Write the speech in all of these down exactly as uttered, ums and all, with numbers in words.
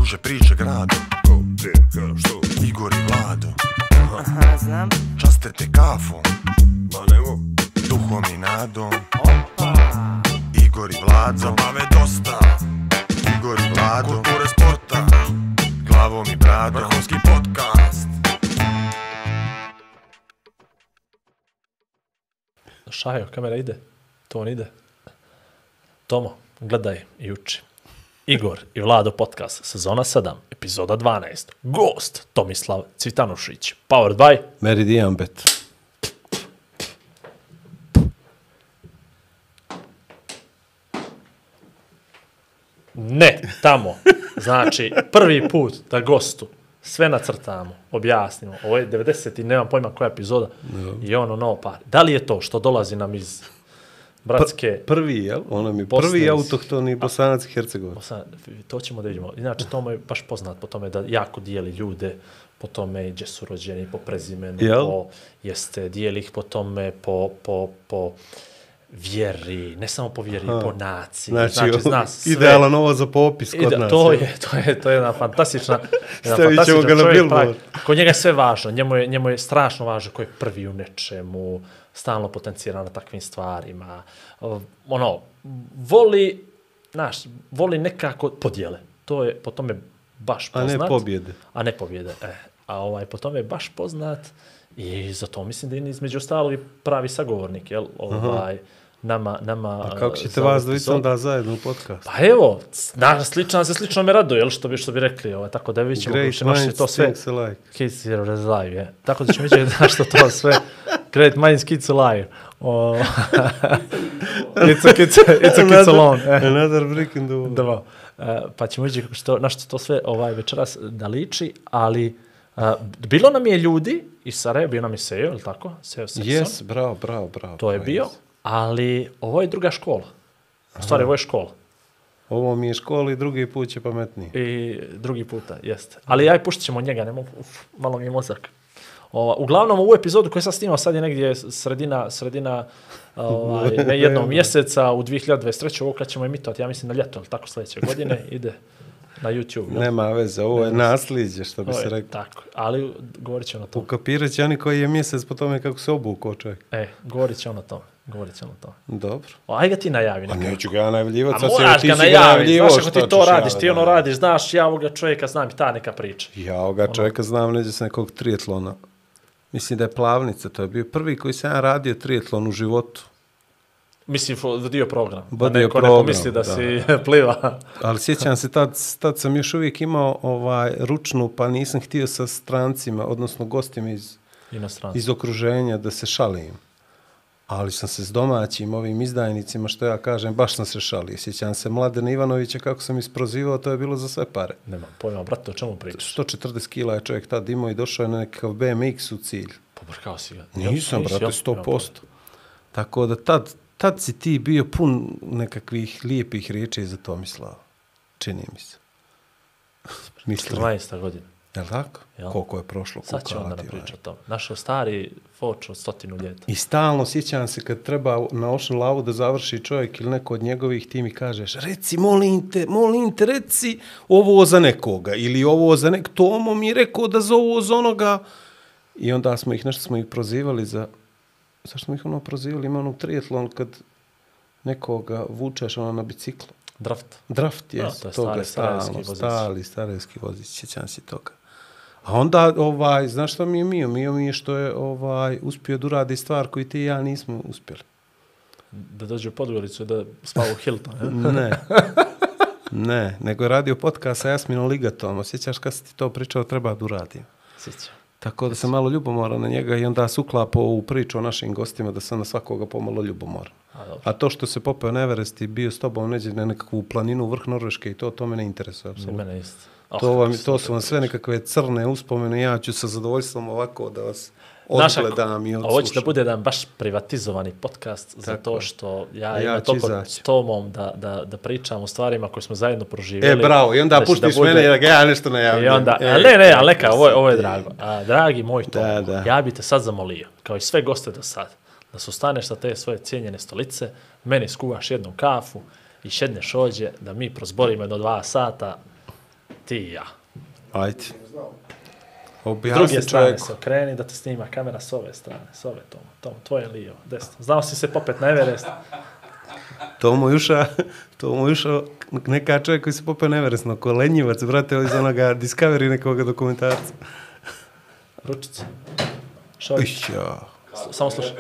kruže priče grado. Ko, gdje, ka, što? Igor i Vlado. Aha, Aha znam. časte te kafom, Ma nemo. duhom i nadom. Opa. Igor i Vlado. Zabave dosta. Igor i Vlado. Kulture sporta. Glavom i bradom. Vrhunski podcast. Šajo, kamera ide, ton ide. Tomo, gledaj i uči. Igor i Vlado podcast, sezona sedam, epizoda dvanaest. Gost Tomislav Cvitanušić. Powered by Meridian Bet. Ne, tamo. Znači, prvi put da gostu sve nacrtamo, objasnimo. Ovo je devedeset i nemam pojma koja epizoda. No. I ono novo par. Da li je to što dolazi nam iz bratske... P prvi, jel? Ono mi Bosne, prvi autohtoni Bosanac i Hercegovac. Bosan, to ćemo da vidimo. Inače, Tomo je baš poznat po tome da jako dijeli ljude po tome gdje su rođeni, po prezimenu, jel? po, jeste, dijeli ih po tome, po, po, po vjeri, ne samo po vjeri, Aha. po naciji. Znači, znači zna sve. Idealan ovo za popis kod Ide, nas. To je, to je, to je jedna fantastična, jedna Stavit ćemo ga na billboard. Kod njega je sve važno, njemu je, njemu je strašno važno ko je prvi u nečemu, stalno potencira na takvim stvarima. Ono, voli, znaš, voli nekako podjele. To je po tome baš poznat. A ne pobjede. A ne pobjede, e. A ovaj, po tome je baš poznat i zato mislim da je između ostalog i pravi sagovornik, jel? Ovaj, Aha. nama, nama... A kako ćete vas dvojica onda zajedno u podcast? Pa evo, na, slično se slično me raduje, jel? Što bi, što bi rekli, ovaj, tako da vidjet ćemo. Great minds to sve. thinks alike. Kids are alive, je. Tako da ćemo vidjeti da što to sve. Great minds kids alive. Oh. it's a kids, it's a kids alone. Another brick in the wall. Da, uh, pa ćemo vidjeti što, na što to sve ovaj večeras da liči, ali uh, bilo nam je ljudi iz Sarajeva, bio nam je Sejo, ili tako? Sejo Sexton. Yes, bravo, bravo, bravo. To je bio, yes. Ali ovo je druga škola. U stvari, ovo je škola. Ovo mi je škola i drugi put će pametniji. I drugi puta, jeste. Ali ja i puštit ćemo njega, ne mogu, uf, malo mi je mozak. Ova, uglavnom, ovu epizodu koju sam snimao sad je negdje sredina, sredina ovaj, ne jednog mjeseca u dvije hiljade dvadeset treće. Ovo kad ćemo emitovati, ja mislim na ljeto, ali tako sljedeće godine, ide na YouTube. No? Nema veze, ovo je nasljeđe, što bi se rekao. Tako, ali govorit će ono to. Ukapirat će oni koji je mjesec po tome kako se obukao čovjek. E, govorit će ono to. Govorit će ono to. Dobro. O, aj ga ti najavi. A neću ga ja najavljivati. A moraš ga najavi, znaš ako ti to radiš, ti ono radiš, znaš, ja ovoga čovjeka znam i ta neka priča. Ja ovoga čovjeka znam neđe s nekog trijetlona. Mislim da je Plavnica, to je bio prvi koji sam ja radio trijetlon u životu. Mislim, dio program. Da neko, program, neko misli da, da. si pliva. Ali sjećam se, tad, tad sam još uvijek imao ovaj, ručnu, pa nisam htio sa strancima, odnosno gostima iz, iz okruženja da se šalim. Ali sam se s domaćim ovim izdajnicima, što ja kažem, baš sam se šalio. Sjećam se Mladena Ivanovića, kako sam isprozivao, to je bilo za sve pare. Nema pojma, brate, o čemu pričaš? sto četrdeset kila je čovjek tad imao i došao je na nekakav B M X u cilj. Pobrkao si ga. Nisam, brate, sto posto. Tako da tad, tad si ti bio pun nekakvih lijepih riječi za Tomislava. Čini mi se. četrnaesta godina. Je li tako? Jel? Koliko je prošlo? Sad ću onda napričati o tom. Našao stari foč od stotinu ljeta. I stalno sjećam se kad treba na ošnu lavu da završi čovjek ili neko od njegovih, ti mi kažeš, reci, molim te, molim te, reci ovo za nekoga. Ili ovo za nek... Tomo mi je rekao da za ovo za onoga. I onda smo ih, nešto smo ih prozivali za... Zašto smo ih ono prozivali? Ima ono trijetlon kad nekoga vučeš ono na biciklu. Draft. Draft, jes. No, to je toga, stari, stalno, vozić. stari, starejski vozić. Sjećam se toga. A onda, ovaj, znaš što mi je Mio? Mio mi je što je ovaj, uspio da uradi stvar koju ti i ja nismo uspjeli. Da dođe u Podgoricu da spava u Hilton. Ne. Ne, nego je radio podcast sa Jasminom Ligatom. Osjećaš kad si ti to pričao, treba da uradim. Sjećam. Tako da sam malo ljubomoran na njega i onda se uklapao u priču o našim gostima da sam na svakoga pomalo ljubomoran. A, A to što se popeo na Everest i bio s tobom neđe na nekakvu planinu vrh Norveške i to, to me ne interesuje. Apsolutno. Mene isto. Oh, to, vam, to su vam sve nekakve crne uspomene. Ja ću sa zadovoljstvom ovako da vas odgledam i odslušam. Ovo će da bude jedan baš privatizovani podcast zato što ja, ja imam toliko s Tomom da, da, da pričam o stvarima koje smo zajedno proživjeli. E, bravo, i onda puštiš da bude... mene da ja nešto najavljam. I onda, e, a ne, ne, ali neka, ovo, ovo je drago. A, dragi moj Tom, da, da. ja bi te sad zamolio, kao i sve goste do sad, da se ustaneš sa te svoje cijenjene stolice, meni skuvaš jednu kafu i šedneš ođe, da mi prozborimo jedno dva sata ti i ja. Ajde. S Objasni druge strane čovjeku. se okreni da te snima kamera s ove strane, s ove Tomo, Tomo, tvoje lijevo, desno. Znao si se popet na Everest? Tomo Juša, Tomo Juša, neka čovjek koji se popeo na Everest, no kolenjivac, brate, iz onoga Discovery nekoga dokumentarca. Ručica. Šoj, Išća, samo slušaj.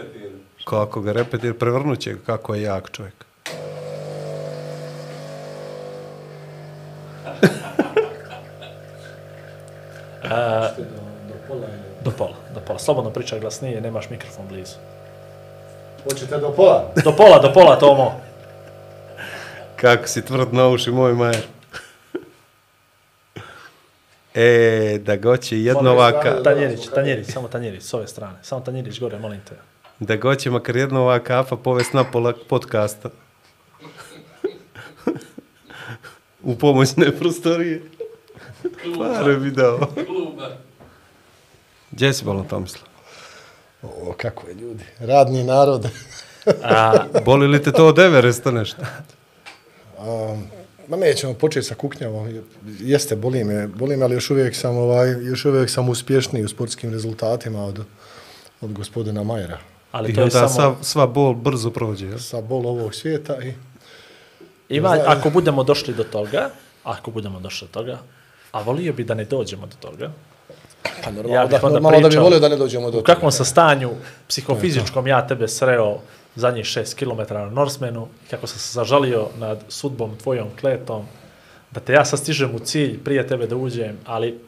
kako ga repetira, prevrnut će ga, kako je jak čovjek. Do pola, do pola. Slobodno pričaj glasnije, nemaš mikrofon blizu. Hoćete do pola? Do pola, do pola, Tomo. Kako si tvrd na uši, moj majer. E, da goće jedna ovaka, Tanjirić, Tanjirić, samo Tanjirić, s ove strane. Samo Tanjirić gore, molim te. da goće makar jedna ova kafa povest na pola podcasta. U pomoćne prostorije. Pare bi dao. Gdje si bolo Tomislav? O, kako je ljudi. Radni narod. A, Boli li te to od Everesta nešto? Um, ma nećemo početi sa kuknjavom. Jeste, boli me, boli me, ali još uvijek sam, ovaj, još uvijek sam uspješniji u sportskim rezultatima od, od gospodina Majera. ali I to je onda samo... sva, sva bol brzo prođe, jel? Sa bol ovog svijeta i... Ima, ako budemo došli do toga, ako budemo došli do toga, a volio bi da ne dođemo do toga, Pa ja normalno, bih da, onda normalno da bi pričao volio da ne dođemo do u kakvom sam stanju psihofizičkom ja tebe sreo zadnjih šest kilometara na Norsemanu, kako sam se zažalio nad sudbom tvojom kletom, da te ja sad stižem u cilj prije tebe da uđem, ali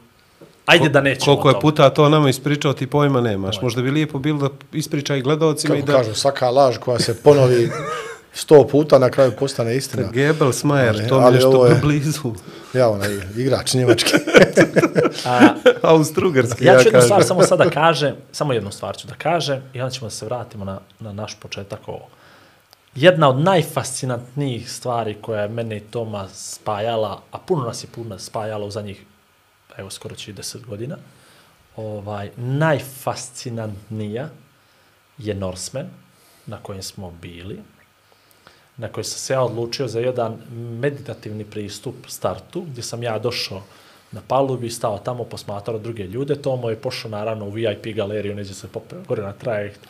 ajde da nećemo Koliko je to. puta to nama ispričao, ti pojma nemaš. Možda bi lijepo bilo da ispriča i gledalcima i Kako da... kažu, svaka laž koja se ponovi sto puta na kraju postane istina. Goebbels, Majer, Ali- to mi ali nešto ovo je- blizu. Ja, onaj igrač njemački. A, Austrougarski, ja ja, ću jednu stvar kažem. samo sada kažem, samo jednu stvar ću da kažem i onda ćemo da se vratimo na, na naš početak ovo. Jedna od najfascinantnijih stvari koja je mene i Toma spajala, a puno nas je puno spajala u zadnjih, evo skoro će i deset godina, ovaj, najfascinantnija je Norseman na kojem smo bili, na koji sam se ja odlučio za jedan meditativni pristup startu, gdje sam ja došao na palubi, stao tamo, posmatrao druge ljude, Tomo je pošao naravno u V I P galeriju, neđe se popeo gore na trajekt,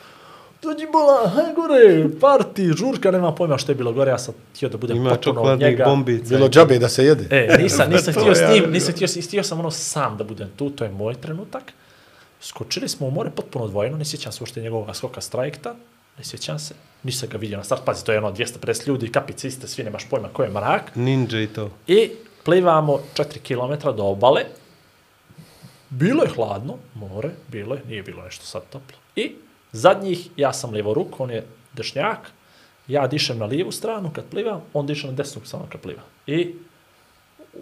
dođi bola, haj gore, parti, žurka, nema pojma što je bilo gore, ja sam htio da budem Ima potpuno od čokoladnih njega. bombica. Bilo džabe da se jede. E, nisam, nisam To htio s ja njim, vidim. nisam htio, htio sam ono sam da budem tu, to je moj trenutak. Skočili smo u more potpuno odvojeno, ne sjećam se uopšte njegovog skoka s trajekta, ne sjećam se, nisam ga vidio na start, pazi, to je ono dvjesto pedeset ljudi, kapice iste, svi nemaš pojma ko je mrak. Ninja i to. I plivamo četiri kilometra do obale, bilo je hladno, more, bilo je, nije bilo nešto sad toplo. I zadnjih, ja sam lijevo ruk, on je dešnjak, ja dišem na lijevu stranu kad plivam, on diše na desnu samo kad pliva. I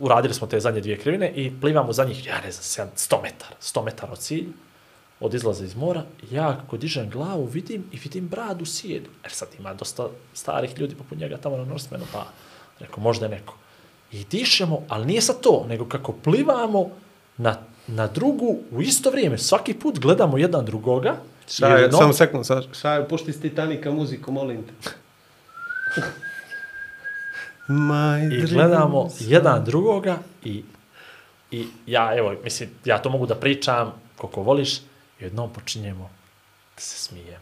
uradili smo te zadnje dvije krivine i plivamo zadnjih, ja ne znam, sto metara, sto metara od cilja, od izlaza iz mora. Ja kako dižem glavu vidim i vidim bradu sijedi. Jer sad ima dosta starih ljudi poput njega tamo na Norsemanu, pa rekao, možda je neko. I dišemo, ali nije sad to, nego kako plivamo na, na drugu u isto vrijeme. Svaki put gledamo jedan drugoga. Šaje, jedno- samo sekund, Šaje, pušti s Titanika muziku, molim te. My I dreams. gledamo jedan drugoga i, i ja, evo, mislim, ja to mogu da pričam koliko voliš, i jednom počinjemo da se smijem.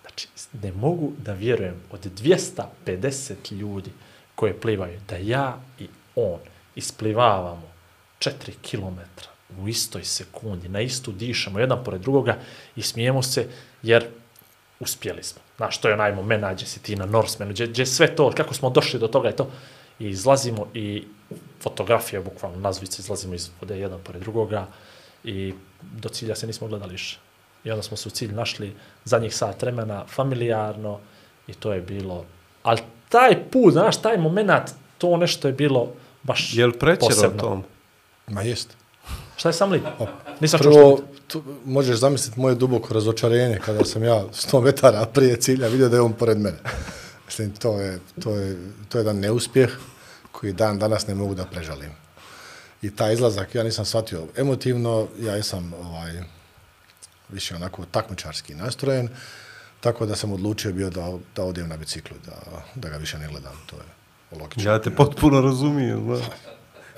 Znači, ne mogu da vjerujem od dvjesto pedeset ljudi koje plivaju, da ja i on isplivavamo četiri kilometra u istoj sekundi, na istu dišemo jedan pored drugoga i smijemo se jer uspjeli smo. Znaš, to je onaj moment, nađe si ti na Norsemanu, gdje, gdje sve to, kako smo došli do toga i to, i izlazimo i fotografija, bukvalno nazvice, izlazimo iz vode jedan pored drugoga i do cilja se nismo gledali više. I onda smo se u cilj našli zadnjih sat vremena, familijarno i to je bilo, ali taj put, znaš, taj moment, to nešto je bilo baš Jel prećero posebno. tom? Ma jest. Šta je sam li? Nisam čuo što Prvo, tu, možeš zamisliti moje duboko razočarenje kada sam ja sto metara prije cilja vidio da je on pored mene. Mislim, to je, to je, to je jedan neuspjeh koji dan danas ne mogu da prežalim. I taj izlazak, ja nisam shvatio emotivno, ja sam ovaj, više onako takmičarski nastrojen, tako da sam odlučio bio da, da odem na biciklu, da, da ga više ne gledam. To je logično. Ja te potpuno razumijem, znaš.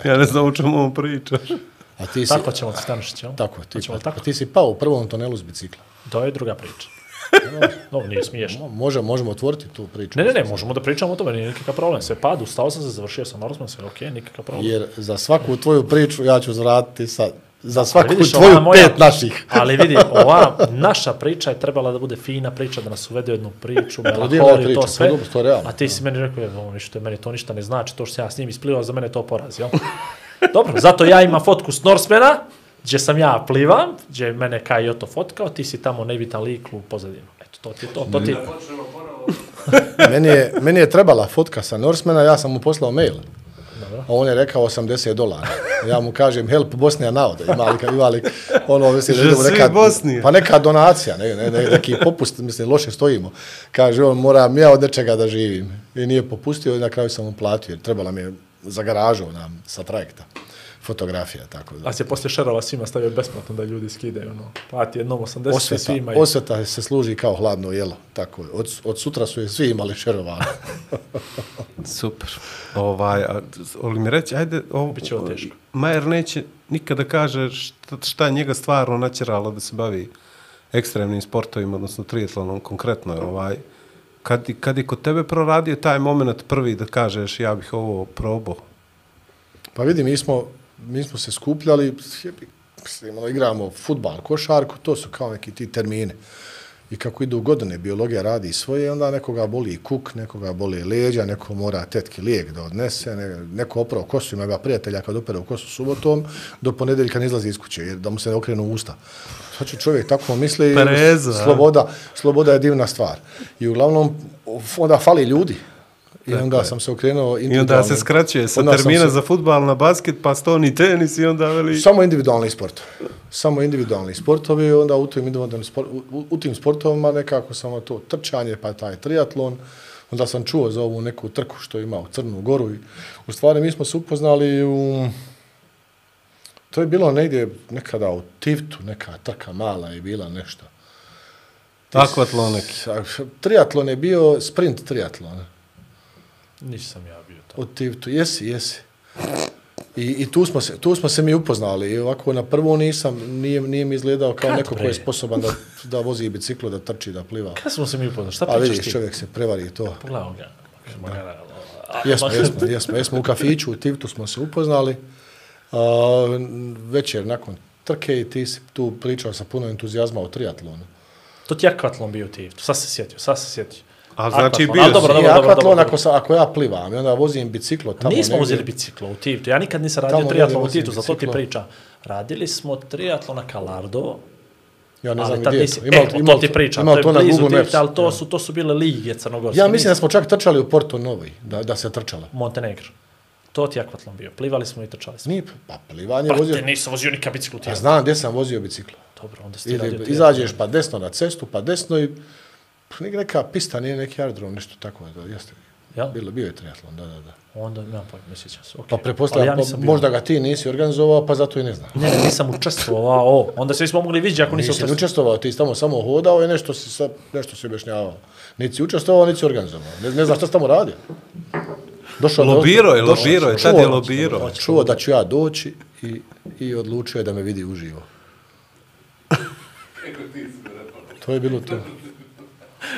Ja ne znam o čemu on pričaš. A ti si, Tako ćemo ti Stanišić, jel? tako, ti, Hoćemo li tako. tako? ti si pao u prvom tunelu s bicikla. To je druga priča. No, nije smiješno. Može, možemo otvoriti tu priču. Ne, ne, ne, možemo da pričamo o tome, nije nikakav problem. Sve padu, stao sam se, završio sam Norseman, sve ok, nikakav problem. Jer za svaku tvoju priču ja ću zraditi sad. Za svaku vidiš, tvoju ova moja- pet naših. Ali vidi, ova naša priča je trebala da bude fina priča, da nas uvede u jednu priču, divna melaholiju, priča, to sve. pa dobro, to je realno. A ti si meni rekao, evo, ništa, meni to ništa ne znači, to što sam ja s njim isplivao, za mene je to poraz, jel? Dobro, zato ja imam fotku s Norsemana, gdje sam ja plivam, gdje je mene Kajoto fotkao, ti si tamo nebitan lik u pozadinu. Eto, to ti je to, to ti je... meni, je, meni je trebala fotka sa Norsemana, ja sam mu poslao mail. Dobro. A on je rekao osamdeset dolara. Ja mu kažem, help Bosnija navode. Ima li, ima li ono, mislim, da Že idemo svi neka, Bosnije. pa neka donacija, ne, ne, ne, neki popust, mislim, loše stojimo. Kaže, on, moram ja od nečega da živim. I nije popustio i na kraju sam mu platio, jer trebala mi je za garažu nam, sa trajekta. Fotografija, tako da. A se poslije šerova svima stavio besplatno da ljudi skidaju, ono, plati jednom osamdeset Osveta, svima. I... osveta se služi kao hladno jelo, tako je. Od, od sutra su je svi imali šerovano. Super. Ovaj, a, ali mi reći, ajde, ovo, Biće ovo teško. Majer neće nikada kaže šta, šta je njega stvarno natjeralo da se bavi ekstremnim sportovima, odnosno triatlonom konkretno. Ovaj, kad, kad je kod tebe proradio taj moment prvi da kažeš ja bih ovo probao? Pa vidi, mi smo, mi smo se skupljali, mislim, ono, igramo fudbal, košarku, to su kao neki ti termine. I kako idu godine, biologija radi svoje, onda nekoga boli kuk, nekoga boli leđa, neko mora tetki lijek da odnese, ne, neko opravo kosu, ima prijatelja kad opere u kosu subotom, do ponedeljka ne izlazi iz kuće, jer da mu se ne okrenu usta. Sad će čovjek tako misli, Pereza, sloboda, sloboda je divna stvar. I uglavnom, onda fali ljudi. I onda Tako sam se okrenuo I individualno. onda se skraćuje sa Onda sam termina se- za fudbal na basket, pa stoni tenis i onda veli... Samo individualni sport. Samo individualni sportovi, onda u tim, individualnim sport, u, u tim sportovima nekako samo to trčanje, pa taj triatlon. Onda sam čuo za ovu neku trku što ima u Crnu Goru. I u stvari mi smo se upoznali u... To je bilo negdje nekada u Tivtu, neka trka mala je bila nešto. Akvatlon neki. Triatlon je bio sprint triatlon. Nisam ja bio to. U Tivtu, jesi, jesi. I, i tu, smo se, tu smo se mi upoznali. I ovako na prvo nisam, nije, nije mi izgledao kao Kad, neko ko bre? je sposoban da, da vozi biciklo, da trči, da pliva. Kada smo se mi upoznali? Šta A pričaš vidiš, ti? čovjek se prevari to. Pogledamo ga. Magara, Jesmo, jesmo, jesmo, jesmo u kafiću, u Tivtu smo se upoznali. A, večer nakon trke i ti si tu pričao sa puno entuzijazma o triatlonu. To ti je akvatlon bio ti. Sad se sjetio, sad se sjetio. A znači Akvatlon, bio ali dobro, si- I dobro, dobro, akvatlon dobro. ako, sa, ako ja plivam i onda vozim biciklo tamo Nismo negdje. uzeli biciklo u Tivtu. Ja nikad nisam radio Tamo triatlon negdje u Tivtu, vozim zato ti biciklo. pričam. Radili smo triatlon na Kalardovo, Ja ne ali znam tad gdje je nisi, to. Ima, e, ima, to ti pričam, ima to to je na blizu Google Maps. Tivta, ali to su, to su bile lige crnogorske. Ja mislim da smo čak trčali u Porto Novoj, da, da se trčalo. Montenegro. To ti je akvatlon bio. Plivali smo i trčali smo. Nije, pa plivanje vozio... Brate, nisam vozio nikad biciklu u Ja Tivtu. znam gdje sam vozio biciklo. Dobro, onda si ti radio Ide, triatlon. izađeš pa desno na cestu, pa desno i pa nek- neka pista, nije neki aerodrom, nešto tako. Da, jeste. Jel? Bilo, bio je triatlon, da, da, da. Onda, nemam pojma, ne sjećam se. Okay. Pa pretpostavljam, Ali ja pa, nisam bio. možda ga ti nisi organizovao, pa zato i ne znam. Ne, ne, nisam učestvovao. Onda se nismo mogli vidjeti ako nisam Nisi ni učestvovao. učestvovao, ti si tamo samo hodao i nešto si, sa, nešto si objašnjavao. Nisi si učestvovao, nisi si organizovao. Ne, ne znam šta si tamo radio. Došao do- Lobirao je, došao- lobirao je, čuo- tad je lobirao. Čuo da ću ja doći i, i odlučio je da me vidi uživo. To je bilo to.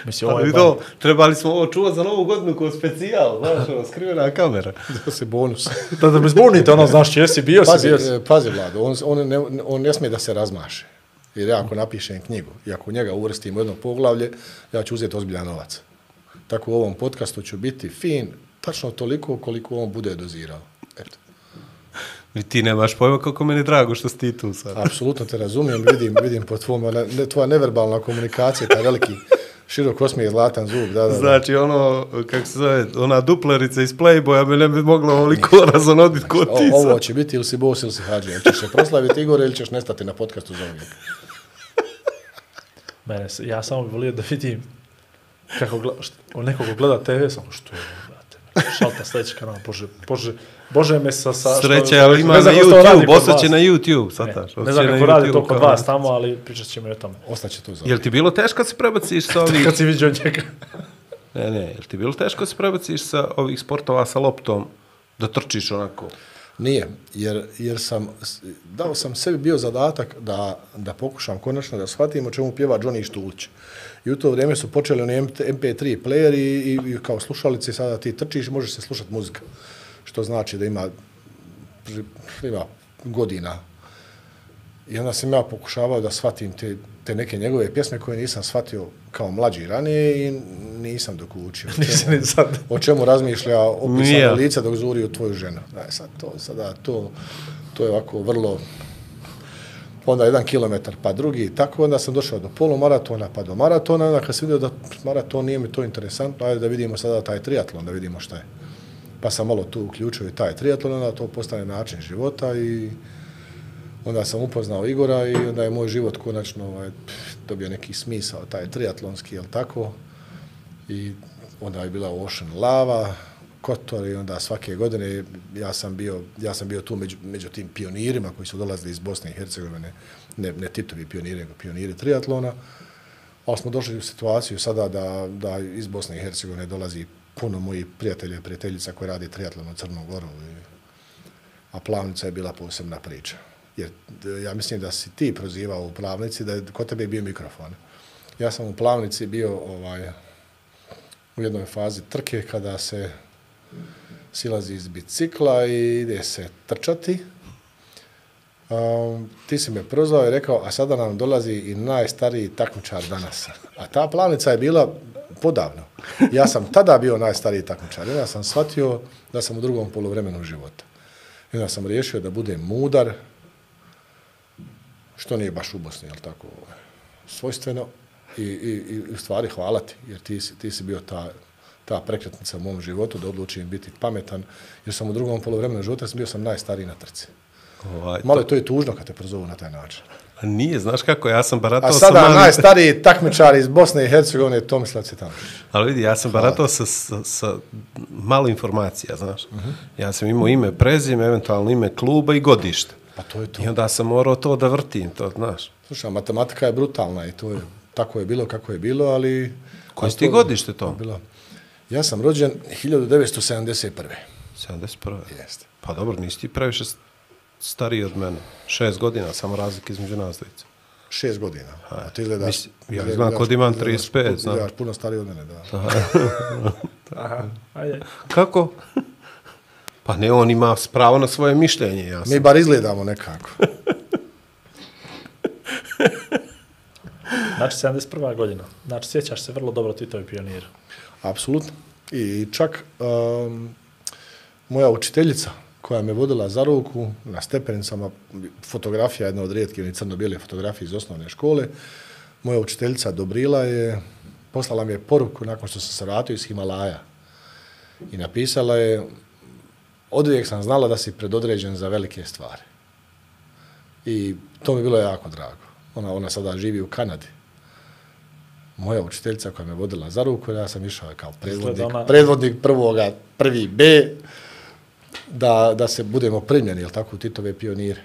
Mislim, ovo je Ali ba- to, trebali smo ovo čuvati za novu godinu kao specijal, znaš, ono, skrivena kamera. Da se bonus. Da, da me zbunite, ono, znaš, jesi bio, si Pazi, bio. si. e, pazi Vlado, on, on, ne, on ne smije da se razmaše. Jer ja ako napišem knjigu i ako njega uvrstim u jedno poglavlje, ja ću uzeti ozbiljan novac. Tako u ovom podcastu ću biti fin, tačno toliko koliko on bude dozirao. Eto. I ti nemaš pojma kako meni drago što si ti tu sad. Apsolutno te razumijem, vidim, vidim po tvom, ona, ne, tvoja neverbalna komunikacija, taj veliki širok osmijeh, zlatan zub, da, da, da. Znači, ono, kako se zove, ona duplerica iz Playboya bi ne bi mogla ovoliko razonoditi kod O, ti ovo sad. će biti ili si bos ili si hađe. Ili ćeš se proslaviti Igor ili ćeš nestati na podcastu za uvijek. Mene, se- ja samo bih volio da vidim kako gleda, što, nekog gleda te ve, samo što je, brate, šalta sljedeći kanal, bože, bože, bože me sa... sa Sreće, ali ima ne na znam kako to radi YouTube, kod ostaće vas. na YouTube, Ne, sataš. ne znam kako radi to kod vas tamo, ali pričat ćemo i o tome. Ostaće tu za Jel ti bilo teško kad se prebaciš sa ovih... Kad si vidio njega. Ne, ne, jel ti bilo teško kad se prebaciš sa ovih sportova sa loptom, da trčiš onako? Nije, jer, jer sam, dao sam sebi bio zadatak da, da pokušam konačno da shvatim o čemu pjeva Johnny Štulić. I u to vrijeme su počeli oni em pe tri playeri i, i, i kao slušalice, sada ti trčiš i možeš se slušati muzika. Što znači da ima, ima godina. I onda sam ja pokušavao da shvatim te, te neke njegove pjesme koje nisam shvatio kao mlađi ranije i nisam dok učio. O čemu, o čemu razmišlja opisano lice dok zuri u tvoju ženu. Da, sad to, sada to, to je ovako vrlo... Onda jedan kilometar, pa drugi, tako onda sam došao do polumaratona, pa do maratona, onda kad sam vidio da maraton nije mi to interesantno, ajde da vidimo sada taj triatlon, da vidimo šta je. Pa sam malo tu uključio i taj triatlon, onda to postane način života i onda sam upoznao Igora i onda je moj život konačno ovaj, dobio neki smisao, taj triatlonski, jel tako? I onda je bila Ocean Lava, Kotor i onda svake godine ja sam bio, ja sam bio tu među, među tim pionirima koji su dolazili iz Bosne i Hercegovine, ne, ne Titovi pioniri, nego pioniri triatlona. Ali smo došli u situaciju sada da, da iz Bosne i Hercegovine dolazi puno mojih prijatelja i prijateljica koji radi triatlon u Crnom Goru. A Plavnica je bila posebna priča. Jer ja mislim da si ti prozivao u Plavnici, da je kod tebe bio mikrofon. Ja sam u Plavnici bio ovaj, u jednoj fazi trke kada se silazi iz bicikla i ide se trčati. Um, ti si me prozvao i rekao, a sada nam dolazi i najstariji takmičar danas. A ta Plavnica je bila podavno. Ja sam tada bio najstariji takmičar. Ja sam shvatio da sam u drugom poluvremenu života. I onda sam riješio da budem mudar, što nije baš u Bosni, jel tako, svojstveno. I, i, i u stvari hvala ti, jer ti si, ti si bio ta, ta prekretnica u mom životu da odlučim biti pametan, jer sam u drugom poluvremenu života bio sam najstariji na trci. Ovaj, Malo je to i tužno kad te prozovu na taj način. A nije, znaš kako, ja sam baratao sa... A sada sa mali... najstariji takmičar iz Bosne i Hercegovine je Tomislav Cvitanović. Ali vidi, ja sam baratao sa, sa, sa malo informacija, znaš. Uh-huh. Ja sam imao ime, prezime, eventualno ime kluba i godište. Pa to je to. I onda sam morao to da vrtim, to znaš. Slušaj, matematika je brutalna i to je, tako je bilo kako je bilo, ali... Koje ti godište to? Bilo. Ja sam rođen hiljadu devetsto sedamdeset prve. sedamdeset prve Jeste. Pa dobro, nisi ti previše stariji od mene. Šest godina, samo razlika između nas dvojice. Šest godina. A ti izgledaš... Mislim, ja izgledam kod imam trideset pet, znam. Izgledaš puno stariji od mene, da. Aha, ajde. Kako? Pa ne, on ima pravo na svoje mišljenje. Ja sam... Mi bar izgledamo nekako. Znači, sedamdeset prva godina. Znači, sjećaš se vrlo dobro Titovi pioniri. Apsolutno. I čak um, moja učiteljica koja me vodila za ruku na stepenicama, fotografija, jedna od rijetkih ili crno-bijele fotografije iz osnovne škole, moja učiteljica Dobrila je, poslala mi je poruku nakon što sam se vratio iz Himalaja i napisala je: oduvijek sam znala da si predodređen za velike stvari. I to mi bilo jako drago. Ona, ona sada živi u Kanadi. Moja učiteljica koja me vodila za ruku, ja sam išao kao predvodnik, ona... predvodnik prvoga, prvi B, da, da se budemo primljeni, jel tako, u Titove pionire.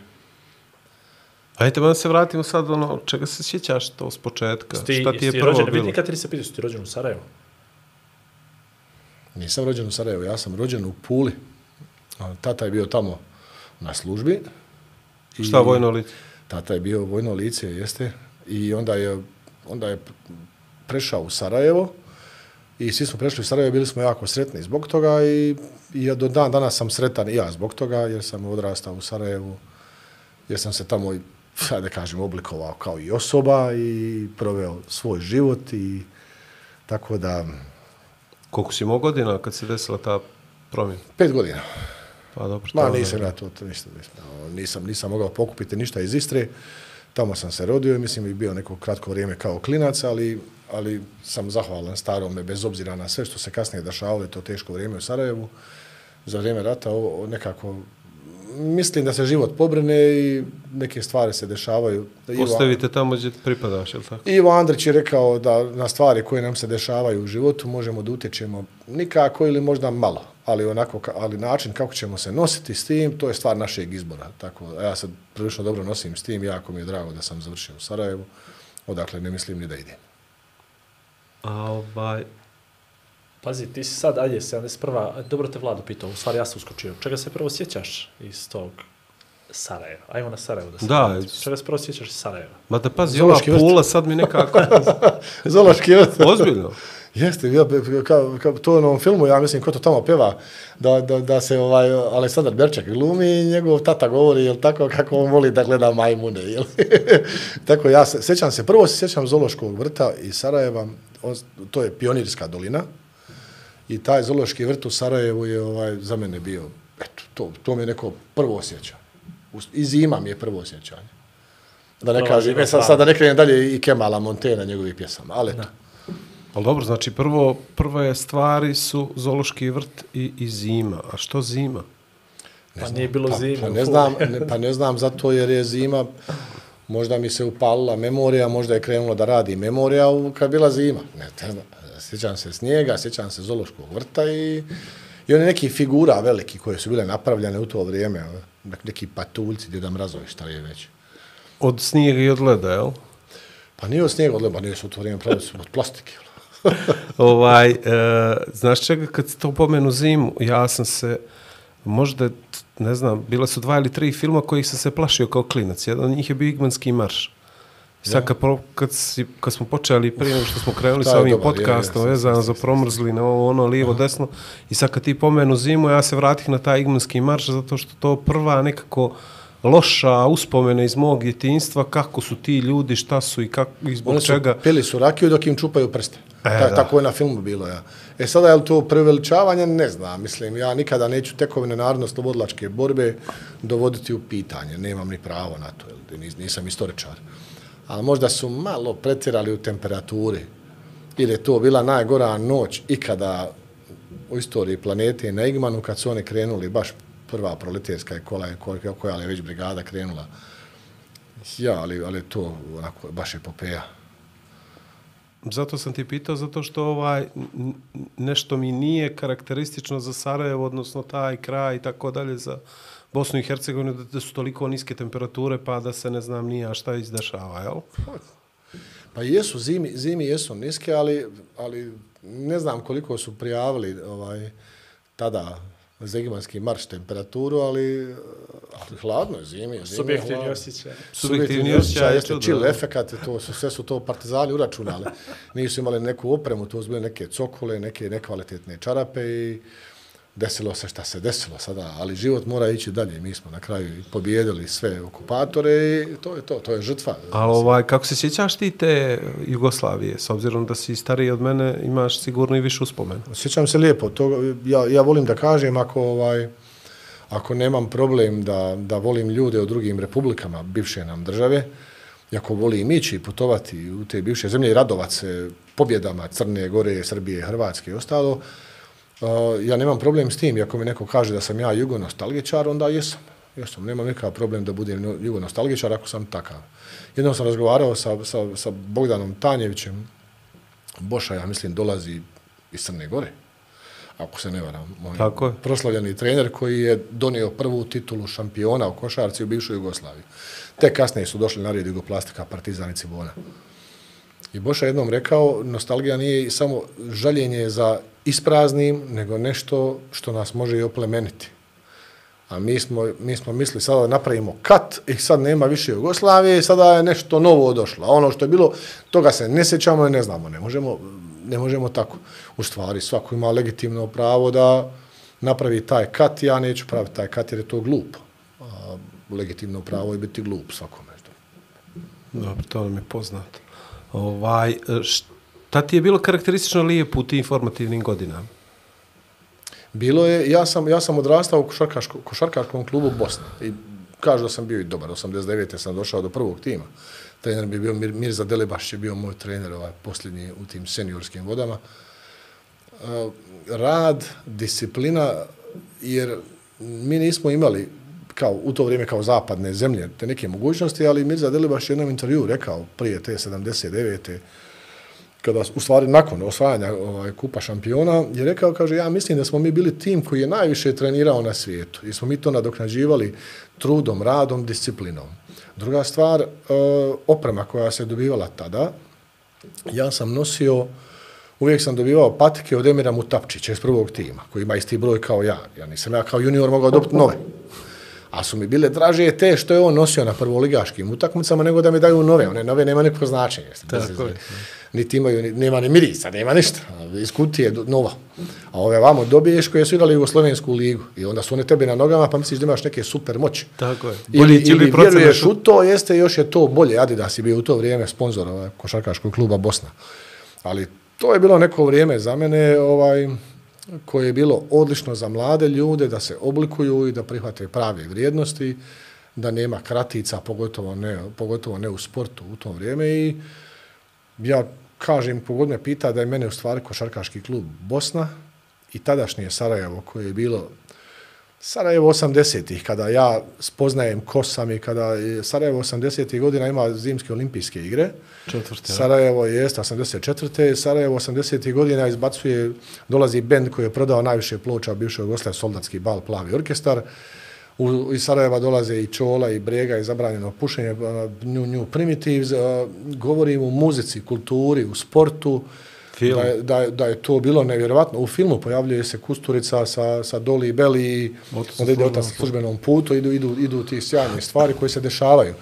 Ajde, da se vratimo sad, ono, čega se sjećaš to s početka? Sti, Šta ti je prvo rođen, bilo? Vidi kad ti se pitao, si ti rođen u Sarajevu? Nisam rođen u Sarajevu, ja sam rođen u Puli. Tata je bio tamo na službi. I šta vojno lice? Tata je bio vojno lice, jeste. I onda je, onda je prešao u Sarajevo. I svi smo prešli u Sarajevo, bili smo jako sretni zbog toga i, i ja do dan danas sam sretan i ja zbog toga, jer sam odrastao u Sarajevu, jer sam se tamo, da kažem, oblikovao kao i osoba i proveo svoj život i tako da... Koliko si imao godina kad se desila ta promjena? Pet godina. Pa dobro. Ma nisam ja to, to ništa, nisam, nisam mogao pokupiti ništa iz Istre. Tamo sam se rodio i mislim i bio neko kratko vrijeme kao klinac, ali, ali sam zahvalan starome bez obzira na sve što se kasnije dešavalo, to teško vrijeme u Sarajevu. Za vrijeme rata ovo nekako mislim da se život pobrine i neke stvari se dešavaju. Ostavite tamo gdje pripadaš, je li tako? Ivo Andrić je rekao da na stvari koje nam se dešavaju u životu možemo da utječemo nikako ili možda malo, ali onako, ali način kako ćemo se nositi s tim, to je stvar našeg izbora. Tako, ja se prilično dobro nosim s tim, jako mi je drago da sam završio u Sarajevu, odakle ne mislim ni da idem. A ovaj... Pazi, ti si sad, ajde, sedamdeset prva dobro te Vlado pitao, u stvari ja sam uskočio. Čega se prvo sjećaš iz tog Sarajeva? Ajmo na Sarajevo da se Da, vratim. Čega se prvo sjećaš iz Sarajeva? Ma da pazi, ova Zoološki vrt. Pula sad mi nekako... Zoološki vrt. Ozbiljno. Jeste, ja, kao, kao to u onom filmu, ja mislim, ko to tamo peva, da, da, da se ovaj Aleksandar Berček glumi i njegov tata govori, jel tako, kako on voli da gleda majmune, jel? Tako, ja se, sjećam se, prvo se sjećam Zoološkog vrta iz Sarajeva, on, to je Pionirska dolina, i taj Zoološki vrt u Sarajevu je ovaj, za mene bio, eto, to, to mi je neko prvo osjećanje. I zima mi je prvo osjećanje. Da ne kažem, sad, sad da ne krenem dalje i Kemala Montena, njegovih pjesama, ali eto. Ali dobro, znači prvo, prve stvari su Zoološki vrt i, i zima. A što zima? Ne pa znam, nije bilo pa, zime. Pa ne, znam, ne, pa ne znam zato jer je zima, možda mi se upalila memorija, možda je krenulo da radi memorija u, kad je bila zima. Ne, ne znam, sjećam se snijega, sjećam se Zoološkog vrta i, i one neki figura veliki koje su bile napravljene u to vrijeme, neki patuljci, Djeda Mrazovi, šta je već. Od snijega i od leda, jel? Pa nije od snijega, od leda, nije su u to vrijeme pravili od plastike. ovaj, e, znaš čega, kad se to pomenu zimu, ja sam se, možda, ne znam, bile su dva ili tri filma kojih sam se plašio kao klinac. Jedan od njih je bio Igmanski marš. I sad kad, kad, si, kad smo počeli prije nego što smo krenuli sa ovim dobar, podcastom, je, je, vezano za promrzli, na ovo, ono, lijevo, desno, i sad kad ti pomenu zimu, ja se vratih na taj Igmanski marš, zato što to prva nekako loša uspomene iz mog djetinjstva, kako su ti ljudi, šta su i, kako, i zbog Oni su, čega. Pili su rakiju dok im čupaju prste. E, Ta, tako je na filmu bilo, ja. E sada, je li to preveličavanje? Ne znam. Mislim, ja nikada neću tekovine narodno-slobodilačke borbe dovoditi u pitanje. Nemam ni pravo na to, jer nisam istoričar. Ali možda su malo pretjerali u temperaturi. Ili je to bila najgora noć ikada u istoriji planete na Igmanu, kad su oni krenuli, baš prva proletarska je koja, koja, koja je već brigada krenula. Ja, ali, ali to onako, baš epopeja. Zato sam ti pitao, zato što ovaj nešto mi nije karakteristično za Sarajevo, odnosno taj kraj i tako dalje za Bosnu i Hercegovinu, da su toliko niske temperature, pa da se ne znam nija šta izdešava, jel? Pa jesu, zimi, zimi jesu niske, ali, ali ne znam koliko su prijavili ovaj, tada za Igmanski marš temperaturu, ali, ali hladno je zimi. Subjektivni osjećaj. Subjektivni osjećaj, jeste chill efekat, to su, sve su to partizani uračunali. Nisu imali neku opremu, to su bile neke cokole, neke nekvalitetne čarape i desilo se šta se desilo sada, ali život mora ići dalje. Mi smo na kraju pobijedili sve okupatore i to je to, to je žrtva. Ali ovaj, kako se sjećaš ti te Jugoslavije, s obzirom da si stariji od mene, imaš sigurno i više uspomenu? Sjećam se lijepo. To, ja, ja volim da kažem, ako, ovaj, ako nemam problem da, da volim ljude u drugim republikama, bivše nam države, i ako volim ići i putovati u te bivše zemlje i radovat se pobjedama Crne Gore, Srbije, Hrvatske i ostalo, Uh, ja nemam problem s tim, ako mi neko kaže da sam ja jugonostalgičar, onda jesam. Jesam, nemam nikakav problem da budem jugonostalgičar ako sam takav. Jednom sam razgovarao sa, sa, sa Bogdanom Tanjevićem, Boša, ja mislim, dolazi iz Crne Gore, ako se ne varam. Moj Tako je. Proslavljeni trener koji je donio prvu titulu šampiona u košarci u bivšoj Jugoslaviji. Te kasnije su došli na red Jugoplastika, Partizan i Cibona. I Boša jednom rekao, nostalgija nije samo žaljenje za ispraznim, nego nešto što nas može i oplemeniti. A mi smo, mi smo mislili sada da napravimo kat i sad nema više Jugoslavije i sada je nešto novo došlo. A ono što je bilo, toga se ne sjećamo i ne znamo. Ne možemo, ne možemo tako. U stvari, svako ima legitimno pravo da napravi taj kat. Ja neću praviti taj kat jer je to glupo. A legitimno pravo je biti glup svakome. Dobro, to nam je poznato. Ovaj, šta ti je bilo karakteristično lijepo u tim informativnim godinama? Bilo je, ja sam, ja sam odrastao u košarkaško, košarkaškom klubu Bosne i kažu da sam bio i dobar. osamdeset devete sam došao do prvog tima. Trener bi bio Mir, Mirza Delibaš, je bio moj trener ovaj, posljednji u tim seniorskim vodama. Uh, rad, disciplina, jer mi nismo imali kao u to vrijeme kao zapadne zemlje te neke mogućnosti, ali Mirza Delibaš je jednom intervju rekao prije te sedamdeset devete kada u stvari nakon osvajanja ovaj, kupa šampiona, je rekao, kaže, ja mislim da smo mi bili tim koji je najviše trenirao na svijetu i smo mi to nadoknađivali trudom, radom, disciplinom. Druga stvar, oprema koja se dobivala tada, ja sam nosio uvijek sam dobivao patike od Emira Mutapčića iz prvog tima, koji ima isti broj kao ja. Ja nisam ja kao junior mogao dobiti nove. A su mi bile draže te što je on nosio na prvoligaškim utakmicama nego da mi daju nove. One nove nema nekog značenja. Tako je. Niti imaju, ni, nema ni mirisa, nema ništa. Iz kutije nova. A ove vamo dobiješ koje su igrali Jugoslovensku ligu. I onda su one tebi na nogama pa misliš da imaš neke super moći. Tako je. Ili, ili vjeruješ u to, jeste još je to bolje. Adidas je bio u to vrijeme sponzor ovaj, košarkaškog kluba Bosna. Ali to je bilo neko vrijeme za mene ovaj, koje je bilo odlično za mlade ljude da se oblikuju i da prihvate prave vrijednosti, da nema kratica, pogotovo ne, pogotovo ne u sportu u to vrijeme. I ja kažem, pogod me pita da je mene u stvari košarkaški klub Bosna i tadašnje Sarajevo koje je bilo Sarajevo osamdesetih, kada ja spoznajem ko sam i kada je Sarajevo osamdesetih godina ima zimske olimpijske igre. Četvrte. Sarajevo je osamdeset četvrte. Sarajevo osamdesetih godina izbacuje, dolazi bend koji je prodao najviše ploča bivšeg Jugoslav, Soldatski bal, Plavi orkestar. U, iz Sarajeva dolaze i Čola i Brega i zabranjeno pušenje, New, New Primitives. Govorim u muzici, kulturi, u sportu. Da je, da, je, da je to bilo nevjerovatno. U filmu pojavljuje se Kusturica sa, sa Doli i Beli i onda ide otac na službenom putu, idu, idu, idu ti sjajne stvari koje se dešavaju.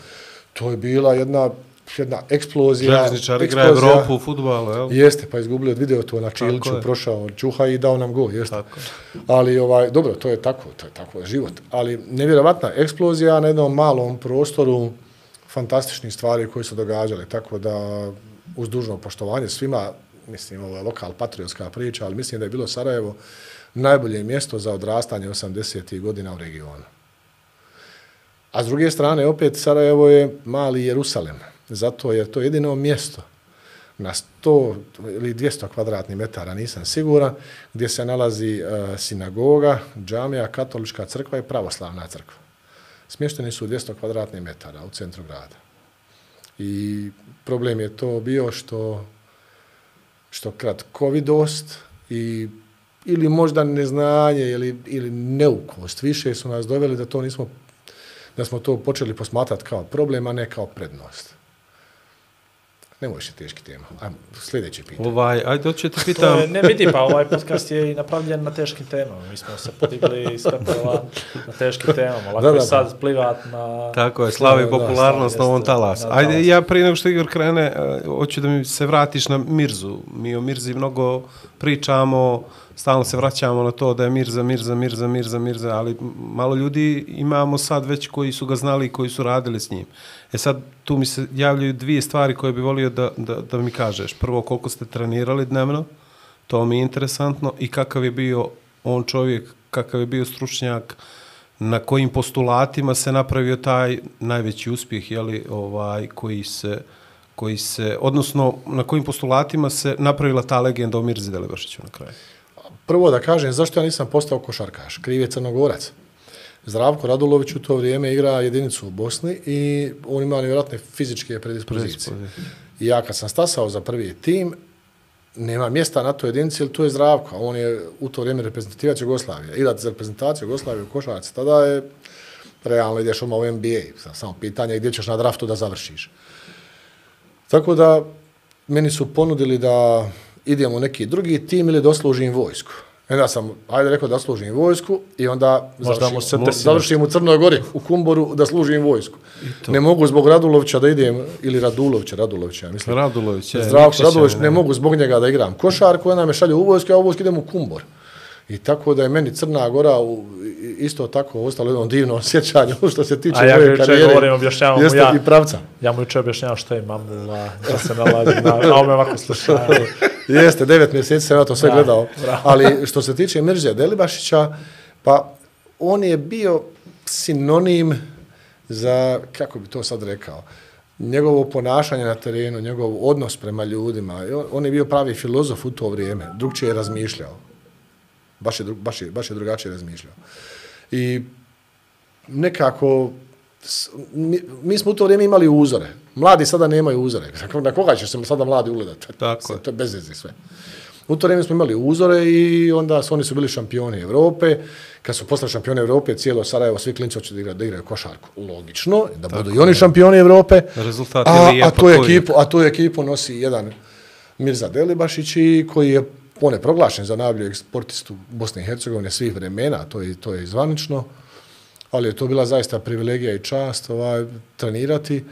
To je bila jedna, jedna eksplozija. Željezničar igra Evropu u fudbalu, jel? Jeste, pa izgubili od video to na Čiliću, prošao Čuha i dao nam go, jeste. Tako. Ali, ovaj, dobro, to je tako, to je tako život. Ali nevjerovatna eksplozija na jednom malom prostoru, fantastičnih stvari koje su događale, tako da uz dužno poštovanje svima, mislim, ovo je lokal patriotska priča, ali mislim da je bilo Sarajevo najbolje mjesto za odrastanje osamdesetih godina u regionu. A s druge strane, opet, Sarajevo je mali Jerusalem, zato jer to je jedino mjesto na sto ili dvjesto kvadratnih metara, nisam siguran, gdje se nalazi uh, sinagoga, džamija, katolička crkva i pravoslavna crkva. Smješteni su dvjesto kvadratnih metara u centru grada. I problem je to bio što što kratkovidost i ili možda neznanje ili, ili neukost više su nas doveli da to nismo, da smo to počeli posmatrati kao problem, a ne kao prednost. Ne možeš teški tema. Ajmo, sljedeće pitanje. Ovaj, ajde, hoću te pitam. Ne vidi, pa ovaj podcast je i napravljen na teškim temama. Mi smo se podigli iz stepela na teškim temama. Lako da, da, je sad plivat na... Tako je, slavi popularnost na ovom talasu. Ajde, talas. Ja prije nego što Igor krene, hoću da mi se vratiš na Mirzu. Mi o Mirzi mnogo pričamo, stalno se vraćamo na to da je Mirza, Mirza, Mirza, Mirza, Mirza, ali malo ljudi imamo sad već koji su ga znali i koji su radili s njim. E sad, tu mi se javljaju dvije stvari koje bi volio da, da, da mi kažeš. Prvo, koliko ste trenirali dnevno, to mi je interesantno, i kakav je bio on čovjek, kakav je bio stručnjak, na kojim postulatima se napravio taj najveći uspjeh, jeli, ovaj, koji se, koji se, odnosno, na kojim postulatima se napravila ta legenda o Mirzi Delibašiću na kraju. Prvo da kažem, zašto ja nisam postao košarkaš? Kriv je Crnogorac. Zdravko Radulović u to vrijeme igra jedinicu u Bosni i on ima nevjerojatne fizičke predispozicije. I ja kad sam stasao za prvi tim, nema mjesta na toj jedinici, jer tu je Zdravko. On je u to vrijeme reprezentativac Jugoslavije. Igrati za reprezentaciju Jugoslavije u košarci, tada je realno ideš odmah u N B A. Samo pitanje gdje ćeš na draftu da završiš. Tako da meni su ponudili da idem u neki drugi tim ili da oslužim vojsku. Onda sam, ajde rekao da služim vojsku i onda završim, završim u Crnoj Gori, u Kumboru, da služim vojsku. Ne mogu zbog Radulovića da idem, ili Radulovića, Radulovića, mislim. Radulović, je. Zdravko Radulović, ne mogu zbog njega da igram košarku, onda me šalju u vojsku, a u vojsku idem u Kumbor. I tako da je meni Crna Gora u, isto tako ostalo jedno divno sjećanje što se tiče ja moje karijere. Govorim, objašnjavam jeste ja, i pravca. Ja mu juče objašnjavam što je mamula, da se nalazi na, na ome ovako slušaju. Jeste, devet mjeseci sam ja to sve da, gledao. bravo. Ali što se tiče Mirze Delibašića, pa on je bio sinonim za, kako bi to sad rekao, njegovo ponašanje na terenu, njegov odnos prema ljudima. On, on je bio pravi filozof u to vrijeme, drugčije je razmišljao. Baš je, baš, je, baš je drugačije razmišljao. I nekako, mi, mi smo u to vrijeme imali uzore. Mladi sada nemaju uzore. Na koga će se sada mladi ugledati? Tako. To je bez veze sve. U to vrijeme smo imali uzore i onda su, oni su bili šampioni Evrope. Kad su postali šampioni Evrope, cijelo Sarajevo, svi klinci hoće da igraju, da igraju košarku. Logično, da tako budu i oni šampioni Evrope. Rezultat a, je a, tu ekipu, a tu ekipu nosi jedan Mirza Delibašić, i koji je on je proglašen za najboljeg sportistu Bosne i Hercegovine svih vremena, to je, to je zvanično, ali je to bila zaista privilegija i čast ovaj, trenirati.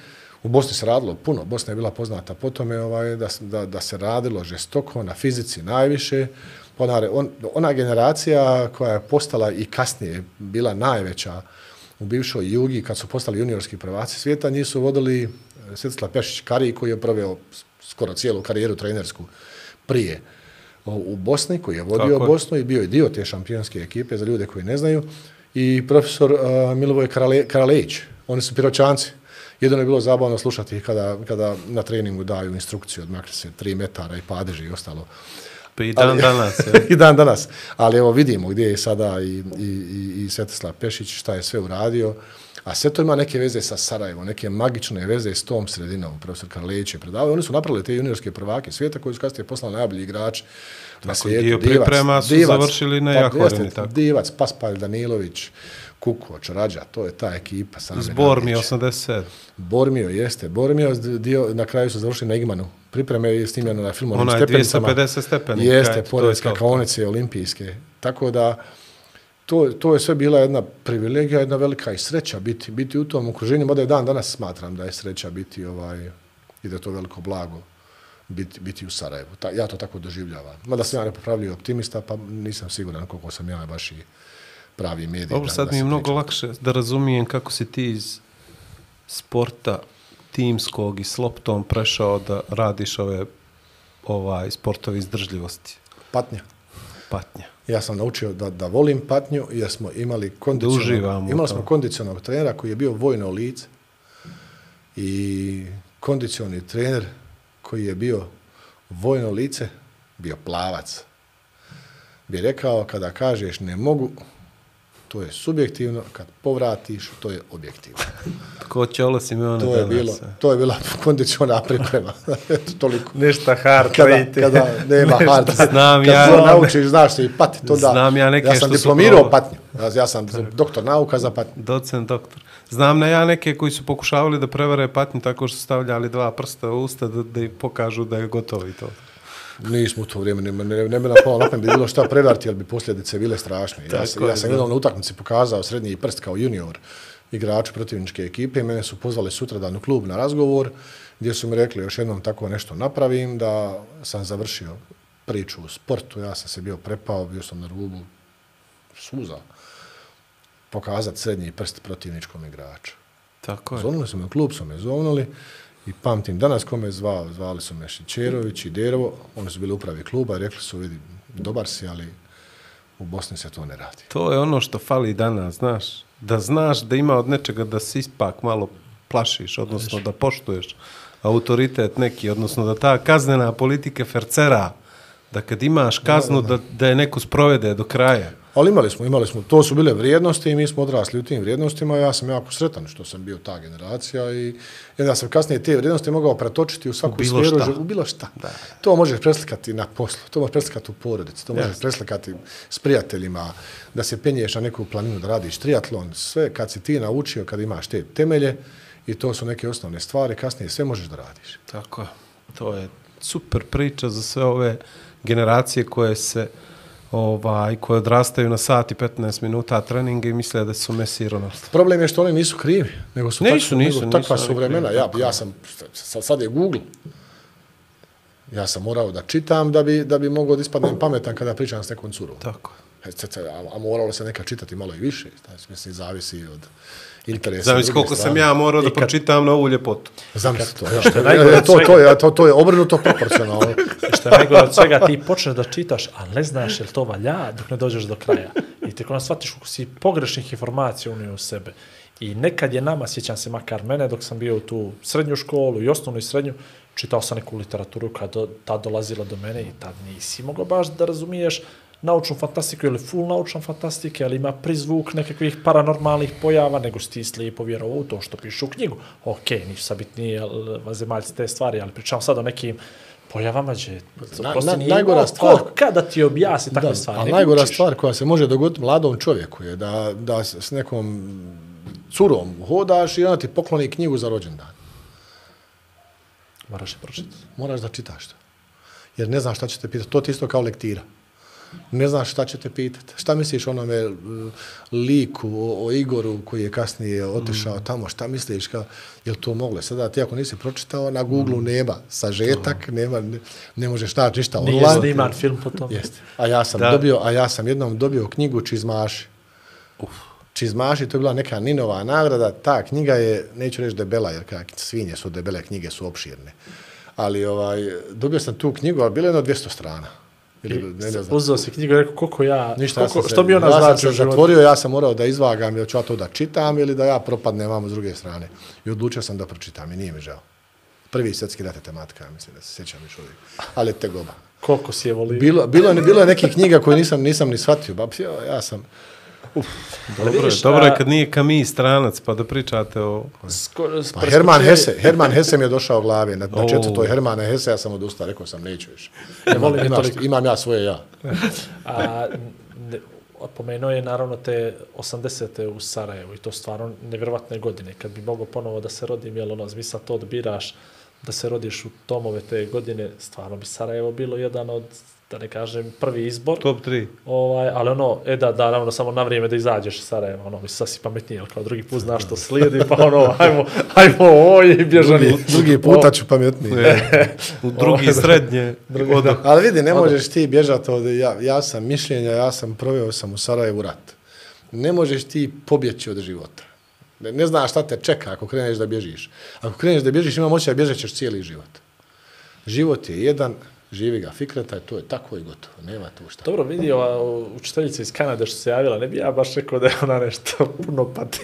U Bosni se radilo puno, Bosna je bila poznata po tome ovaj, da, da, da se radilo žestoko, na fizici najviše. Ona, on, ona generacija koja je postala i kasnije bila najveća u bivšoj Jugi, kad su postali juniorski prvaci svijeta, njih su vodili Svetislav Pešić-Kari, koji je proveo skoro cijelu karijeru trenersku prije u Bosni, koji je vodio Tako. Bosnu i bio je dio te šampionske ekipe, za ljude koji ne znaju, i profesor uh, Milivoj Karale, Karalejić. Oni su piroćanci. Jedno je bilo zabavno slušati kada, kada na treningu daju instrukciju, odmakli se tri metara i padeži i ostalo. Pa i dan ali, danas. I dan danas. Ali evo vidimo gdje je sada i, i, i, i Svetislav Pešić, šta je sve uradio. A sve to ima neke veze sa Sarajevom, neke magične veze s tom sredinom. Profesor Karlejić je predavao. Oni su napravili te juniorske prvake svijeta koji su kasnije poslali najbolji igrač na svijetu. Dio priprema su Divac, završili na Jahoreni. Divac, Paspalj, Danilović, Kukoč, Rađa, to je ta ekipa. Bormio osamdeset sedam. Bormio, jeste. Bormio, dio, na kraju su završili na Igmanu. Pripreme je snimljeno na filmu Onim stepenicama. Ona je dvjesto pedeset stepeni. Jeste, pored skakaonice olimpijske. Tako da, to, to je sve bila jedna privilegija, jedna velika i sreća biti, biti u tom okruženju. Mada je dan danas smatram da je sreća biti ovaj, i da je to veliko blago biti, biti u Sarajevu. Ta, ja to tako doživljavam. Mada sam ja nepopravljiv optimista, pa nisam siguran koliko sam ja baš i pravi medij. Dobro, sad mi je mnogo priča. Lakše da razumijem kako si ti iz sporta timskog i s loptom prešao da radiš ove ovaj, sportovi izdržljivosti. Patnja. Patnja. Ja sam naučio da, da volim patnju jer smo imali kondicionalnog, imali smo kondicionalnog trenera koji je bio vojno lice i kondicioni trener koji je bio vojno lice, bio plavac. Bi rekao kada kažeš ne mogu, to je subjektivno, kad povratiš, to je objektivno. Ko Ćolo Simeone to je bilo, to je bila kondiciona priprema. Toliko. Nešta hard. Kada, kada nema hard. Znam kad ja. Kad naučiš, znaš se i patiti, onda... Znam ja neke ja sam što diplomirao su... patnju. Ja sam doktor nauka za patnju. Docent doktor. Znam na ja neke koji su pokušavali da prevare patnju tako što su stavljali dva prsta u usta da, da pokažu da je gotovo i to. Nismo u to vrijeme, ne, ne, ne bi nam palo napam, bi bilo šta prevarti, jer bi posljedice bile strašne. Ja, sam, ja sam jednom na utakmici pokazao srednji prst kao junior igraču protivničke ekipe i mene su pozvali sutradan u klub na razgovor gdje su mi rekli još jednom tako nešto napravim, da sam završio priču u sportu, ja sam se bio prepao, bio sam na rubu suza pokazati srednji prst protivničkom igraču. Tako je. Zovnuli su me u klub, su me zovnuli. I pamtim danas kome je zvao, zvali su me Šićerović i Derovo, oni su bili upravi kluba i rekli su, vidi, dobar si, ali u Bosni se to ne radi. To je ono što fali danas, znaš, da znaš da ima od nečega da se ispak malo plašiš, odnosno da poštuješ autoritet neki, odnosno da ta kaznena politika fercera, da kad imaš kaznu da, da, da. da je neko sprovede do kraja. Ali imali smo, imali smo, to su bile vrijednosti i mi smo odrasli u tim vrijednostima. Ja sam jako sretan što sam bio ta generacija i ja sam kasnije te vrijednosti mogao pretočiti u svaku u sferu, šta. u bilo šta. Da. To možeš preslikati na poslu, to možeš preslikati u porodici, to možeš yes. preslikati s prijateljima, da se penješ na neku planinu, da radiš triatlon, sve kad si ti naučio, kad imaš te temelje i to su neke osnovne stvari, kasnije sve možeš da radiš. Tako, to je super priča za sve ove generacije koje se ovaj, koje odrastaju na sat i petnaest minuta treninga i misle da su Messi i Ronaldo. Problem je što oni nisu krivi, nego su nisu, tak, nisu, nego nisu, takva nisu su vremena. krivi, ja, ja sam, sad je Google, ja sam morao da čitam da bi, da bi mogao da ispadnem pametan kada pričam s nekom curom. Tako. A, a moralo se neka čitati malo i više, znači, mislim, zavisi od interesa. Zamisli koliko strane. Sam ja morao da kad... pročitam na ovu ljepotu. Zamisli to, ja. Što je najgore to, to, je, to, to je obrnuto proporcionalno. Što je najgore od svega, ti počneš da čitaš, a ne znaš je li to valja dok ne dođeš do kraja. I tek onda shvatiš kako si pogrešnih informacija unio u sebe. I nekad je nama, sjećam se makar mene, dok sam bio u tu srednju školu i osnovnu i srednju, čitao sam neku literaturu kad do, ta dolazila do mene i tad nisi mogao baš da razumiješ naučnu fantastiku ili full naučnu fantastike, ali ima prizvuk nekakvih paranormalnih pojava, nego si ti slijepo vjerovao u to što piše u knjigu. Okej, okay, nisu sad bitnije vanzemaljci te stvari, ali pričam sad o nekim pojavama, gdje na, na, najgora stvar, ko, kada ti objasni takve da, stvari. A najgora učiš. Stvar koja se može dogoditi mladom čovjeku je da, da s nekom curom hodaš i ona ti pokloni knjigu za rođendan. Moraš je pročitati. Moraš da čitaš to. jer ne znaš šta će te pitati. To ti isto kao lektira. Ne znaš šta će te pitati. Šta misliš o onome liku, o, o Igoru koji je kasnije otišao mm. tamo, šta misliš, ka, je li to moglo? Sada ti ako nisi pročitao, na Google mm. nema sažetak, mm. nema, ne, ne možeš naći ništa online. Nije sniman film po tom. Jeste. A ja sam dobio, a ja sam jednom dobio knjigu Čizmaši. Uf. Čizmaši, to je bila neka Ninova nagrada, ta knjiga je, neću reći debela, jer kak, svinje su debele, knjige su opširne. Ali ovaj, dobio sam tu knjigu, ali bilo je jedno dvjesto strana. Ili, ne, ne uzeo si knjigu i rekao koliko ja, ništa, koliko, ja što bi ona ja znači u životu. Zatvorio, ja sam morao da izvagam, ili ću ja to da čitam ili da ja propadnem vamo s druge strane. I odlučio sam da pročitam i nije mi žao. Prvi svjetski rat je tematika, mislim da se sjećam još uvijek. Ali je tegoba. Koliko si je volio? Bilo, bilo, je, bilo je nekih knjiga koje nisam, nisam ni shvatio. Ba, ja sam... Uf. Dobro, vidiš, dobro je kad nije Camus stranac, pa da pričate o... Sko, pa Herman Hesse, Herman Hesse mi je došao u glavi. Na, na četvrtoj Hermana Hesse ja sam odustao, rekao sam neću više. Imam, imaš, imam ja svoje ja. A, ne, pomenuo je naravno te osamdesete u Sarajevu i to stvarno nevjerovatne godine. Kad bi mogao ponovo da se rodim, jel ono, vi sad to odbiraš da se rodiš u tomove te godine, stvarno bi Sarajevo bilo jedan od, da ne kažem, prvi izbor. Top tri. Ovaj, ali ono, e da, da, naravno, samo na vrijeme da izađeš iz Sarajeva, ono, mi sad si pametniji, ali kao drugi put znaš što slijedi, pa ono, ajmo, ajmo, oj, bježani. Drugi, drugi puta ću pametniji. U drugi srednje. Drugi, da. Ali vidi, ne možeš ti bježati od, ja, ja sam mišljenja, ja sam proveo sam u Sarajevu rat. Ne možeš ti pobjeći od života. Ne, ne znaš šta te čeka ako kreneš da bježiš. Ako kreneš da bježiš, ima moći da bježećeš cijeli život. Život je jedan, živi ga Fikreta, to je tako i gotovo, nema tu šta. Dobro, vidi ova učiteljica iz Kanade što se javila, ne bi ja baš rekao da je ona nešto puno pati.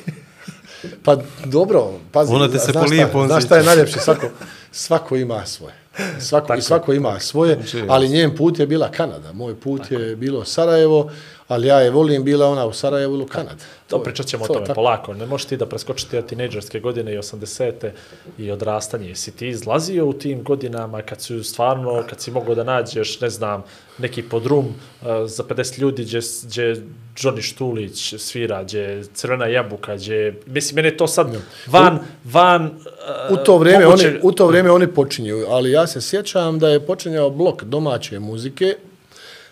Pa dobro, pazi, ona te se znaš, šta, znaš šta je najljepše, svako, svako ima svoje. Svako, i svako ima svoje, ali njen put je bila Kanada, moj put tako je bilo Sarajevo, ali ja je volim, bila ona u Sarajevu ili u Kanadi. To pričat ćemo to, o tome tako polako. Ne možeš ti da preskočiti od tinejdžerske godine i osamdesete i odrastanje. Si ti izlazio u tim godinama kad si stvarno, kad si mogao da nađeš, ne znam, neki podrum uh, za pedeset ljudi gdje, gdje Johnny Štulić svira, gdje Crvena jabuka, gdje... Mislim, mene to sad van... van uh, u, to vrijeme moguće... oni, u to vrijeme oni počinju, ali ja se sjećam da je počinjao blok domaće muzike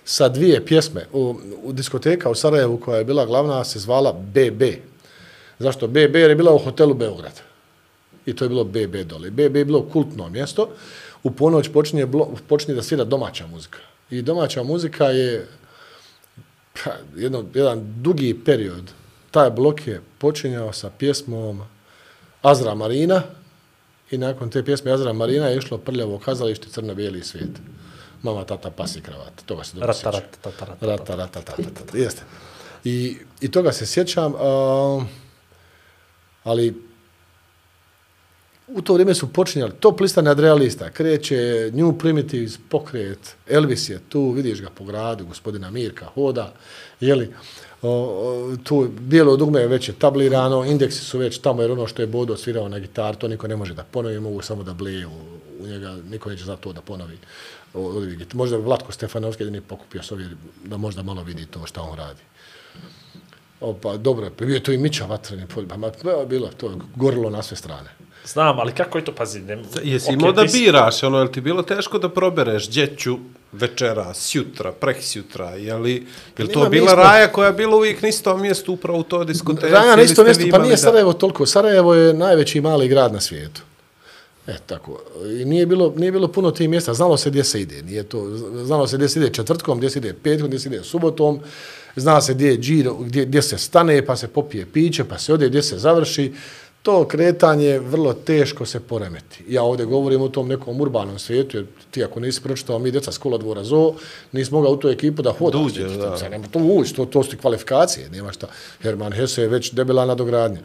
sa dvije pjesme. U, u diskoteka u Sarajevu koja je bila glavna se zvala B B. Zašto B B? Jer je bila u hotelu Beograd. I to je bilo B B dole. B B je bilo kultno mjesto. U ponoć počinje, blo, počinje da svira domaća muzika. I domaća muzika je pa, jedno, jedan dugi period. Taj blok je počinjao sa pjesmom Azra Marina i nakon te pjesme Azra Marina je išlo Prljavo kazalište Crno-bijeli svijet. Mama, tata, pas i kravat. Toga se dobro sjećam. Rata, rata, rata, rata, rata, rata, rata. Jeste. I, I toga se sjećam, uh, ali u to vrijeme su počinjali top lista nadrealista. Kreće New Primitives pokret, Elvis je tu, vidiš ga po gradu, gospodina Mirka hoda, jeli, o, o, tu bijelo dugme je već je tablirano, indeksi su već tamo, jer ono što je Bodo svirao na gitar, to niko ne može da ponovi, mogu samo da bleju u njega, niko neće za to da ponovi. Možda Vlatko Stefanovski jedini pokupio s ovdje da možda malo vidi to što on radi. O, pa dobro, bio je to i Mića Vatreni, pa bilo to, gorilo na sve strane. Znam, ali kako je to, pazi? Ne, jesi okay, imao da si... biraš, ono, je li ti bilo teško da probereš djeću večera, sjutra, preksjutra, je li, je li to Nima, bila smo... Raja koja je bila uvijek na istom mjestu upravo u toj diskoteci? Raja na istom mjestu, pa nije da... Sarajevo toliko. Sarajevo je najveći mali grad na svijetu. E, tako. I nije bilo, nije bilo puno tih mjesta. Znalo se gdje se ide. Nije to, znalo se gdje se ide četvrtkom, gdje se ide petkom, gdje se ide subotom. Zna se gdje je džiro, gdje, gdje se stane, pa se popije piće, pa se ode, gdje se završi. To kretanje vrlo teško se poremeti. Ja ovdje govorim o tom nekom urbanom svijetu, jer ti ako nisi pročitao mi djeca s Kolodvora zoo, nisi mogao u tu ekipu da hodaš. Duđe, da. Nema to ući, to, to su ti kvalifikacije, nema šta. Herman Hesse je već debela nadogradnja.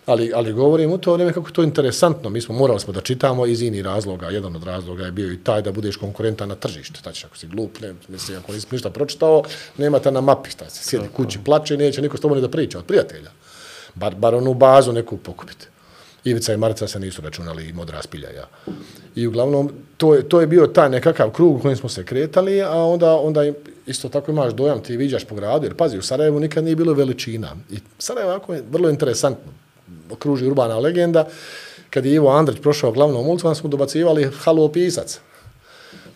Ali, ali govorim u to vrijeme kako to je interesantno. Mi smo morali smo da čitamo iz inih razloga. Jedan od razloga je bio i taj da budeš konkurentan na tržištu. Znači, ako si glup, ne, misli, ako nisi ništa pročitao, nemate na mapi. Šta se sjedi kući, plače, neće niko s tobom ni da priča od prijatelja. Bar, bar onu bazu neku pokupiti. Ivica i Marica se nisu računali i Modra spilja, ja. I uglavnom, to je, to je bio taj nekakav krug u kojem smo se kretali, a onda, onda isto tako imaš dojam, ti viđaš po gradu, jer pazi, u Sarajevu nikad nije bilo veličina. I Sarajevo ovako je vrlo interesantno. Okruži urbana legenda. Kad je Ivo Andrić prošao glavnom ulicom, smo dobacivali halo pisac.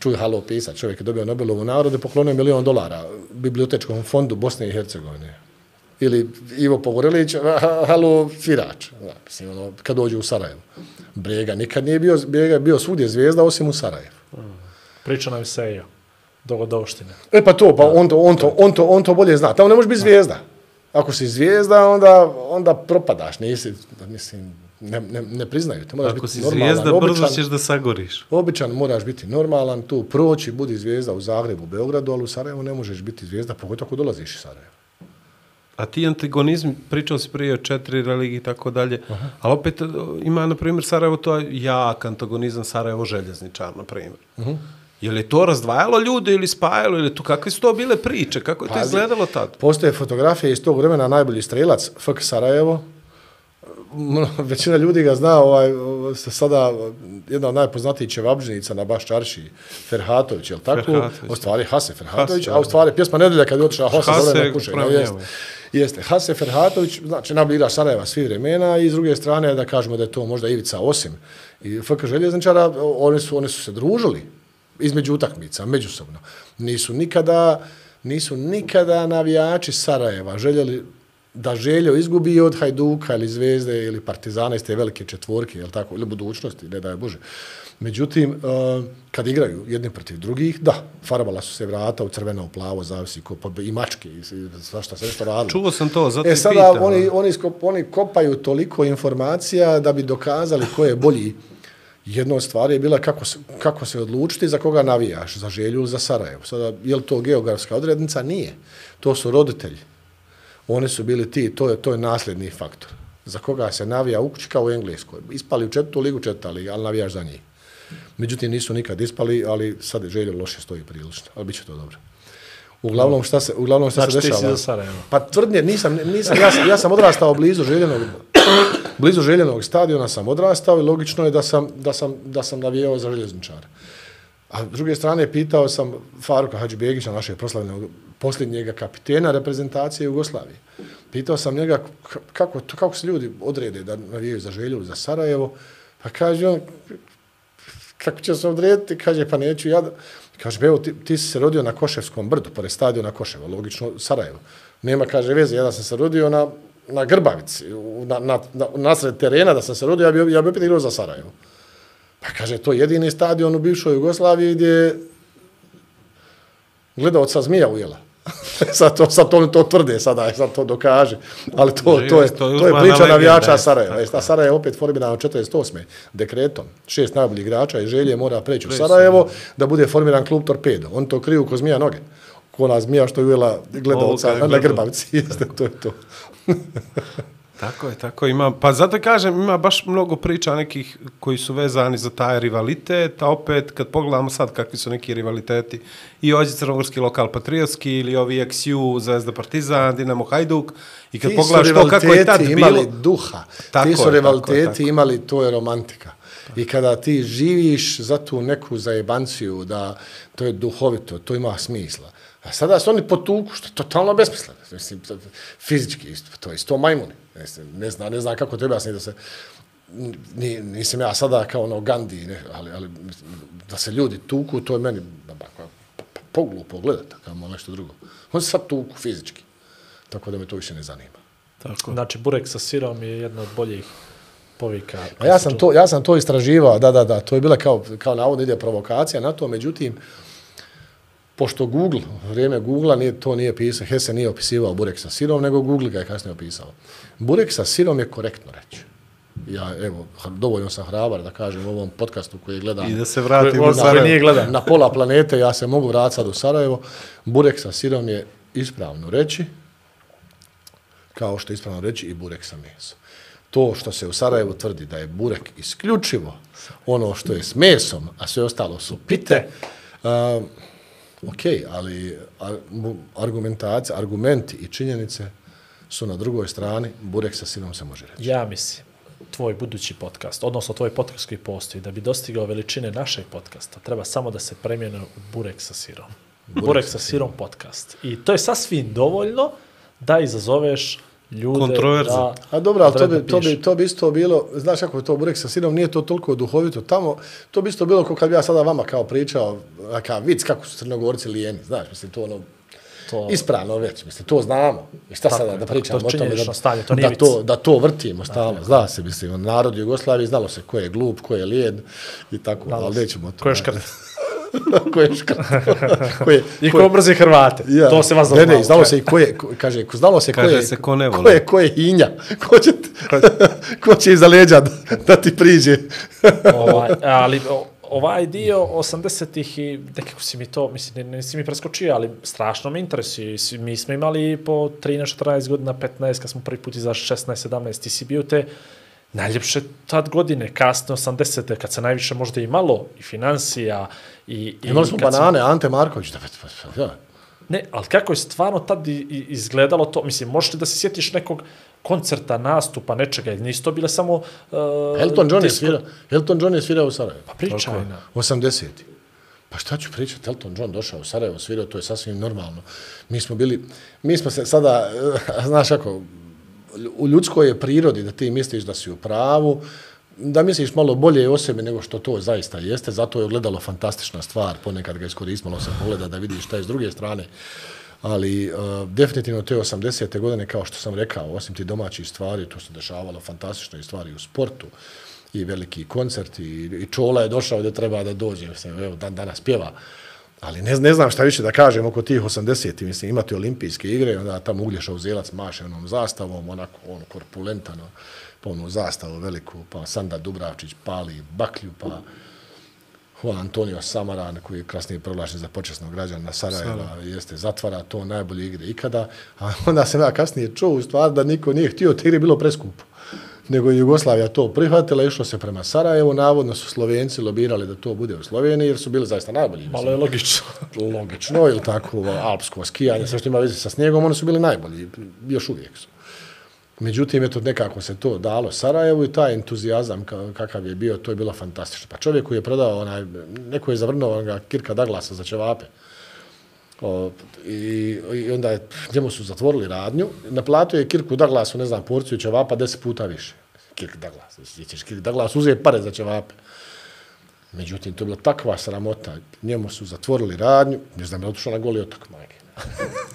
čuj halo pisat, čovjek je dobio Nobelovu nagradu i poklonio milion dolara bibliotečkom fondu Bosne i Hercegovine. Ili Ivo Pogorelić, halo svirač, da, mislim, ono, kad dođe u Sarajevo. Brega nikad nije bio, Brega je bio svugdje zvijezda osim u Sarajevu. Priča nam se i dogodovštine. E pa to, pa on to, on to, on to, on to bolje zna. Tamo ne možeš biti zvijezda. Ako si zvijezda, onda, onda propadaš, nisi, mislim, ne, ne, ne priznaju te. Moraš Ako biti si normalan, zvijezda, običan, brzo ćeš da sagoriš. Običan moraš biti normalan, tu proći, budi zvijezda u Zagrebu, u Beogradu, ali u Sarajevu ne možeš biti zvijezda, pogotovo ako dolaziš iz Sarajeva. A ti antagonizmi, pričao si prije o četiri religije i tako dalje, ali opet ima, na primjer, Sarajevo, to je jak antagonizam Sarajevo željezničar, na primjer. Uh-huh. Je li to razdvajalo ljude ili spajalo, ili to, kakve su to bile priče, kako je to izgledalo tad? Postoje fotografije iz tog vremena, najbolji strelac, F K Sarajevo. Većina ljudi ga zna, ovaj, sada jedna od najpoznatijih čevabžnica na baš čarši, Ferhatović, je li tako? Ferhatović. U stvari Hase Ferhatović, Hase, a u stvari pjesma Nedelja kad je otišla Hase, Hase dole na kušenje. Jeste. Jeste. Hase Ferhatović, znači najbolji igrač Sarajeva svih vremena i s druge strane da kažemo da je to možda Ivica Osim i F K željezničara, oni su, oni su se družili između utakmica, međusobno. Nisu nikada, nisu nikada navijači Sarajeva željeli da Željo izgubi od Hajduka ili Zvezde ili Partizana iz te velike četvorke, jel tako, ili budućnosti, ne daj Bože. Međutim, kad igraju jedni protiv drugih, da, farbala su se vrata u crveno, u plavo, zavisi ko, i mačke, i svašta se nešto radilo. Čuo sam to, zato e, sada pitam. Oni, oni, oni kopaju toliko informacija da bi dokazali ko je bolji. Jedna od stvari je bila kako se, kako se odlučiti za koga navijaš, za Želju ili za Sarajevo. Sada, je li to geografska odrednica? Nije. To su roditelji. Oni su bili ti, to je, to je nasljedni faktor. Za koga se navija u kući kao u Engleskoj. Ispali u četvrtu ligu, četvrta liga, ali navijaš za njih. Međutim, nisu nikad ispali, ali sad je Željo loše stoji prilično. Ali bit će to dobro. Uglavnom, šta se, uglavnom šta znači, se dešava? Znači, ti si za Sarajevo. Pa tvrdnje, nisam, nisam, ja, sam, ja sam odrastao blizu Željenog, blizu Željenog stadiona sam odrastao i logično je da sam, da sam, da sam navijao za željezničara. A s druge strane, pitao sam Faruka Hadžibegića, našeg proslavljenog posljednjega kapitena reprezentacije Jugoslavije. Pitao sam njega kako, kako se ljudi odrede da navijaju za Želju za Sarajevo. Pa kaže on, kako će se odrediti? Kaže, pa neću ja. Kaže, evo, ti, ti si se rodio na Koševskom brdu, pored stadiona Koševo, logično Sarajevo. Nema, kaže, veze, ja da sam se rodio na, na Grbavici, na, na, na, nasred terena da sam se rodio, ja bi, ja bi opet igrao za Sarajevo. Pa kaže, to je jedini stadion u bivšoj Jugoslaviji gdje gledaoca zmija ujela. sad to, sad to, to tvrde, sada sad to dokaže. Ali to, to, je, to je, to je priča navijača Sarajeva. A Sarajevo opet formirano četrdeset osme dekretom. Šest najboljih igrača iz Želje mora preći u Sarajevo da bude formiran klub Torpedo. On to kriju ko zmija noge. Ko ona zmija što je ujela gledaoca na, na Grbavici. Jeste, to je to. Tako je, tako ima. Pa zato kažem, ima baš mnogo priča nekih koji su vezani za taj rivalitet, a opet kad pogledamo sad kakvi su neki rivaliteti i ovdje crnogorski lokal patriotski ili ovi X U, Zvezda Partizan, Dinamo Hajduk i kad ti pogledaš to kako je tad bilo... imali duha, tako ti su je, rivaliteti tako je, tako. imali, to je romantika. I kada ti živiš za tu neku zajebanciju, da to je duhovito, to ima smisla. A sada su oni potuku, što je totalno besmisleno. Mislim, fizički isto, to je isto majmuni. Ne znam, ne znam kako treba da se... Nisam ja sada kao ono Gandhi, ne, ali, ali da se ljudi tuku, to je meni poglupo gledati, kao malo nešto drugo. On se sad tuku fizički, tako da me to više ne zanima. Tako. Znači, burek sa sirom je jedna od boljih povika. A ja sam to, ja sam to istraživao, da, da, da, to je bila kao, kao navodno ide provokacija na to, međutim, pošto Google, vrijeme Googlea, nije, to nije pisao, Hesse nije opisivao burek sa sirom, nego Google ga je kasnije opisao. Burek sa sirom je korektno reći. Ja, evo, dovoljno sam hrabar da kažem u ovom podcastu koji gledam. I da se vratim u Sarajevo. Na pola planete, ja se mogu vratiti sad u Sarajevo. Burek sa sirom je ispravno reći, kao što je ispravno reći i burek sa mesom. To što se u Sarajevu tvrdi da je burek isključivo ono što je s mesom, a sve ostalo su pite, uh, ok, ali argumentacija, argumenti i činjenice su na drugoj strani, burek sa sirom se može reći. Ja mislim, tvoj budući podcast, odnosno tvoj podcast koji postoji, da bi dostigao veličine našeg podcasta, treba samo da se premijene u burek sa sirom. Burek, burek sa sirom podcast. I to je sasvim dovoljno da izazoveš ljude. Kontroverzan. Da, A dobro, ali to da bi, to, piše. bi, to bi isto bilo, znaš kako je to burek sa sirom, nije to toliko duhovito tamo, to bi isto bilo kao kad bi ja sada vama kao pričao, kao vic kako su Crnogorci lijeni, znaš, mislim, to ono, To- ispravno već, mislim, to znamo. I šta Tako sada je, da tako, pričamo to o tome, činjenično da, stanje, to nije da, vic. to, da to vrtimo stalno, zna se, mislim, narod Jugoslavije, znalo se ko je glup, ko je lijed i tako, ali nećemo o tome. Ko je škrt? ko je škrt? ko je, I ko je- ko mrzi Hrvate. Ja. To se vas Ne, ne, znalo se i ko je, ko, kaže, ko, znalo se ko Kaže je, se ko ne voli. ko je, ko je hinja, ko će, ko će iza leđa da, da ti priđe. ovaj, ali o- ovaj dio osamdesetih i nekako si mi to, mislim, ne, nisi mi preskočio, ali strašno me interesuje. Svi- Mi smo imali po trinaest četrnaest godina, petnaest, kad smo prvi put izašli šesnaest sedamnaest, ti si bio te najljepše tad godine, kasne osamdesete, kad se najviše možda imalo i financija i... i Imali smo kad si- banane, Ante Marković, da, pa, pa, ja. Ne, ali kako je stvarno tad i- i- izgledalo to, mislim, možeš li da se sjetiš nekog koncerta, nastupa, nečega, ili nisu to bile samo... Uh, Elton John je disko- svira, Elton John je svirao u Sarajevu. Pa pričaj na. osamdeseti. Pa šta ću pričati, Elton John došao u Sarajevo, svirao, to je sasvim normalno. Mi smo bili, mi smo se sada, eh, znaš kako, u ljudskoj je prirodi da ti misliš da si u pravu, da misliš malo bolje o sebi nego što to zaista jeste, zato je ogledalo fantastična stvar, ponekad ga iskoristilo se pogleda da vidiš šta je s druge strane. Ali uh, definitivno te osamdesete godine, kao što sam rekao, osim ti domaćih stvari, to se dešavalo fantastične stvari u sportu, i veliki koncerti, i, i Čola je došao gdje treba da dođe, mislim, evo, dan danas pjeva. Ali ne, ne znam šta više da kažem oko tih osamdesetih, mislim, imate olimpijske igre, onda tamo Uglješa Uzelac maše onom zastavom, onako, on korpulentano, pa onu zastavu veliku, pa Sanda Dubravčić pali baklju, pa Juan Antonio Samaran, koji je kasnije proglašen za počasnog građana Sarajeva, jeste, zatvara to najbolje igre ikada, a onda sam ja kasnije čuo u stvari da niko nije htio, te igre bilo preskupo. Nego je Jugoslavija to prihvatila, išlo se prema Sarajevu, navodno su Slovenci lobirali da to bude u Sloveniji, jer su bili zaista najbolji. Malo je logično. Logično, ili tako, alpsko skijanje, sve što ima veze sa snijegom, oni su bili najbolji, još uvijek su. Međutim, eto, nekako se to dalo Sarajevu i taj entuzijazam kakav je bio, to je bilo fantastično. Pa čovjek koji je prodao, onaj, neko je zavrnuo onoga Kirka Douglasa za ćevape. O, i, I onda je, njemu su zatvorili radnju, naplatio je Kirku Douglasu, ne znam, porciju ćevapa deset puta više. Kirk Douglas, ćeš Kirk Douglas uzeti pare za ćevape. Međutim, to je bila takva sramota, njemu su zatvorili radnju, ne znam, je otišao na Goli otok, majke.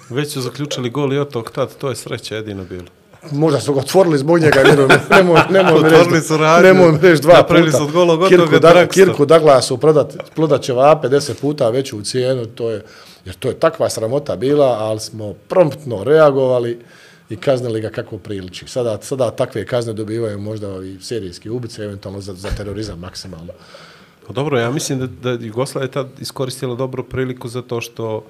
Već su zaključili Goli otok tad, to je sreća jedino bilo. Možda su ga otvorili zbog njega, nemoj, nemoj, nemoj mi Otvorili reći, su radnju, nemoj mi reći dva napravili puta. su od golog otoka Kirku, da, drugstore. Kirku Douglasu prodat, prodat ćevape deset puta veću u cijenu, to je, jer to je takva sramota bila, ali smo promptno reagovali i kaznili ga kako priliči. Sada, sada takve kazne dobivaju možda i serijski ubice, eventualno za, za terorizam maksimalno. Pa dobro, ja mislim da, da Jugoslavia je tad iskoristila dobru priliku zato što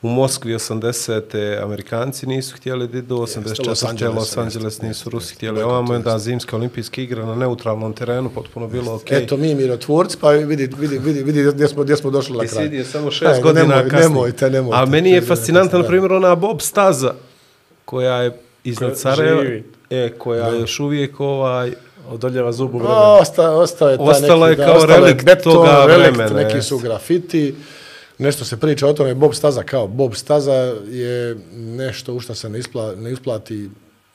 u Moskvi osamdesete Amerikanci nisu htjeli da idu, osamdeset četvrte Los Angeles nisu Rusi htjeli. Ovamo je da zimske olimpijske igre na neutralnom terenu, potpuno bilo okej. Eto mi mirotvorci, pa vidi, vidi, vidi, vidi gdje smo, gdje smo došli na I kraj. sidi je samo šest Ajde, godina nemoj, kasnije. Nemojte, nemojte. A meni je Šest godina fascinantna, na kasnije. primjer, ona Bob staza koja je iznad Koja Sarajeva, živi. e, koja je još uvijek ovaj... Odoljeva zubu vremena. Osta, ostao je taj Ostalo neki, je kao ostalo je relikt beton, toga relikt, vremena, neki jest. su grafiti, nešto se priča o tome, Bob staza kao Bob staza je nešto u što se ne, ispla, ne isplati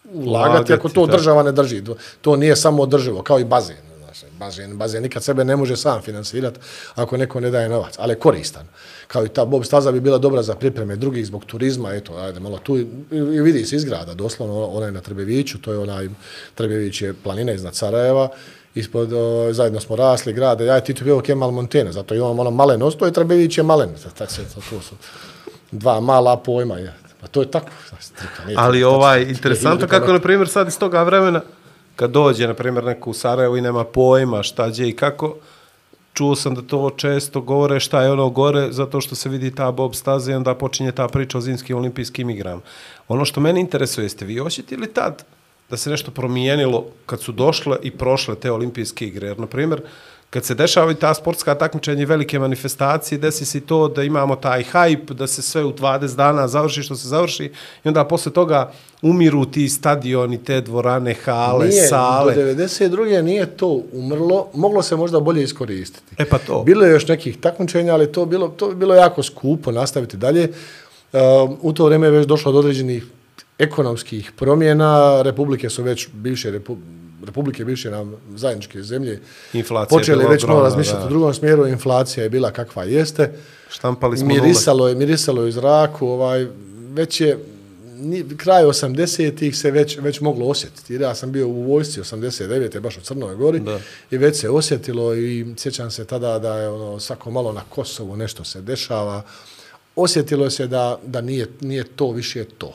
ulagati, Ulagati, ako to da. država ne drži. To, to nije samo održivo, kao i bazen. Znaš, bazen, bazen nikad sebe ne može sam finansirati ako neko ne daje novac, ali je koristan. Kao i ta Bob staza bi bila dobra za pripreme drugih zbog turizma, eto, ajde malo tu i, i vidi se izgrada, doslovno ona je na Trebeviću, to je onaj, Trebević je planina iznad Sarajeva, ispod, o, zajedno smo rasli grade, ja je Tito bio Kemal Montena, zato imamo ono malen osto i Trebević je malen, tako se, to su dva mala pojma, je. Pa to je tako. Strika, nije Ali to, ovaj, to, interesantno kako, na primjer, sad iz toga vremena, kad dođe, na primjer, neko u Sarajevo i nema pojma šta gdje i kako, čuo sam da to često govore šta je ono gore, zato što se vidi ta Bob staza i onda počinje ta priča o zimskim olimpijskim igrama. Ono što mene interesuje, jeste vi osjetili tad da se nešto promijenilo kad su došle i prošle te olimpijske igre? Jer, na primjer, kad se dešavaju ta sportska takmičenja i velike manifestacije, desi se to da imamo taj hype, da se sve u dvadeset dana završi što se završi i onda posle toga umiru ti stadioni, te dvorane, hale, nije, sale. do devedeset druge nije to umrlo, moglo se možda bolje iskoristiti. E pa to. Bilo je još nekih takmičenja, ali to bilo to bi bilo jako skupo nastaviti dalje. Uh, u to vrijeme je već došlo do određenih ekonomskih promjena, republike su već bivše, repu, republike bivše nam zajedničke zemlje, inflacija počeli već malo razmišljati da. u drugom smjeru, inflacija je bila kakva jeste, Štampali smo mirisalo je, mirisalo je u zraku, ovaj, već je, kraj osamdesetih se već, već moglo osjetiti. Jer ja sam bio u vojsci osamdeset devete baš u Crnoj Gori da. I već se osjetilo i sjećam se tada da je ono, svako malo na Kosovu nešto se dešava. Osjetilo se da, da nije, nije to više to.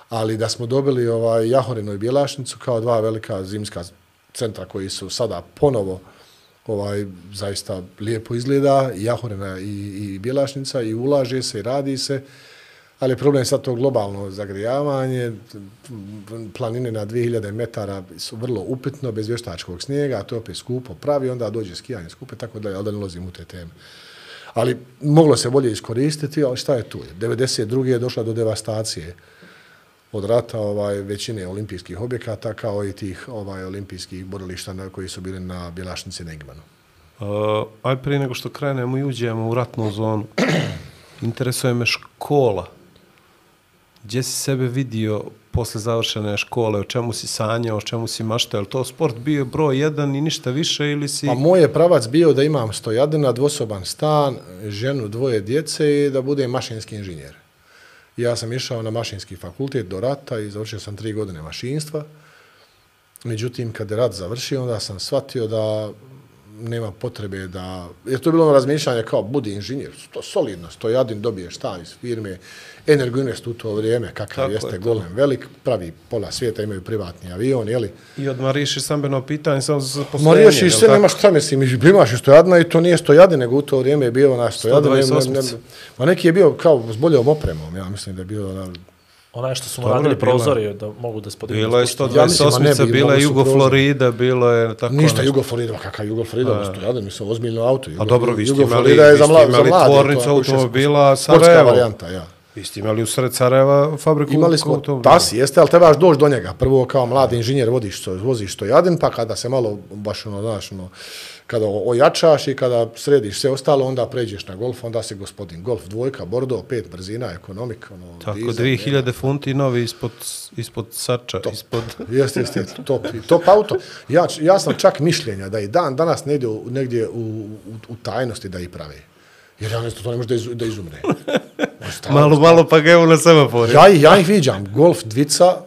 Ali da smo dobili ovaj Jahorinu i Bjelašnicu kao dva velika zimska centra koji su sada ponovo ovaj zaista lijepo izgleda, Jahorina i, i Bjelašnica i ulaže se i radi se. Ali problem je sad to globalno zagrijavanje, planine na dvije hiljade metara su vrlo upitno, bez vještačkog snijega, a to je opet skupo pravi, onda dođe skijanje skupe, tako da, ali da ne ulazim u te teme. Ali moglo se bolje iskoristiti, ali šta je tu? devedeset druge je došla do devastacije od rata ovaj, većine olimpijskih objekata, kao i tih ovaj, olimpijskih borilišta na, koji su bili na Bjelašnici i Negmanu. Uh, aj prije nego što krenemo i uđemo u ratnu zonu, interesuje me škola. Gdje si sebe vidio posle završene škole, o čemu si sanjao, o čemu si maštao? Je li to sport bio broj jedan i ništa više ili si... Pa moj je pravac bio da imam stojadina, dvosoban stan, ženu, dvoje djece i da budem mašinski inženjer. Ja sam išao na mašinski fakultet do rata i završio sam tri godine mašinstva. Međutim, kad je rat završio, onda sam shvatio da nema potrebe da... Jer to je bilo ono razmišljanje kao budi inženjer, to solidno, stojadin, dobiješ stan iz firme, Energoinvest u to vrijeme, kakav Tako jeste je golem velik, pravi pola svijeta, imaju privatni avion, jeli? I odmah riješiš stambeno pitanje samo za Ma zaposlenje. riješiš sve, nemaš šta mislim, imaš i stojadina i to nije stojadin, nego u to vrijeme je bio na stojadin. sto dvadeset osam. Ma neki je bio kao s boljom opremom, ja mislim da je bio... Na, Onaj što su mu Dobro, radili bila- prozori da mogu da spodignu. Bilo je Ja mislim, ma ne sto dvadeset osam, bi, bila je mogli su Jugo prozor. Florida, bilo je tako Ništa, nešto. Jugo Florida, ma kakav Jugo Florida, stojadin, mislim, ozbiljno auto. A dobro, vi ste Jugo imali, Florida je vi za ste mla- za imali mlade, tvornicu to je ako automobila sportska Sarajevo. varijanta, ja. Vi ste imali u sred Sarajeva fabriku Imali smo automobila. tasi, jeste, ali trebaš doći do njega. Prvo kao mladi inženjer vodiš, to, voziš stojadin, pa kada se malo, baš ono, znaš, ono, kada ojačaš i kada središ sve ostalo, onda pređeš na golf, onda si gospodin. Golf dvojka, Bordeaux, pet brzina, ekonomik, ono, Tako, dizel, dvije hiljade nema. funti novi ispod, ispod sača, ispod... Jeste, jeste, top, top auto. Ja, ja sam čak mišljenja da i dan danas negdje, u- negdje u, u, u tajnosti da i prave. Jer ja ne znam, to ne može da, iz, da izumre. Malo, malo pa ga evo na semaforu. Ja, ih- ja ih viđam, golf dvica,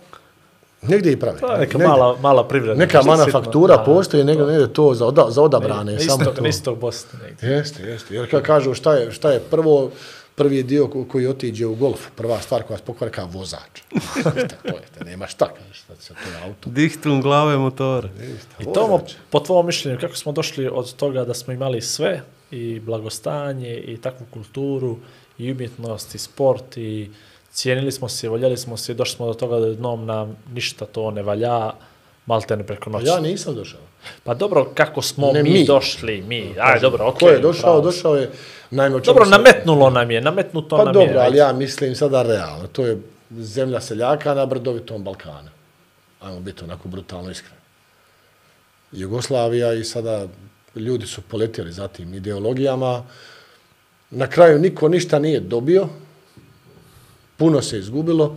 negdje i prave. To je neka Negdje. mala, mala privreda. Neka nešto manufaktura sitno, da. postoji, negdje, negdje to za, oda, za odabrane. Na samo istok, to. na istok Bosne negdje. Jeste, jeste. Jer kad kažu šta je, šta je prvo, prvi dio ko- koji otiđe u golf, prva stvar koja se pokvari kao vozač. Šta to je, te nema šta, kažeš, šta se to je auto. Dihtum glave motora. I Tomo, po tvojom mišljenju, kako smo došli od toga da smo imali sve, i blagostanje, i takvu kulturu, i umjetnost, i sport, i cijenili smo se, voljeli smo se, i došli smo do toga da jednom nam ništa to ne valja, malte ne preko noći. Ja nisam došao. Pa dobro, kako smo Ne, mi, mi. došli, mi, aj dobro, okej. Ko je došao, pravo. došao je, naime, o čemu Dobro, se- nametnulo nam je, nametnuto Pa nam dobro, je. ali ajde. ja mislim sada realno. To je zemlja seljaka na brdovitom Balkanu. Ajmo biti onako brutalno iskreni. Jugoslavija i sada ljudi su poletjeli za tim ideologijama. Na kraju niko ništa nije dobio. Puno se izgubilo.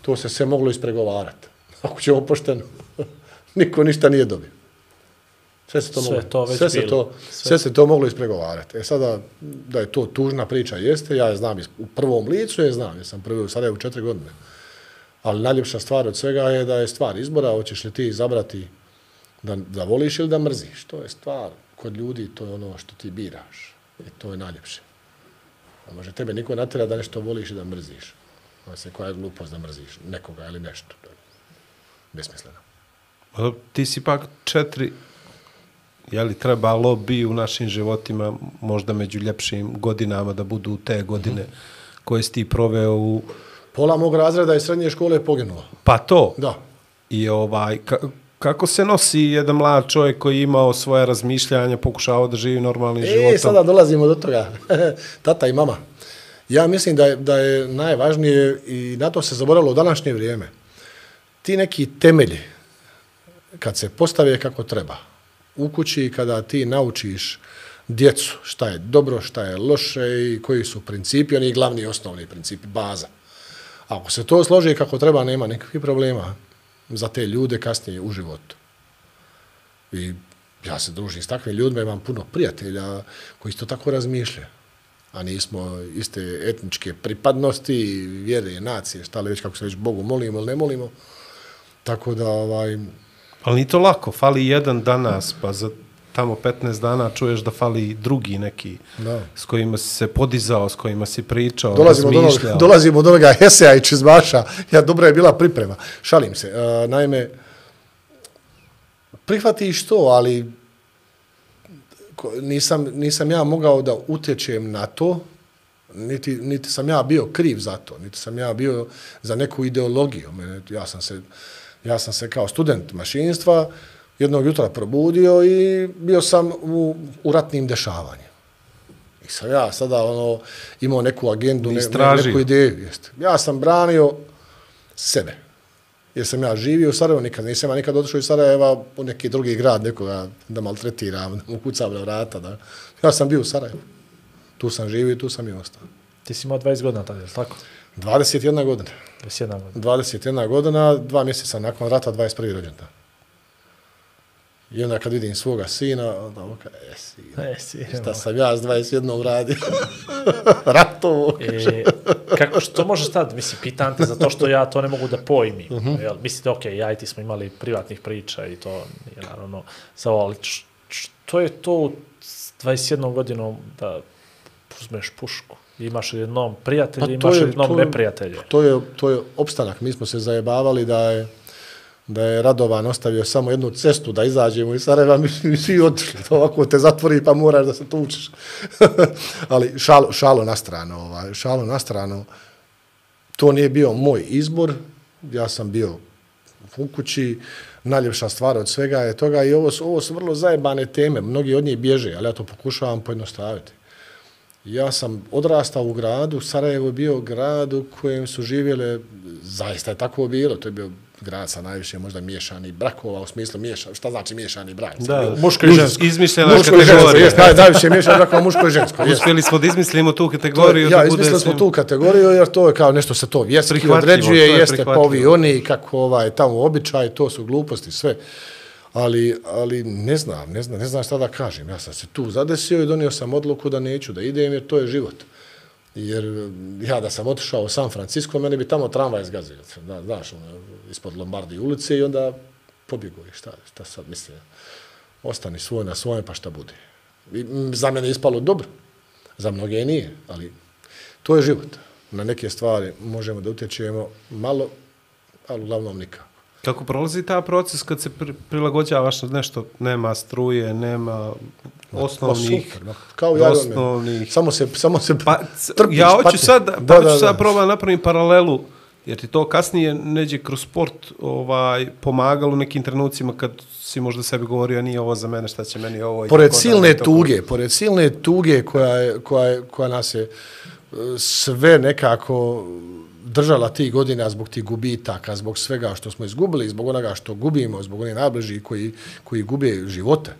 To se sve moglo ispregovarati. Ako ćemo pošteno, niko ništa nije dobio. Sve se to, Sve moglo, to već sve se bilo. to, Sve. sve se to moglo ispregovarati. E sada, da je to tužna priča, jeste, ja je znam iz- u prvom licu, je znam, jer sam prvi u Sarajevu četiri godine. Ali najljepša stvar od svega je da je stvar izbora, hoćeš li ti izabrati da, da voliš ili da mrziš. To je stvar kod ljudi, to je ono što ti biraš. I to je najljepše. A može tebe niko natjera da nešto voliš i da mrziš. Ono se koja je glupost da mrziš nekoga ili nešto. To je besmisleno. A ti si pak četiri, je li trebalo bi u našim životima možda među ljepšim godinama da budu te godine mm-hmm. koje si ti proveo u... Pola mog razreda iz srednje škole je poginulo. Pa to. Da. I ovaj, ka, kako se nosi jedan mlad čovjek koji je imao svoje razmišljanja, pokušavao da živi normalnim E, životom? sada dolazimo do toga. Tata i mama. Ja mislim da je, da je najvažnije i na to se zaboravilo u današnje vrijeme. Ti neki temelji, kad se postave kako treba, u kući kada ti naučiš djecu šta je dobro, šta je loše i koji su principi, oni glavni i osnovni principi, baza. Ako se to složi kako treba, nema nikakvih problema za te ljude kasnije u životu. I ja se družim s takvim ljudima, imam puno prijatelja koji isto tako razmišljaju. A nismo iste etničke pripadnosti, vjere, nacije, šta li već, kako se već Bogu molimo ili ne molimo. Tako da, ovaj... Ali nije to lako, fali jedan danas, pa za tamo petnaest dana čuješ da fali drugi neki da. S kojima si se podizao, s kojima si pričao, dolazimo razmišljao. Do onoga, dolazimo do onoga eseja i čizmaša. Ja, dobra je bila priprema. Šalim se. Uh, naime, prihvatiš to, ali nisam, nisam ja mogao da utječem na to, niti, niti sam ja bio kriv za to, niti sam ja bio za neku ideologiju. Ja sam se, ja sam se kao student mašinstva jednog jutra probudio i bio sam u, u ratnim dešavanjima. I sam ja sada ono, imao neku agendu, ne, ne, neku ideju. Jest. Ja sam branio sebe. Jer sam ja živio u Sarajevu, nikad nisam ja nikad otišao iz Sarajeva u neki drugi grad, nekoga da maltretiram, da mu kucam na vrata. Da. Ja sam bio u Sarajevu. Tu sam živio i tu sam i ostao. Ti si imao dvadeset godina tada, je li tako? dvadeset jedna godina. dvadeset jedna godina. dvadeset jedna godina, dva mjeseca nakon rata, dvadeset prvi rođendan. I onda kad vidim svoga sina, onda oka, e, sina, e, sina šta sam ja s dvadeset jednom radio? Ratovo. E, kako što možeš tad, mislim, pitan te zato što ja to ne mogu da pojmim. Uh-huh. Jel, mislite, ok, ja i ti smo imali privatnih priča i to je naravno samo, ali što je to s dvadeset jednom godinom da uzmeš pušku? Imaš jednom prijatelja, pa imaš jednom neprijatelja. To je, to je opstanak. Mi smo se zajebavali da je da je Radovan ostavio samo jednu cestu da izađemo iz Sarajeva, mi, mi svi otišli. To ovako te zatvori pa moraš da se tučeš. Ali šalo, šalo na stranu. Ovaj, šalo na stranu. To nije bio moj izbor. Ja sam bio u kući. Najljepša stvar od svega je toga i ovo su, ovo su vrlo zajebane teme. Mnogi od njih bježe, ali ja to pokušavam pojednostaviti. Ja sam odrastao u gradu. Sarajevo je bio grad u kojem su živjele, zaista je tako bilo, to je bio grad sa najviše možda miješani brakova, u smislu miješani, šta znači miješani brak? Da, muško i žensko. Izmišljena kategorija. Jest, najviše miješani brakova, muško i žensko. Uspjeli smo da izmislimo tu kategoriju. Ja, izmislili smo tu kategoriju, jer to je kao nešto se to vjerski određuje, jeste povi oni, kako ovaj, tamo običaj, to su gluposti, sve. Ali, ali ne znam, ne znam, ne znam šta da kažem. Ja sam se tu zadesio i donio sam odluku da neću da idem, jer to je život. Jer ja da sam otišao u San Francisco, mene bi tamo tramvaj zgazio. Da, znaš, ono, ispod Lombardi ulice i onda pobjegao. Šta, šta sad mislim? Ostani svoj na svojem, pa šta bude. I, za mene je ispalo dobro. Za mnoge nije, ali to je život. Na neke stvari možemo da utječemo malo, ali uglavnom nikako. Kako prolazi ta proces kad se prilagođavaš na nešto, nema struje, nema osnovnih, super, kao ja osnovnih. Samo se, samo se pa, trpiš, ja hoću pati. sad, pa da, hoću da, sad da. probati napravim paralelu, jer ti to kasnije neđe kroz sport ovaj, pomagalo u nekim trenucima kad si možda sebi govorio nije ovo za mene, šta će meni ovo. Pored silne da, tuge, to... pored silne tuge koja, je, koja, je, koja nas je sve nekako držala tih godina zbog tih gubitaka, zbog svega što smo izgubili, zbog onoga što gubimo, zbog onih najbližih koji, koji gube živote.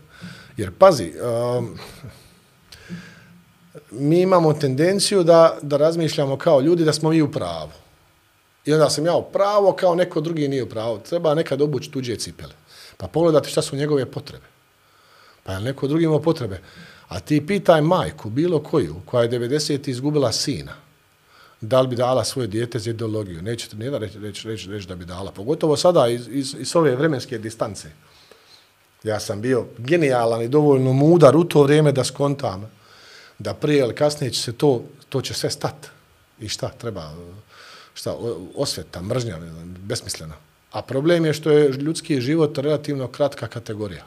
Jer, pazi, um, mi imamo tendenciju da, da razmišljamo kao ljudi da smo mi u pravu. I onda sam ja u pravu, kao neko drugi nije u pravu. Treba nekad obući tuđe cipele. Pa pogledati šta su njegove potrebe. Pa je neko drugi imao potrebe. A ti pitaj majku, bilo koju, koja je devedeset izgubila sina, da li bi dala svoje dijete za ideologiju. Nećete nijedan reći, reći, reći, reći da bi dala. Pogotovo sada iz, iz, iz ove vremenske distance. Ja sam bio genijalan i dovoljno mudar u to vrijeme da skontam da prije ili kasnije će se to, to će sve stati. I šta treba? Šta? Osveta, mržnja, besmislena. A problem je što je ljudski život relativno kratka kategorija.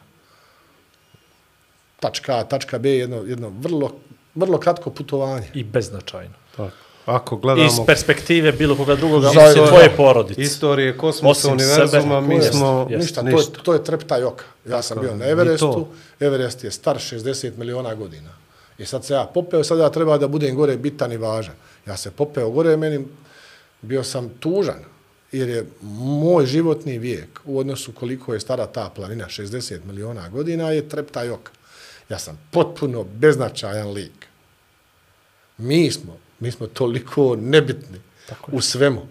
Tačka A, tačka B, jedno, jedno vrlo, vrlo kratko putovanje. I beznačajno. Tako. Ako gledamo... Iz perspektive bilo koga drugoga, Za, tvoje porodice. Istorije, kosmosa, univerzuma, mi smo... Ništa, ništa, ništa. To, je, to je treptaj oka. Ja tako, sam bio na Everestu, Everest je star šezdeset miliona godina. I sad se ja popeo, sad ja treba da budem gore bitan i važan. Ja se popeo gore, meni bio sam tužan, jer je moj životni vijek u odnosu koliko je stara ta planina, šezdeset miliona godina, je treptaj oka. Ja sam potpuno beznačajan lik. Mi smo, mi smo toliko nebitni u svemu.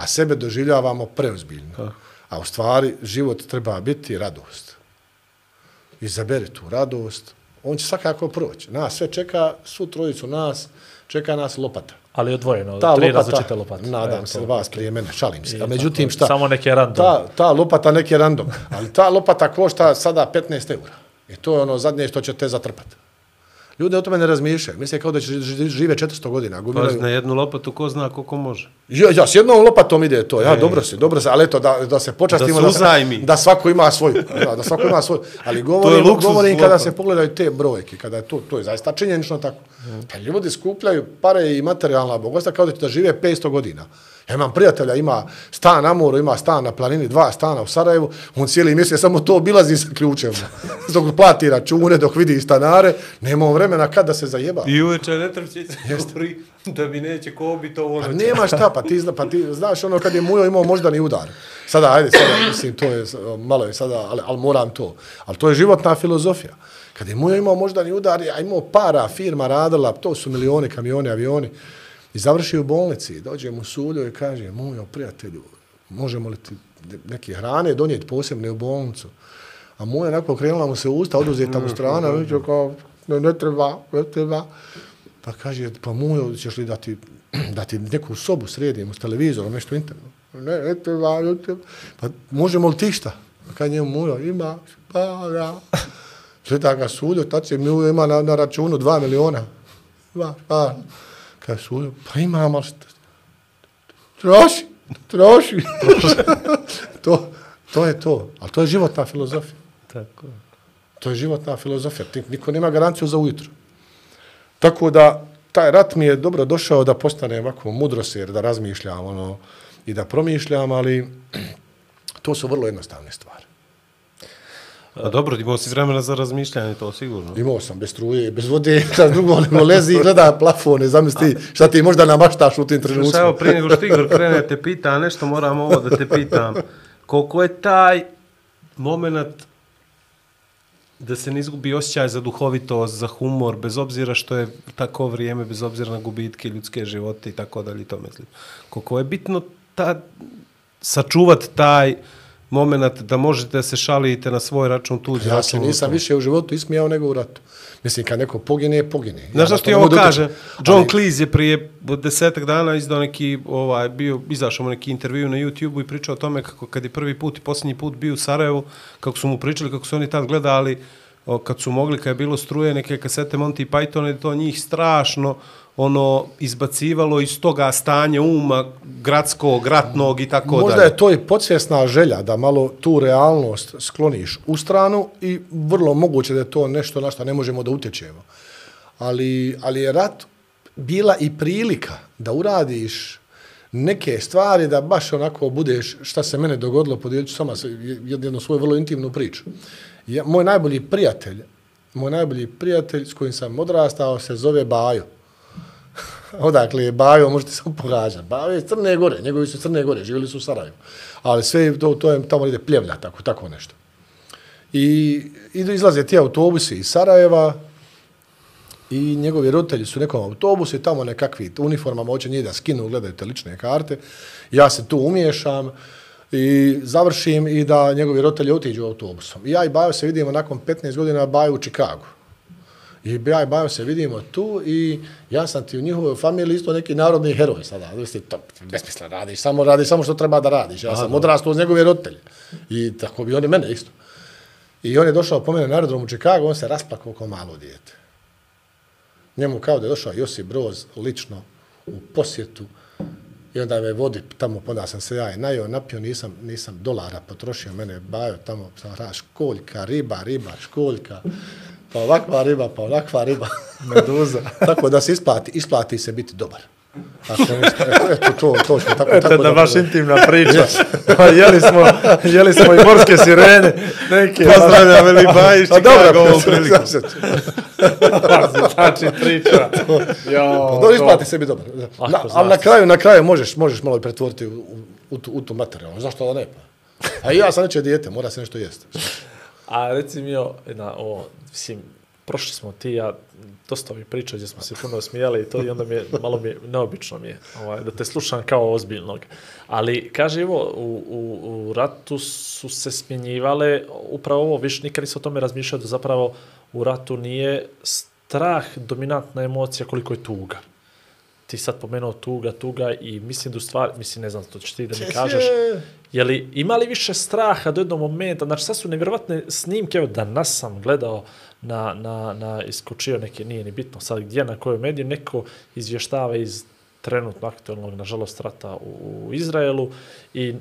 a sebe doživljavamo preozbiljno. A u stvari život treba biti radost. Izaberi tu radost, on će svakako proći. Nas sve čeka, svu trojicu nas, čeka nas lopata. Ali odvojeno, ta tri lopata, različite lopate. Nadam e, se to, vas to. prije mene, šalim se. I A međutim tako, šta? Samo neke random. Ta, ta lopata neki random, ali ta lopata košta sada petnaest eura. I to je ono zadnje što će te zatrpati. Ljudi o tome ne razmišljaju. Misle kao da će žive četiristo godina. Pa na jednu lopatu ko zna koliko može. Ja, ja s jednom lopatom ide to. Ja, e. dobro se, dobro se, ali eto da, da se počastimo da, da, da svako ima svoju. Da, da svako ima svoju. Ali govorim, govorim kada se pogledaju te brojke, kada je to, to je zaista činjenično tako. Mm. Pa ljudi skupljaju pare i materijalna bogatstva kao da će da žive petsto godina. Ja imam prijatelja, ima stan na moru, ima stan na planini, dva stana u Sarajevu, on cijeli mjesec samo to obilazi sa ključem. Dok plati račune, dok vidi stanare, nema vremena kad da se zajeba. I uveče ne trpće se govori da mi neće ko bi to ono. Pa nema šta, pa ti, pa ti znaš ono kad je Mujo imao moždani udar. Sada, ajde, sada, mislim, to je, malo je sada, ali, ali moram to. Ali to je životna filozofija. Kad je Mujo imao moždani udar, a imao para, firma radila, to su milioni, kamioni, avioni. I završi u bolnici, dođe mu Suljo i kaže, Mujo, prijatelju, možemo li ti neke hrane donijeti posebne u bolnicu? A Mujo onako krenula mu se usta, oduzeta mu strana, mm, mm, kao, ne, ne treba, ne treba. Pa kaže, pa Mujo, ćeš li da ti, da ti neku sobu sredimo s televizorom, nešto interno? Ne, ne treba, ne treba. Pa možemo li ti šta? Pa kaže njemu Mujo, ima, pa ja. Sveta ga Suljo, tad će Mujo ima na, na računu dva miliona. Dva, pa. Kaže Suljo, pa imam, ali troši, troši. to, to je to. Ali to je životna filozofija. Tako. To je životna filozofija. Niko nema garanciju za ujutro. Tako da, taj rat mi je dobro došao da postane ovako mudroser, da razmišljam ono, i da promišljam, ali to su vrlo jednostavne stvari. A dobro, imao si vremena za razmišljanje, to sigurno. Imao sam, bez struje, bez vode, šta drugo nego lezi i gleda plafone, zamisli šta ti možda namaštaš u tim trenucima. Evo, prije nego što Igor krene te pita, nešto moram ovo da te pitam. Koliko je taj moment da se ne izgubi osjećaj za duhovitost, za humor, bez obzira što je tako vrijeme, bez obzira na gubitke ljudske živote i tako dalje, to mislim. Koliko je bitno ta, sačuvat taj moment da možete da se šalite na svoj račun tuđi. Ja se nisam više u životu ismijao nego u ratu. Mislim, kad neko pogine, pogine. Znaš što ti ovo kaže? John ali... Cleese je prije desetak dana izdao neki, ovaj, bio, izašao mu neki intervju na YouTubeu i pričao o tome kako kad je prvi put i posljednji put bio u Sarajevu, kako su mu pričali, kako su oni tad gledali, o, kad su mogli, kad je bilo struje, neke kasete Monty Python, to njih strašno ono izbacivalo iz toga stanja uma gradskog, ratnog i tako dalje. Možda je to i podsvjesna želja da malo tu realnost skloniš u stranu i vrlo moguće da je to nešto na što ne možemo da utječemo. Ali, ali je rat bila i prilika da uradiš neke stvari da baš onako budeš, šta se mene dogodilo, podijelit ću sama jednu svoju vrlo intimnu priču. Ja, moj najbolji prijatelj, moj najbolji prijatelj s kojim sam odrastao se zove Bajo. Odakle je Bajo, možete samo pogađati. Bajo je Crne Gore, njegovi su Crne Gore, živjeli su u Sarajevu. Ali sve to, to je, tamo ide Pljevlja, tako, tako nešto. I idu, izlaze ti autobusi iz Sarajeva i njegovi roditelji su u nekom autobusu i tamo nekakvi uniformama hoće njih da skinu, gledaju te lične karte. Ja se tu umiješam i završim i da njegovi roditelji otiđu autobusom. I ja i Bajo se vidimo nakon petnaest godina Bajo u Čikagu. I ja i Bajo se vidimo tu i ja sam ti u njihovoj familiji isto neki narodni heroj sada. Znači, to besmisla radiš, samo radiš samo što treba da radiš. Ja sam odrastao uz njegove roditelje. I tako bi oni mene isto. I on je došao po mene na aerodrom u Čikagu, on se rasplakao kao malo dijete. Njemu kao da je došao Josip Broz lično u posjetu i onda me vodi tamo, onda sam se ja i najao, napio, nisam, nisam dolara potrošio, mene Bajo tamo, sam rada, školjka, riba, riba, školjka, pa ovakva riba, pa ovakva riba. Meduza. Tako da se isplati, isplati se biti dobar. Ako nešto, eto, to, to što tako, eto, tako da baš da, intimna priča. Pa jeli smo, jeli smo i morske sirene. Neke, pozdravljam Veli Bajić, Čikago ovom priliku. Znači priča. Jo, pa, isplati se biti dobar. Na, ali na kraju, na kraju možeš, možeš malo pretvoriti u, u, u, tu, u tu materiju. Zašto da ne? A i ja sam neće dijete, mora se nešto jesti. A reci mi, na, o, mislim, prošli smo ti ja, dosta mi priča gdje smo se puno smijali i to i onda mi je, malo mi je, neobično mi je ovaj, da te slušam kao ozbiljnog. Ali, kaže, evo, u, u, u ratu su se smjenjivale upravo ovo, viš, nikad nisam o tome razmišljao da zapravo u ratu nije strah dominantna emocija koliko je tuga. Ti sad pomenuo tuga, tuga i mislim da u stvari, mislim, ne znam, to ćeš ti da mi kažeš, je li, ima li više straha do jednog momenta, znači sad su nevjerovatne snimke, evo danas sam gledao na, na, na iskočio neke, nije ni bitno sad gdje, na kojoj mediji, neko izvještava iz trenutno aktualnog, nažalost, rata u, u Izraelu i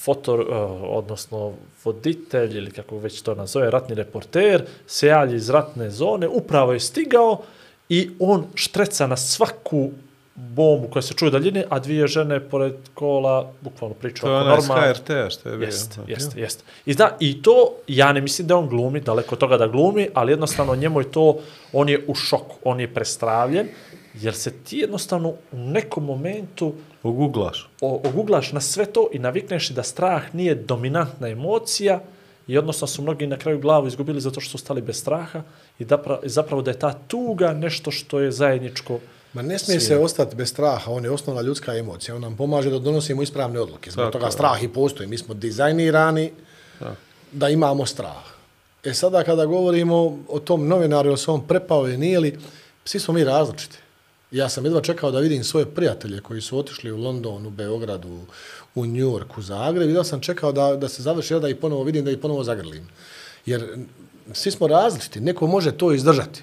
fotor, uh, odnosno voditelj ili kako već to nazove, ratni reporter, se javlja iz ratne zone, upravo je stigao i on štreca na svaku bombu koja se čuje daljine, a dvije žene pored kola bukvalno pričaju oko normalno. To je onaj s H R T-a što je bio. Jeste, jeste, jeste. I, da, I to, ja ne mislim da on glumi, daleko od toga da glumi, ali jednostavno njemu je to, on je u šoku, on je prestravljen, jer se ti jednostavno u nekom momentu oguglaš. O, oguglaš na sve to i navikneš da strah nije dominantna emocija i odnosno su mnogi na kraju glavu izgubili zato što su stali bez straha i da, zapravo da je ta tuga nešto što je zajedničko. Ma ne smije se ostati bez straha, on je osnovna ljudska emocija, on nam pomaže da donosimo ispravne odluke. Zbog toga strah i postoji. Mi smo dizajnirani da. da imamo strah. E sada kada govorimo o tom novinaru, ili se on prepao ili nije li, svi smo mi različiti. Ja sam jedva čekao da vidim svoje prijatelje koji su otišli u London, u Beogradu, u New York, u Zagreb. Jedva sam čekao da, da se završi, da ih ponovo vidim, da ih ponovo zagrlim. Jer svi smo različiti. Neko može to izdržati.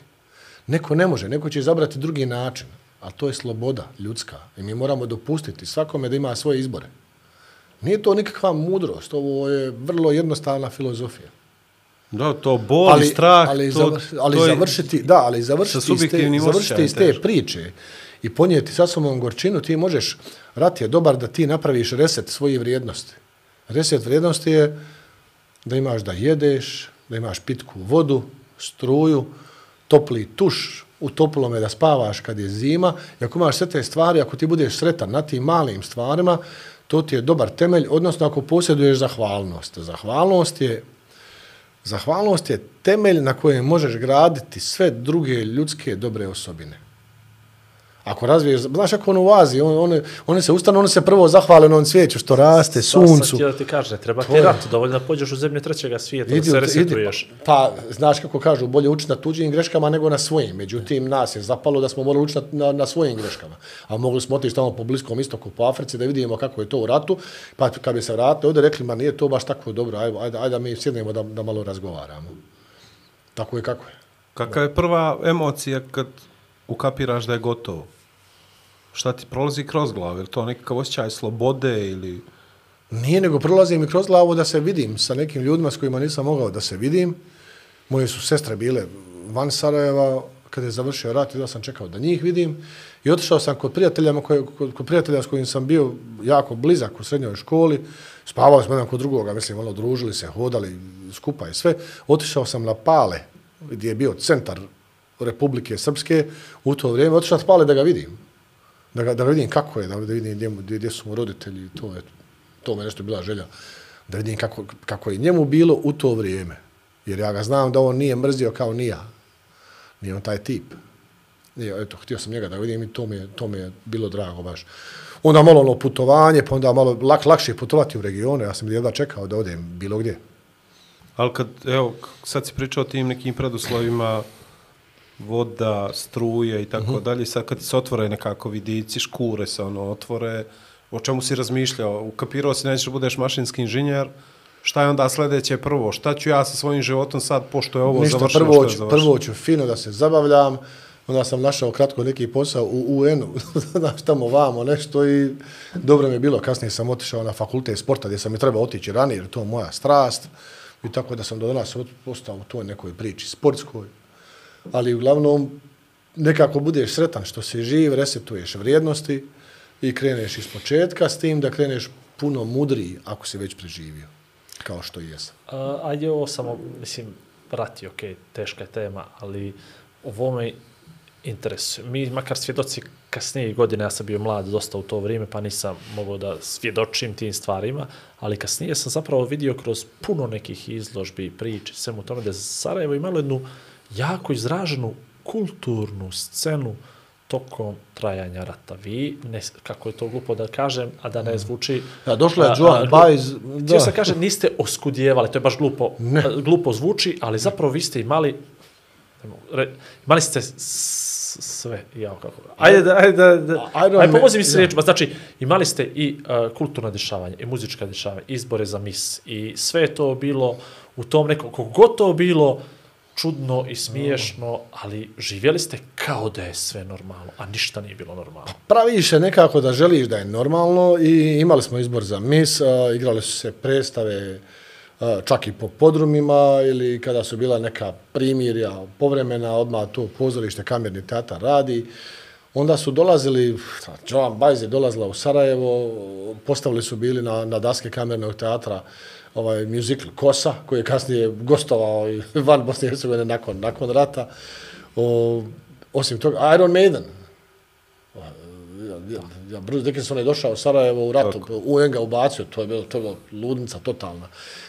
Neko ne može. Neko će izabrati drugi način. A to je sloboda ljudska. I mi moramo dopustiti svakome da ima svoje izbore. Nije to nikakva mudrost. Ovo je vrlo jednostavna filozofija. Da, to bol, ali, strah, ali, to, zavr, ali to je završiti, da, ali završiti iz te, završiti iz te priče i ponijeti sa sobom gorčinu, ti možeš, rat je dobar da ti napraviš reset svojih vrijednosti. Reset vrijednosti je da imaš da jedeš, da imaš pitku vodu, struju, topli tuš, u toplome da spavaš kad je zima. I ako imaš sve te stvari, ako ti budeš sretan na tim malim stvarima, to ti je dobar temelj, odnosno ako posjeduješ zahvalnost. Zahvalnost je Zahvalnost je temelj na kojem možeš graditi sve druge ljudske dobre osobine. Ako razviješ, znaš ako on u Aziji, on, one, one se ustanu, one se prvo zahvale na on svijeću što raste, suncu. Sad sam htio da ti kaže, treba ti rat, dovoljno da pođeš u zemlje trećega svijeta, idi, da se resetuješ. Idi, pa, znaš kako kažu, bolje učiti na tuđim greškama nego na svojim. Međutim, nas je zapalo da smo morali učiti na, na svojim greškama. A mogli smo otići tamo po Bliskom istoku, po Africi, da vidimo kako je to u ratu. Pa kad bi se vratili, ovdje rekli, ma nije to baš tako dobro, ajde, ajde, ajde da mi sjednemo da, da malo razgovaramo. Tako je kako je. Kakva je prva emocija kad ukapiraš da je gotovo? Šta ti prolazi kroz glavu? Je to nekakav osjećaj slobode ili... Nije, nego prolazi mi kroz glavu da se vidim sa nekim ljudima s kojima nisam mogao da se vidim. Moje su sestre bile van Sarajeva, kada je završio rat, da sam čekao da njih vidim. I otišao sam kod prijatelja, kod, kod prijatelja s kojim sam bio jako blizak u srednjoj školi. Spavali smo jedan kod drugoga, mislim, ono, družili se, hodali skupa i sve. Otišao sam na Pale, gdje je bio centar Republike Srpske u to vrijeme. Otišao na Pale da ga vidim. Da, ga, da vidim kako je, da vidim gdje, gdje, gdje su mu roditelji, to je, to me nešto bila želja, da vidim kako, kako je njemu bilo u to vrijeme. Jer ja ga znam da on nije mrzio kao ni ja. Nije on taj tip. Nije, eto, htio sam njega da vidim i to mi je, to mi je bilo drago baš. Onda malo ono putovanje, pa onda malo lak, lakše putovati u regione. Ja sam jedva čekao da odem bilo gdje. Ali kad, evo, sad si pričao o tim nekim preduslovima, voda, struje i tako uh-huh. dalje. Sad kad se otvore nekako vidici, škure se ono otvore, o čemu si razmišljao? Ukapirao si nećeš da budeš mašinski inženjer, šta je onda sljedeće prvo? Šta ću ja sa svojim životom sad, pošto je ovo Ništa, završeno? Prvo, što je prvo ću fino da se zabavljam, onda sam našao kratko neki posao u U N-u, znaš tamo vamo nešto i dobro mi je bilo. Kasnije sam otišao na fakultet sporta gdje sam mi trebao otići ranije, jer to je moja strast i tako da sam do danas ostao u toj nekoj priči sportskoj. Ali uglavnom nekako budeš sretan što si živ, resetuješ vrijednosti i kreneš iz početka s tim da kreneš puno mudriji ako si već preživio, kao što i jesam. A, ajde ovo samo, mislim, rat je okej, okay, teška je tema, ali ovo me interesuje. Mi, makar svjedoci kasnije godine, ja sam bio mlad dosta u to vrijeme, pa nisam mogao da svjedočim tim stvarima, ali kasnije sam zapravo vidio kroz puno nekih izložbi, priče, svemu tome da Sarajevo imalo jednu jako izraženu kulturnu scenu tokom trajanja rata. Vi, ne, kako je to glupo da kažem, a da ne zvuči... Ja, došla je Joan Baez... Htio sam kažem, niste oskudjevali, to je baš glupo, ne. glupo zvuči, ali zapravo vi ste imali... Imali ste sve, ja, kako... Ajde, ajde, ajde, ajde pomozi mi se riječima. Znači, imali ste i uh, kulturna dešavanja, i muzička dešavanja, izbore za mis, i sve je to bilo u tom nekom, kogod to bilo, čudno i smiješno, ali živjeli ste kao da je sve normalno, a ništa nije bilo normalno. Praviš je nekako da želiš da je normalno i imali smo izbor za mis, uh, igrali su se predstave uh, čak i po podrumima ili kada su bila neka primirja povremena, odmah to pozorište, kamerni teatar radi. Onda su dolazili, Joan Baez je dolazila u Sarajevo, postavili su bili na, na daske kamernog teatra ovaj musical Kosa, koji je kasnije gostovao i van Bosne i Hercegovine nakon, nakon rata. O, osim toga, Iron Maiden. Ja, ja, ja, Bruce Dickinson je došao u Sarajevo u ratu, U N ga ubacio, to je bilo, to je bilo ludnica totalna.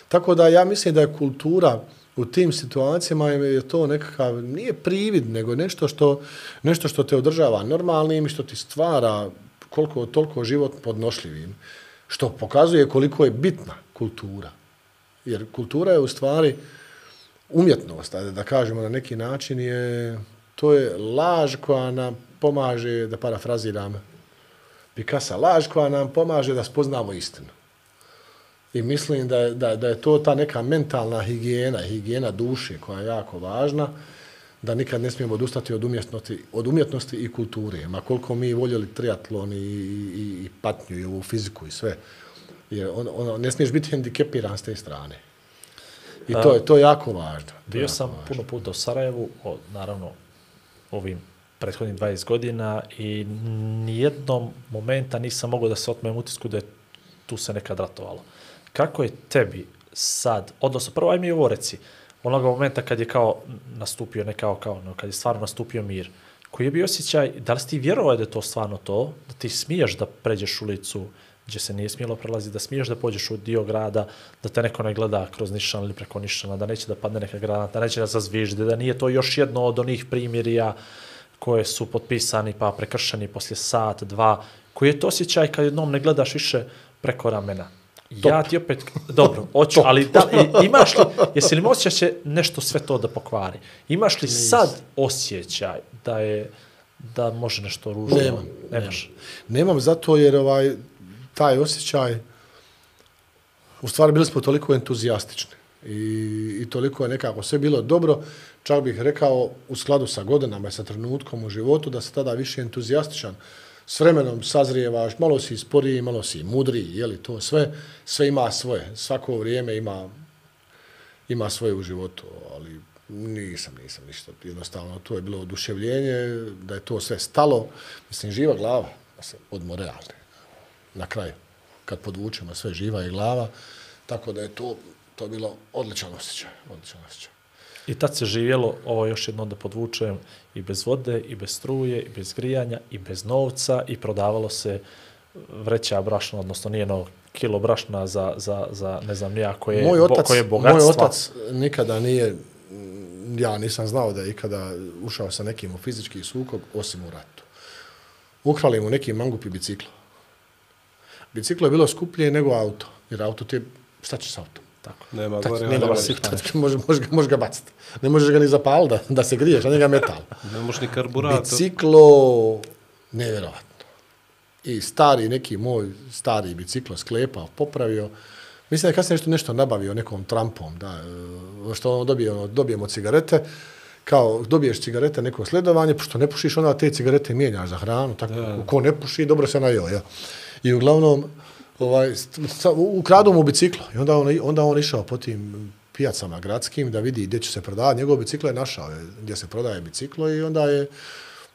Tako da ja mislim da je kultura u tim situacijama je to nekakav, nije privid, nego nešto što, nešto što te održava normalnim i što ti stvara koliko toliko život podnošljivim. Što pokazuje koliko je bitna kultura. Jer kultura je u stvari umjetnost, da kažemo na neki način, je, to je laž koja nam pomaže, da parafraziram Picasso, laž koja nam pomaže da spoznamo istinu. I mislim da je, da, da je to ta neka mentalna higijena, higijena duše koja je jako važna, da nikad ne smijemo odustati od umjetnosti, od umjetnosti i kulture. Ma koliko mi voljeli triatlon i, i, i patnju i ovu fiziku i sve. Jer on, on, ne smiješ biti hendikepiran s te strane. I to je, to je jako važno. Bio jako sam važno. Puno puta u Sarajevu, o, naravno ovim prethodnih dvadeset godina i nijednom momenta nisam mogao da se otmem utisku da je tu se nekad ratovalo. Kako je tebi sad, odnosno prvo aj mi ovo reci, onoga momenta kad je kao nastupio, ne kao kao, no, kad je stvarno nastupio mir, koji je bio osjećaj, da li si ti vjerovao da je to stvarno to, da ti smiješ da pređeš ulicu gdje se nije smjelo prelaziti, da smiješ da pođeš u dio grada, da te neko ne gleda kroz nišan ili preko nišana, da neće da padne neka granata, da neće da zazvižde, da nije to još jedno od onih primjerija koje su potpisani pa prekršeni poslije sat, dva, koji je to osjećaj kad jednom ne gledaš više preko ramena. Top. Ja ti opet, dobro, hoću, ali da, imaš li, jesi li mi osjećaj će nešto sve to da pokvari? Imaš li sad osjećaj da je, da može nešto ružno? Nemam. Nemaš? Nemam zato jer ovaj, taj osjećaj, u stvari bili smo toliko entuzijastični i, i toliko je nekako sve bilo dobro, čak bih rekao u skladu sa godinama i sa trenutkom u životu da se tada više entuzijastičan. S vremenom sazrijevaš, malo si sporiji, malo si mudriji, je li to sve, sve ima svoje, svako vrijeme ima, ima svoje u životu, ali nisam, nisam ništa, jednostavno to je bilo oduševljenje, da je to sve stalo, mislim, živa glava, da se odmo realne, na kraju, kad podvučemo sve živa je glava, tako da je to, to bilo odličan osjećaj, odličan osjećaj. I tad se živjelo, ovo još jedno da podvučujem, i bez vode, i bez struje, i bez grijanja, i bez novca, i prodavalo se vreća brašna, odnosno nije no kilo brašna za, za, za ne znam nija koje, moj otac, koje bogatstva. Moj otac nikada nije, ja nisam znao da je ikada ušao sa nekim u fizički sukob, osim u ratu. Ukrali mu neki mangup i biciklo. Biciklo je bilo skuplje nego auto, jer auto ti je, šta će s autom? Tako. Nema tak, gore. Nema može, može, može ga baciti. Ne možeš ga ni zapaliti da, da se griješ, a njega metal. Ne možeš ni karburator. Biciklo, nevjerovatno. I stari, neki moj stari biciklo sklepao, popravio. Mislim da je kasnije nešto, nešto nabavio nekom trampom, da, što ono dobije, ono, dobijemo cigarete, kao dobiješ cigarete, neko sledovanje, pošto ne pušiš, onda te cigarete mijenjaš za hranu, tako, da. Ko ne puši, dobro se najeo, ja. I uglavnom, ovaj, ukradu mu biciklo i onda on, onda on išao po tim pijacama gradskim da vidi gdje će se prodavati. Njegov biciklo je našao gdje se prodaje biciklo i onda je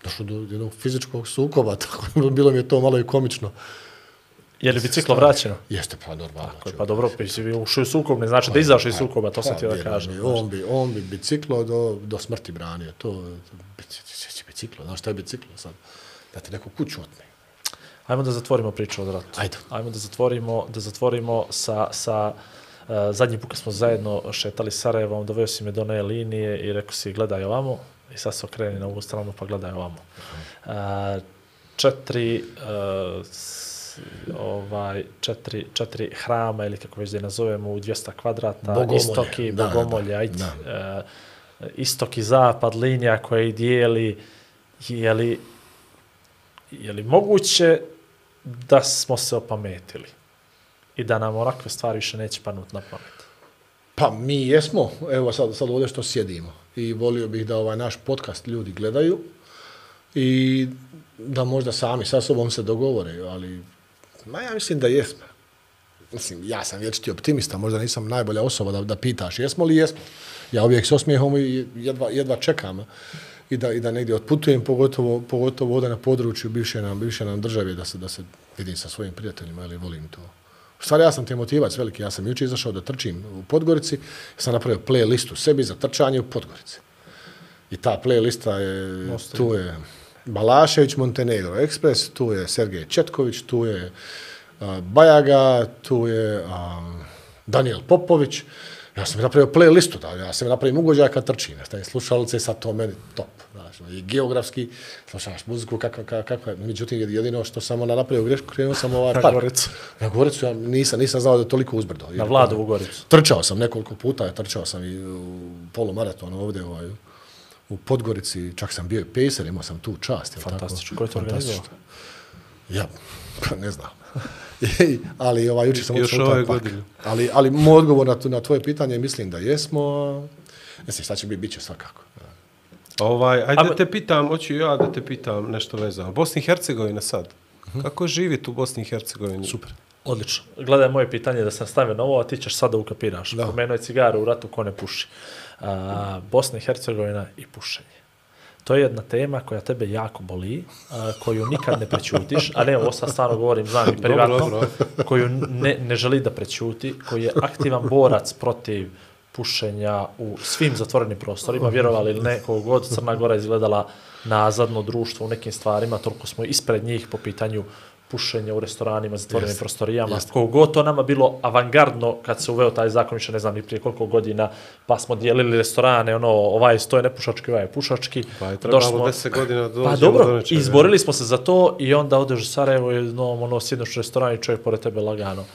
došlo do jednog fizičkog sukoba, tako bilo mi je to malo i komično. Je li biciklo vraćeno? Jeste, pa normalno. Tako je, pa dobro, si ušao u sukob, ne znači da izašao iz sukoba, to sam ti da kažem. On bi, on bi biciklo do, do smrti branio. To, biciklo, znaš šta je biciklo sad? Da ti neku kuću otme. Ajmo da zatvorimo priču od ratu. Ajde. Ajmo da zatvorimo, da zatvorimo sa, sa zadnji put kad smo zajedno šetali Sarajevom, doveo si me do one linije i rekao si gledaj ovamo i sad se okreni na ovu stranu pa gledaj ovamo. Uh, četiri, uh, s, ovaj, četiri, četiri hrama ili kako već da je nazovemo u dvjesto kvadrata, Bogomolje. istoki, Da, Bogomolje, da, ajde, da. Uh, istok i zapad, linija koja ih dijeli, je li, je li moguće da smo se opametili i da nam ovakve stvari više neće panuti na pamet? Pa mi jesmo, evo sad, sad ovdje što sjedimo i volio bih da ovaj naš podcast ljudi gledaju i da možda sami sa sobom se dogovore, ali ma ja mislim da jesmo. Mislim, ja sam vječiti optimista, možda nisam najbolja osoba da, da pitaš jesmo li jesmo. Ja uvijek s osmijehom i jedva, jedva čekam i da, i da negdje otputujem, pogotovo, pogotovo ovdje na području bivše nam, bivše nam države, da se, da se vidim sa svojim prijateljima, ali volim to. U stvari ja sam te motivac veliki, ja sam jučer izašao da trčim u Podgorici, ja sam napravio playlistu sebi za trčanje u Podgorici. I ta playlista je, Mostavi. Tu je Balašević Montenegro Express, tu je Sergej Četković, tu je uh, Bajaga, tu je um, Daniel Popović. Ja sam napravio playlistu, da, ja sam napravim ugođaj kad trčim, stavim slušalice, sad to meni top. Znači, i geografski, slušaš muziku, kakva, kakva, kakva. Međutim, jedino što sam ona napravio grešku, krenuo sam ovaj na park. Goricu. Na Goricu, ja nisam, nisam znao da je toliko uzbrdo. Na Vladovu Goricu. Trčao sam nekoliko puta, trčao sam i u polumaratonu ovdje ovaj, u Podgorici, čak sam bio i pacer, imao sam tu čast. Fantastično, ko je to organizovao? Ja, pa ne znam. ali ovaj, jučer sam još učeo taj park. Ali, ali moj odgovor na, na tvoje pitanje mislim da jesmo. Mislim, šta će biti, bit će svakako. Ovaj, ajde da te pitam, hoću ja da te pitam nešto vezano. Bosna i Hercegovina sad. Uh-huh. Kako živite u Bosni i Hercegovini? Super. Odlično. Gledaj moje pitanje da sam stavio na ovo, a ti ćeš sada ukapiraš. Da. Pomenuo je cigaru u ratu ko ne puši. A, Bosna i Hercegovina i pušenje. To je jedna tema koja tebe jako boli, a, koju nikad ne prećutiš, a ne, ovo sad stvarno govorim, znam i privatno, dobro, dobro. koju ne, ne želi da prećuti, koji je aktivan borac protiv pušenja u svim zatvorenim prostorima, vjerovali ili ne, koliko god Crna Gora izgledala nazadno društvo u nekim stvarima, toliko smo ispred njih po pitanju pušenja u restoranima, zatvorenim jest, prostorijama. Jest. Koliko god to nama bilo avangardno kad se uveo taj zakon, više ne znam ni prije koliko godina, pa smo dijelili restorane, ono, ovaj sto je nepušački, ovaj je pušački. Pa je trebalo deset godina dođemo pa, dobro, do nečega. Izborili smo se za to i onda odeš u Sarajevo i no, ono, sjednoš u restoran i čovjek pored tebe lagano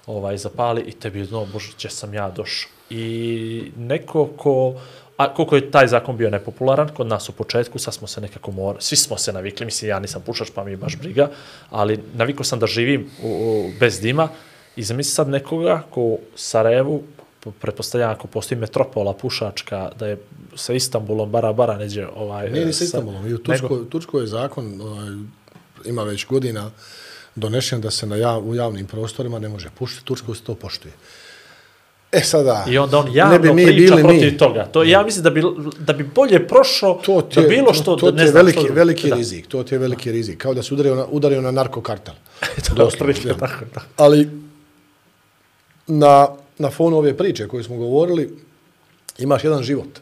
ovaj, zapali i tebi, no, bože, gdje sam ja došao. I neko ko, a koliko je taj zakon bio nepopularan kod nas u početku, sad smo se nekako morali, svi smo se navikli, mislim, ja nisam pušač, pa mi je baš briga, ali navikao sam da živim u, u, bez dima i zamisli sad nekoga ko u Sarajevu, pretpostavljam ako postoji metropola pušačka, da je sa Istanbulom bara bara neđe ovaj... Nije ni sa Istanbulom, i u Turskoj, nego... Turskoj je zakon, ovaj, ima već godina donešen da se na jav, u javnim prostorima ne može pušiti, Turskoj se to poštuje. E sada, i onda on javno ne bi mi priča bili protiv mi. toga. To ja mislim da bi, da bi bolje prošao da bilo što... To, to ne je znam, veliki, što, veliki da. rizik. To ti je veliki rizik. Kao da se udario na, udario na narkokartel. Doslovno, tako, tako. Ali na, na fonu ove priče koje smo govorili, imaš jedan život.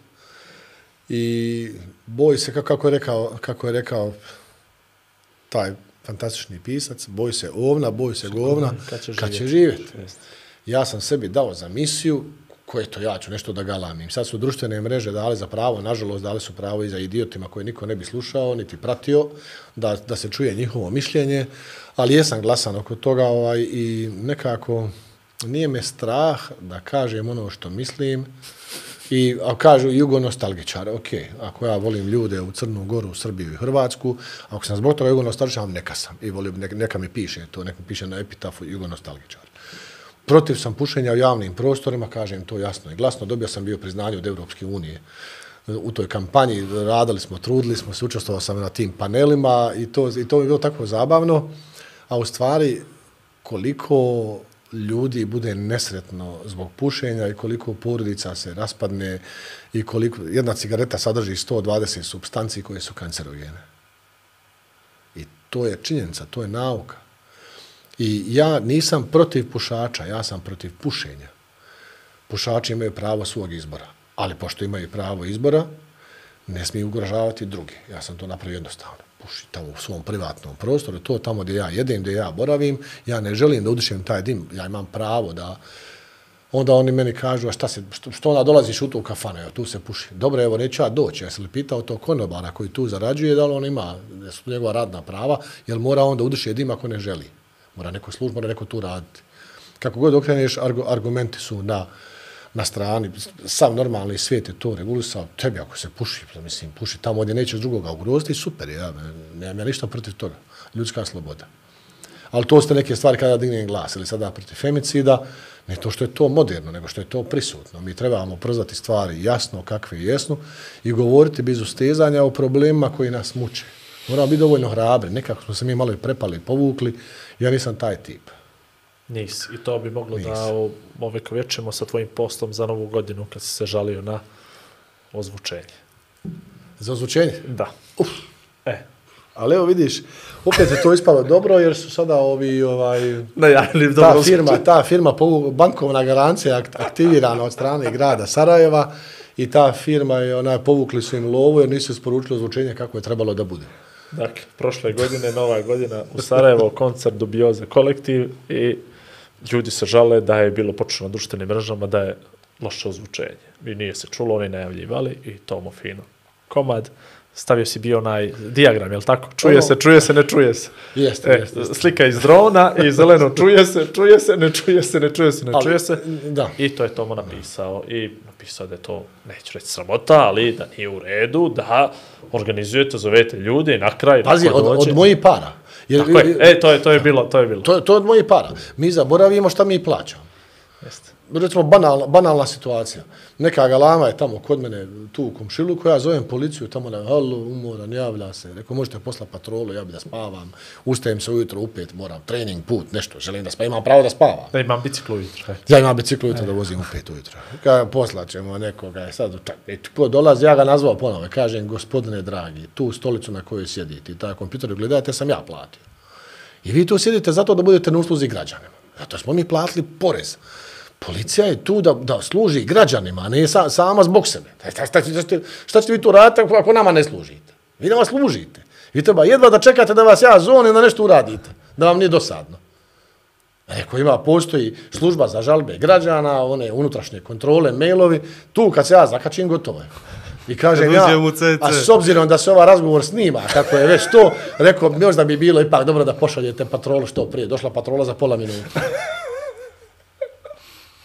I boj se, kako je rekao, kako je rekao taj fantastični pisac, boj se ovna, boj se govna, kad će, kad će živjeti. Ja sam sebi dao za misiju, koje to ja ću nešto da galamim. Sad su društvene mreže dale za pravo, nažalost dale su pravo i za idiotima koje niko ne bi slušao, niti pratio, da, da se čuje njihovo mišljenje, ali jesam glasan oko toga ovaj, i nekako nije me strah da kažem ono što mislim. I a kažu jugonostalgičar, ok, ako ja volim ljude u Crnu Goru, Srbiju i Hrvatsku, ako sam zbog toga jugonostalgičar, neka sam. I volim, neka, neka mi piše to, neka mi piše na epitafu jugonostalgičar. Protiv sam pušenja u javnim prostorima, kažem to jasno i glasno. Dobio sam bio priznanje od Evropske unije. U toj kampanji radili smo, trudili smo se, učestvovao sam na tim panelima i to, i to je bilo tako zabavno. A u stvari, koliko ljudi bude nesretno zbog pušenja i koliko porodica se raspadne i koliko jedna cigareta sadrži sto dvadeset supstanci koje su kancerogene. I to je činjenica, to je nauka. I ja nisam protiv pušača, ja sam protiv pušenja. Pušači imaju pravo svog izbora, ali pošto imaju pravo izbora, ne smiju ugrožavati drugi. Ja sam to napravio jednostavno. Puši tamo u svom privatnom prostoru, to tamo gdje ja jedem, gdje ja boravim, ja ne želim da udišem taj dim, ja imam pravo da onda oni meni kažu, a šta se, što, što onda dolaziš u tu kafanu, evo, tu se puši. Dobro, evo, neću ja doći. Ja sam li pitao to konobara koji tu zarađuje, da li on ima, da su njegova radna prava, jer mora onda udiše dim ako ne želi. Mora neko služ, mora neko tu raditi. Kako god okreneš, argumenti su na, na strani. Sam normalni svijet je to regulisao. Tebi ako se puši, mislim, puši tamo gdje nećeš drugoga ugroziti, super, ja, nemam ja ništa protiv toga. Ljudska sloboda. Ali to ste neke stvari kada dignem glas, ili sada protiv femicida, ne to što je to moderno, nego što je to prisutno. Mi trebamo prozvati stvari jasno kakve jesnu i govoriti bez ustezanja o problemima koji nas muče. Moramo biti dovoljno hrabri, nekako smo se mi malo i prepali, povukli, ja nisam taj tip. Nisi. I to bi moglo Nis. da ovekovječemo sa tvojim postom za novu godinu kad si se žalio na ozvučenje. Za ozvučenje? Da. Uf. E. Ali evo vidiš, opet je to ispalo dobro jer su sada ovi, ovaj, Najavili ta dobro firma, ozvučenje. ta firma, bankovna garancija aktivirana od strane grada Sarajeva i ta firma je, onaj, povukli su im lovu jer nisu isporučili ozvučenje kako je trebalo da bude. Dakle, prošle godine, nova godina u Sarajevo, koncert Dubioza kolektiv i ljudi se žale da je bilo počelo na društvenim mrežama da je loše ozvučenje. I nije se čulo, oni najavljivali i tomo fino. Komad, stavio si bio onaj dijagram, je li tako? Čuje Ono, se, čuje se, ne čuje se. Jeste, E, jeste, jeste. slika iz drona i zeleno čuje se, čuje se, ne čuje se, ne čuje se, ne Ali, čuje se. da. I to je Tomo napisao. I napisao da je to, neću reći sramota, ali da nije u redu, da organizujete, zovete ljude i na kraj... Pazi, neko od, dođe. od mojih para. Jer, Tako je. E, to je, to je bilo, to je bilo. To, to je od mojih para. Mi zaboravimo šta mi plaćamo. Jeste. Recimo, banalna, banalna situacija. Neka galama je tamo kod mene tu u komšiluku, ja zovem policiju tamo da halo, umoran, javlja se. Rekao, možete poslati patrolu, ja bi da spavam. Ustajem se ujutro u pet, moram trening, put, nešto, želim da spavam, imam pravo da spavam. Da imam biciklu ujutro. Ja imam biciklu ujutro da vozim u pet ujutro. Kada poslaćemo nekoga, je sad, ko dolazi, ja ga nazvao ponovo, kažem, gospodine dragi, tu stolicu na kojoj sjedite i taj kompjuter gledajte, sam ja platio. I vi tu sjedite zato da budete na usluzi građanima. Zato smo mi platili porez. Policija je tu da, da služi građanima, a ne sa, sama zbog sebe. Šta, šta, šta, šta ćete vi tu raditi ako, ako nama ne služite? Vi nama služite. Vi treba jedva da čekate da vas ja zovem da nešto uradite, da vam nije dosadno. Eko ima, postoji služba za žalbe građana, one unutrašnje kontrole, mailovi, tu kad se ja zakačim, gotovo je. I kažem ja, a s obzirom da se ovaj razgovor snima, kako je već to, rekao, možda bi bilo ipak dobro da pošaljete patrolu što prije. Došla patrola za pola minuta.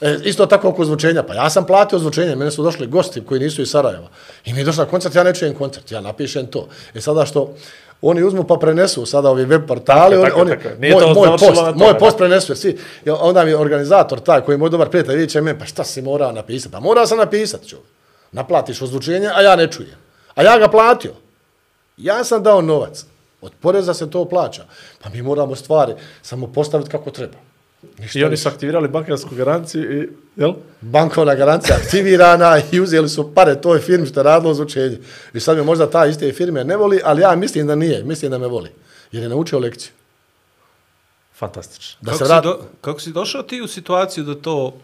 E, isto tako oko ozvučenja. Pa ja sam platio ozvučenje, mene su došli gosti koji nisu iz Sarajeva. I mi je došla koncert, ja ne čujem koncert, ja napišem to. E sada što oni uzmu pa prenesu sada ovi web portali, Tako, oni, tako, oni, tako. Nije moj, to moj završilo post, na tome, moj da. post prenesu, svi, onda mi je organizator taj koji je moj dobar prijatelj, vidjet će meni, pa šta si morao napisati? Pa morao sam napisati, čovjek. Naplatiš ozvučenje, a ja ne čujem. A ja ga platio. Ja sam dao novac. Od poreza se to plaća. Pa mi moramo stvari samo postaviti kako treba. Ništa I oni više. su aktivirali bankarsku garanciju i, jel? Bankovna garancija aktivirana i uzeli su pare toj firmi što je radilo ozvučenje. I sad me možda ta iste firme ne voli, ali ja mislim da nije. Mislim da me voli. Jer je naučio lekciju. Fantastično. Da kako, se si vrat... do, kako si došao ti u situaciju da to,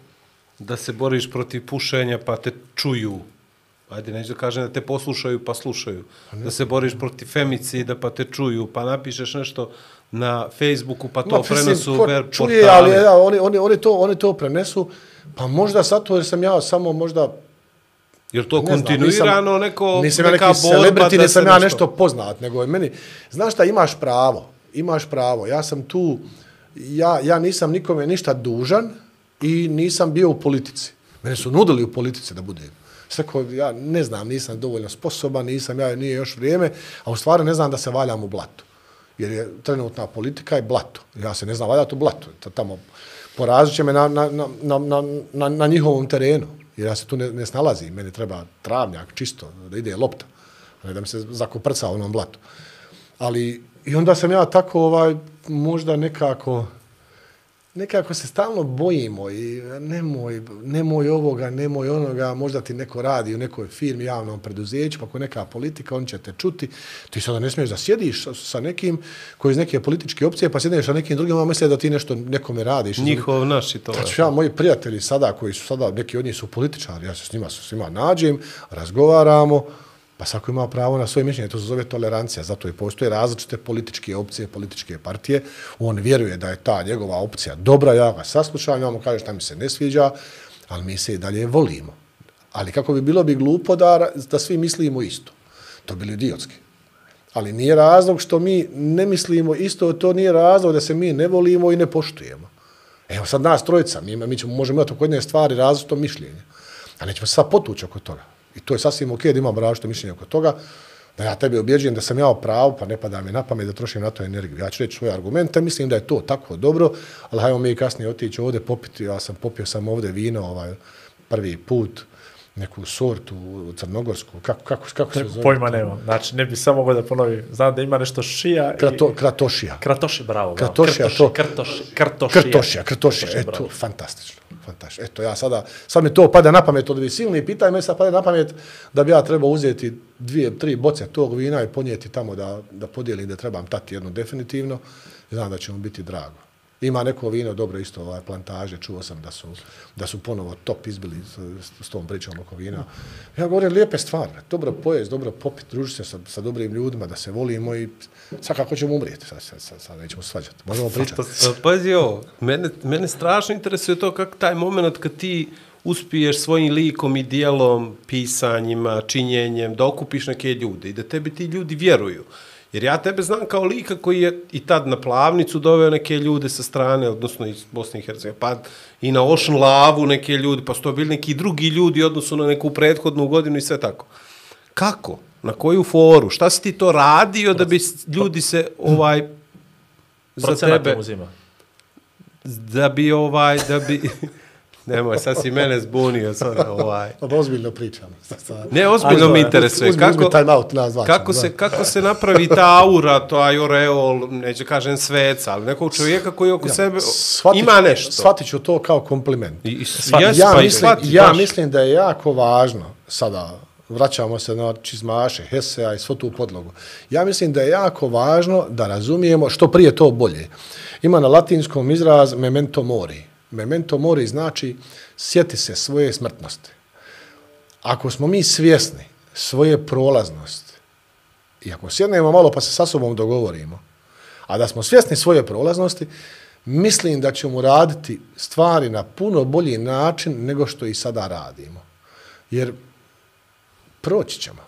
da se boriš protiv pušenja pa te čuju? Ajde, neću da kažem da te poslušaju pa slušaju. Da se boriš protiv femicida pa te čuju, pa napišeš nešto na Facebooku pa to Ma, mislim, prenesu ko ver čuje, portali. ali ja, oni, oni, oni, to, oni to prenesu. Pa možda zato jer sam ja samo možda... Jer to ne znam, kontinuirano nisam, neko, nisam ja neka neki borba celebrity, da nisam se ja nešto... nešto poznat, nego je meni... Znaš šta, imaš pravo. Imaš pravo. Ja sam tu... Ja, ja nisam nikome ništa dužan i nisam bio u politici. Mene su nudili u politici da budem. Svako, ja ne znam, nisam dovoljno sposoban, nisam, ja nije još vrijeme, a u stvari ne znam da se valjam u blatu. Jer je trenutna politika je blato. Ja se ne znam valjati u blatu. Tamo porazit će me na, na, na, na, na, na njihovom terenu. Jer ja se tu ne, ne snalazim. Meni treba travnjak čisto, da ide lopta. Ne da mi se zakoprca u onom blatu. Ali i onda sam ja tako ovaj, možda nekako... Nekako se stalno bojimo i nemoj, nemoj ovoga, nemoj onoga, možda ti neko radi u nekoj firmi, javnom preduzeću, pa ako neka politika, on će te čuti. Ti sada ne smiješ da sjediš sa, sa nekim koji iz neke političke opcije, pa sjedneš sa nekim drugim, a misle da ti nešto nekome radiš. Njihov, naš i to. Znači, ja, moji prijatelji sada, koji su sada, neki od njih su političari, ja se s njima, s njima nađem, razgovaramo, pa svako ima pravo na svoje mišljenje, to se zove tolerancija, zato i postoje različite političke opcije, političke partije, on vjeruje da je ta njegova opcija dobra, ja ga saslušam, ja mu kažem šta mi se ne sviđa, ali mi se i dalje volimo. Ali kako bi bilo bi glupo da, da svi mislimo isto. To bi bilo idiotski. Ali nije razlog što mi ne mislimo isto, to nije razlog da se mi ne volimo i ne poštujemo. Evo sad nas trojica, mi, mi ćemo, možemo imati oko jedne stvari različito mišljenje, a nećemo se sad potući oko toga. I to je sasvim ok da imamo različito mišljenje oko toga, da ja tebi objeđujem da sam ja u pravu, pa ne pada mi na pamet da trošim na to energiju. Ja ću reći svoje argumente, mislim da je to tako dobro, ali hajmo mi kasnije otići ovdje popiti, ja sam popio sam ovdje vino ovaj, prvi put, neku sortu crnogorsku, kako, kako, kako se zove? Pojma nema, znači ne bi samo mogao da ponovim. Znam da ima nešto šija Krato, i... Kratošija. Kratoši, bravo. Kratošija, krtoši, to. Krtoši, krtošija. Krtošija, krtošija, eto, fantastično. Fantastično. Eto, ja sada, sad mi to pada na pamet od ovih silnih pitanja, me sad pada na pamet da bi ja trebao uzeti dvije, tri boce tog vina i ponijeti tamo da, da podijelim, da trebam tati jednu definitivno. Znam da će mu biti drago. Ima neko vino, dobro isto, ovaj, plantaže, čuo sam da su, da su ponovo top izbili s, s tom pričom oko vina. Ja govorim lijepe stvari, dobro pojest, dobro popit, družiti se sa, sa dobrim ljudima, da se volimo i sad kako ćemo umrijeti, sad, sad, sad, sad nećemo svađati, možemo pričati. Pazi ovo, mene, mene strašno interesuje to kako taj moment kad ti uspiješ svojim likom i dijelom, pisanjima, činjenjem, da okupiš neke ljude i da tebi ti ljudi vjeruju. Jer ja tebe znam kao lika koji je i tad na Plavnicu doveo neke ljude sa strane, odnosno iz Bosne i Hercegovine, pa i na Ocean Lavu neke ljudi, pa su to bili neki drugi ljudi odnosno na neku prethodnu godinu i sve tako. Kako? Na koju foru? Šta si ti to radio da bi ljudi se ovaj za tebe uzima. Da bi ovaj da bi Nemoj, sad si mene zbunio. Sad, ovaj. Ozbiljno pričam. Ne, ozbiljno mi interesuje. Uzmi, kako, uzmi time out, nazvaćemo, kako, se, kako se napravi ta aura, to ajoreol, neću kažem sveca, ali nekog čovjeka koji oko ja, sebe shvatit, ima nešto. Shvatit ću to kao kompliment. I, Shvat, jes, ja pa mislim, shvati, ja baš. mislim da je jako važno, sada vraćamo se na čizmaše, Hesea i svo tu podlogu. Ja mislim da je jako važno da razumijemo što prije to bolje. Ima na latinskom izraz memento mori. Memento mori znači sjeti se svoje smrtnosti. Ako smo mi svjesni svoje prolaznosti i ako sjednemo malo pa se sa sobom dogovorimo, a da smo svjesni svoje prolaznosti, mislim da ćemo raditi stvari na puno bolji način nego što i sada radimo. Jer proći ćemo.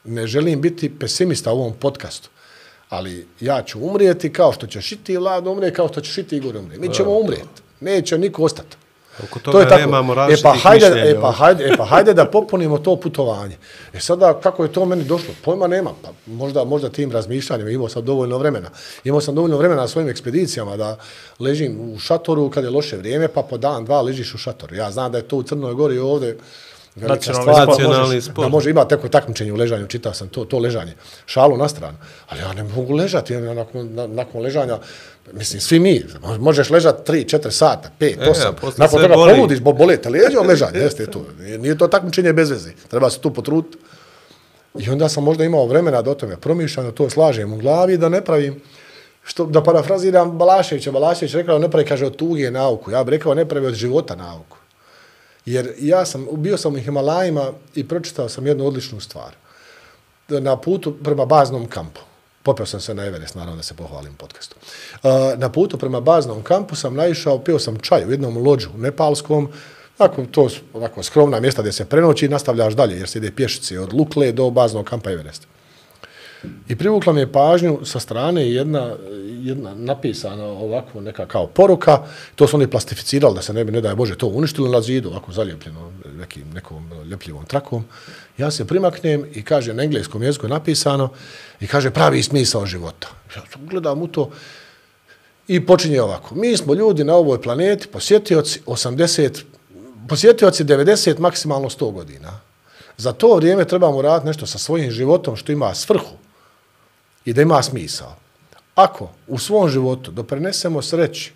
Ne želim biti pesimista u ovom podcastu, ali ja ću umrijeti kao što ćeš i ti, Vlado, umrijeti, kao što ćeš i ti, Igor, umrijeti. Mi ćemo umrijeti. Neće niko ostati. Oko toga to je tako. Nemamo različitih e pa hajde, mišljenja. E pa, hajde, e pa hajde da popunimo to putovanje. E sada, kako je to meni došlo? Pojma nema. Pa možda, možda tim razmišljanjima imao sam dovoljno vremena. Imao sam dovoljno vremena na svojim ekspedicijama da ležim u šatoru kad je loše vrijeme, pa po dan, dva ležiš u šatoru. Ja znam da je to u Crnoj Gori ovdje velika stvar, nacionalni sport. Da može imati tako takmičenje u ležanju, čitao sam to, to ležanje. Šalu na stranu. Ali ja ne mogu ležati ja nakon, na, nakon ležanja. Mislim, svi mi, možeš ležati tri, četiri sata, pet, osam, e, nakon toga boli. Poludiš, bo bolete leđa od ležanja, jeste tu. Nije, nije to takmičenje bez veze, treba se tu potruditi. I onda sam možda imao vremena da o tome promišljam, da to slažem u glavi, da ne pravim, što, da parafraziram Balaševića, Balašević rekao, ne pravi, kaže, od tuge nauku, ja bih rekao, ne pravi od života nauku. Jer ja sam, bio sam u Himalajima i pročitao sam jednu odličnu stvar. Na putu prema baznom kampu. Popeo sam se na Everest, naravno da se pohvalim podcastu. Na putu prema baznom kampu sam naišao, pio sam čaj u jednom lođu nepalskom, tako, to su ovako skromna mjesta gdje se prenoći i nastavljaš dalje, jer se ide pješice od Lukle do baznog kampa Everest. I privukla mi je pažnju sa strane jedna, jedna napisana ovako neka kao poruka, to su oni plastificirali da se ne bi, ne daj Bože, to uništili na zidu, ovako zalijepljeno nekim, nekom ljepljivom trakom. Ja se primaknem i kaže, na engleskom jeziku je napisano i kaže pravi smisao života. Ja gledam u to i počinje ovako. Mi smo ljudi na ovoj planeti, posjetioci osamdeset, posjetioci devedeset, maksimalno sto godina. Za to vrijeme trebamo raditi nešto sa svojim životom što ima svrhu i da ima smisao. Ako u svom životu doprinesemo sreći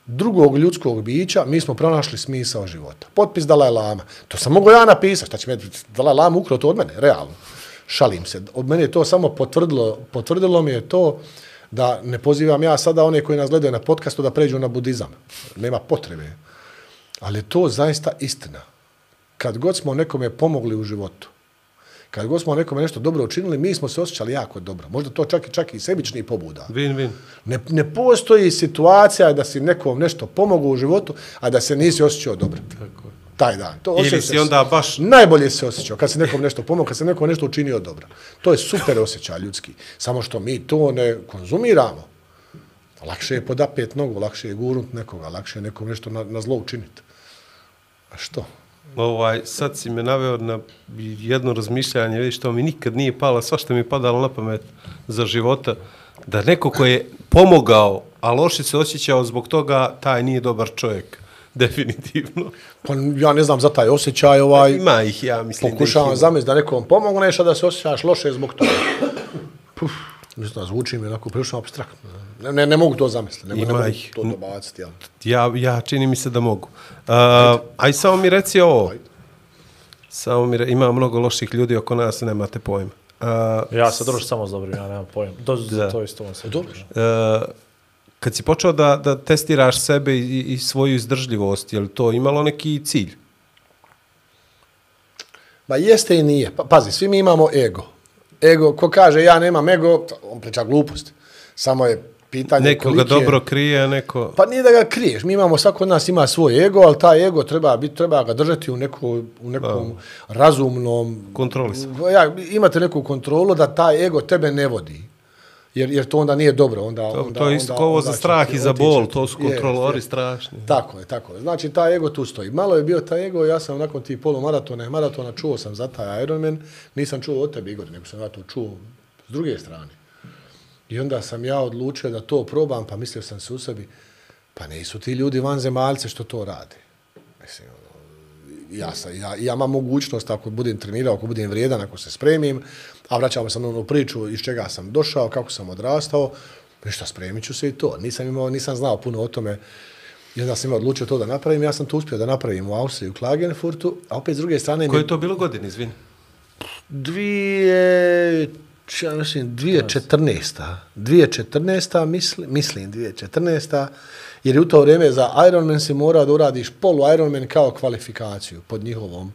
drugog ljudskog bića, mi smo pronašli smisao života. Potpis Dalaj Lama. To sam mogu ja napisati. Šta će me Dalaj Lama ukrao to od mene? Realno. Šalim se. Od mene je to samo potvrdilo, potvrdilo mi je to da ne pozivam ja sada one koji nas gledaju na podcastu da pređu na budizam. Nema potrebe. Ali to zaista istina. Kad god smo nekome pomogli u životu, Kad god smo nekome nešto dobro učinili, mi smo se osjećali jako dobro. Možda to čak, čak i sebični pobuda. Win, win. Ne, ne postoji situacija da si nekom nešto pomogao u životu, a da se nisi osjećao dobro. Tako je. Taj dan. To Ili si onda baš... Najbolje se osjećao kad se nekom nešto pomogao, kad se nekom nešto učinio dobro. To je super osjećaj ljudski. Samo što mi to ne konzumiramo. Lakše je podapet nogu, lakše je gurnut nekoga, lakše je nekom nešto na, na zlo učiniti. A što? Ovaj, sad si me naveo na jedno razmišljanje, vidiš, što mi nikad nije palo, sva što mi je padalo na pamet za života, da neko ko je pomogao, a loše se osjećao zbog toga, taj nije dobar čovjek. Definitivno. Pa ja ne znam za taj osjećaj, ovaj... Ima ih, ja mislim pokušavam da ih ima. zamisliti da nekom pomogneš, a da se osjećaš loše zbog toga. Puf, mislim, zvuči mi onako prilično apstraktno. Ne, ne, ne mogu to zamisliti, ne, ne mogu ih. to dobaciti. Ja. Ja, ja čini mi se da mogu. Uh, aj samo mi reci ovo. Samo mi re, ima mnogo loših ljudi oko nas, nemate pojma. Uh, Ja se družim samo s dobrim, ja nemam pojma. To, Da. to isto on se Dobro. uh, kad si počeo da, da testiraš sebe i, i svoju izdržljivost, je li to imalo neki cilj? Ma jeste i nije. Pa, pazi, svi mi imamo ego. Ego, ko kaže ja nemam ego, on priča glupost. Samo je pitanje Neko ga koliki je... dobro krije, a neko... Pa nije da ga kriješ, mi imamo, svako od nas ima svoj ego, ali taj ego treba, biti, treba ga držati u, neko, u nekom A. razumnom... Kontrolisan. Ja, imate neku kontrolu da taj ego tebe ne vodi. Jer, jer to onda nije dobro. Onda, To, onda, to je isto onda, kao ovo onda za strah će ti i za otići. bol, to su kontrolori Jest, jest. strašni. Tako je, tako je. Znači, taj ego tu stoji. Malo je bio taj ego, ja sam nakon tih polumaratona i maratona čuo sam za taj Ironman, nisam čuo od tebe, Igor, nego sam ja to čuo s druge strane. I onda sam ja odlučio da to probam, pa mislio sam se u sebi, pa nisu ti ljudi vanzemaljce što to rade. Mislim, ja, sam, ja, ja imam mogućnost, ako budem trenirao, ako budem vrijedan, ako se spremim, a vraćamo sam na onu priču iz čega sam došao, kako sam odrastao, ništa, spremit ću se i to. Nisam, imao, nisam znao puno o tome, i onda sam imao odlučio to da napravim, ja sam to uspio da napravim u Austriji, u Klagenfurtu, a opet s druge strane... Koje je to bilo godine, izvini? Dvije... Ja mislim, dvije četrnaesta. dvije četrnaesta, mislim, mislim dvije četrnaesta, jer je u to vrijeme za Ironman si mora da uradiš polu Ironman kao kvalifikaciju pod njihovom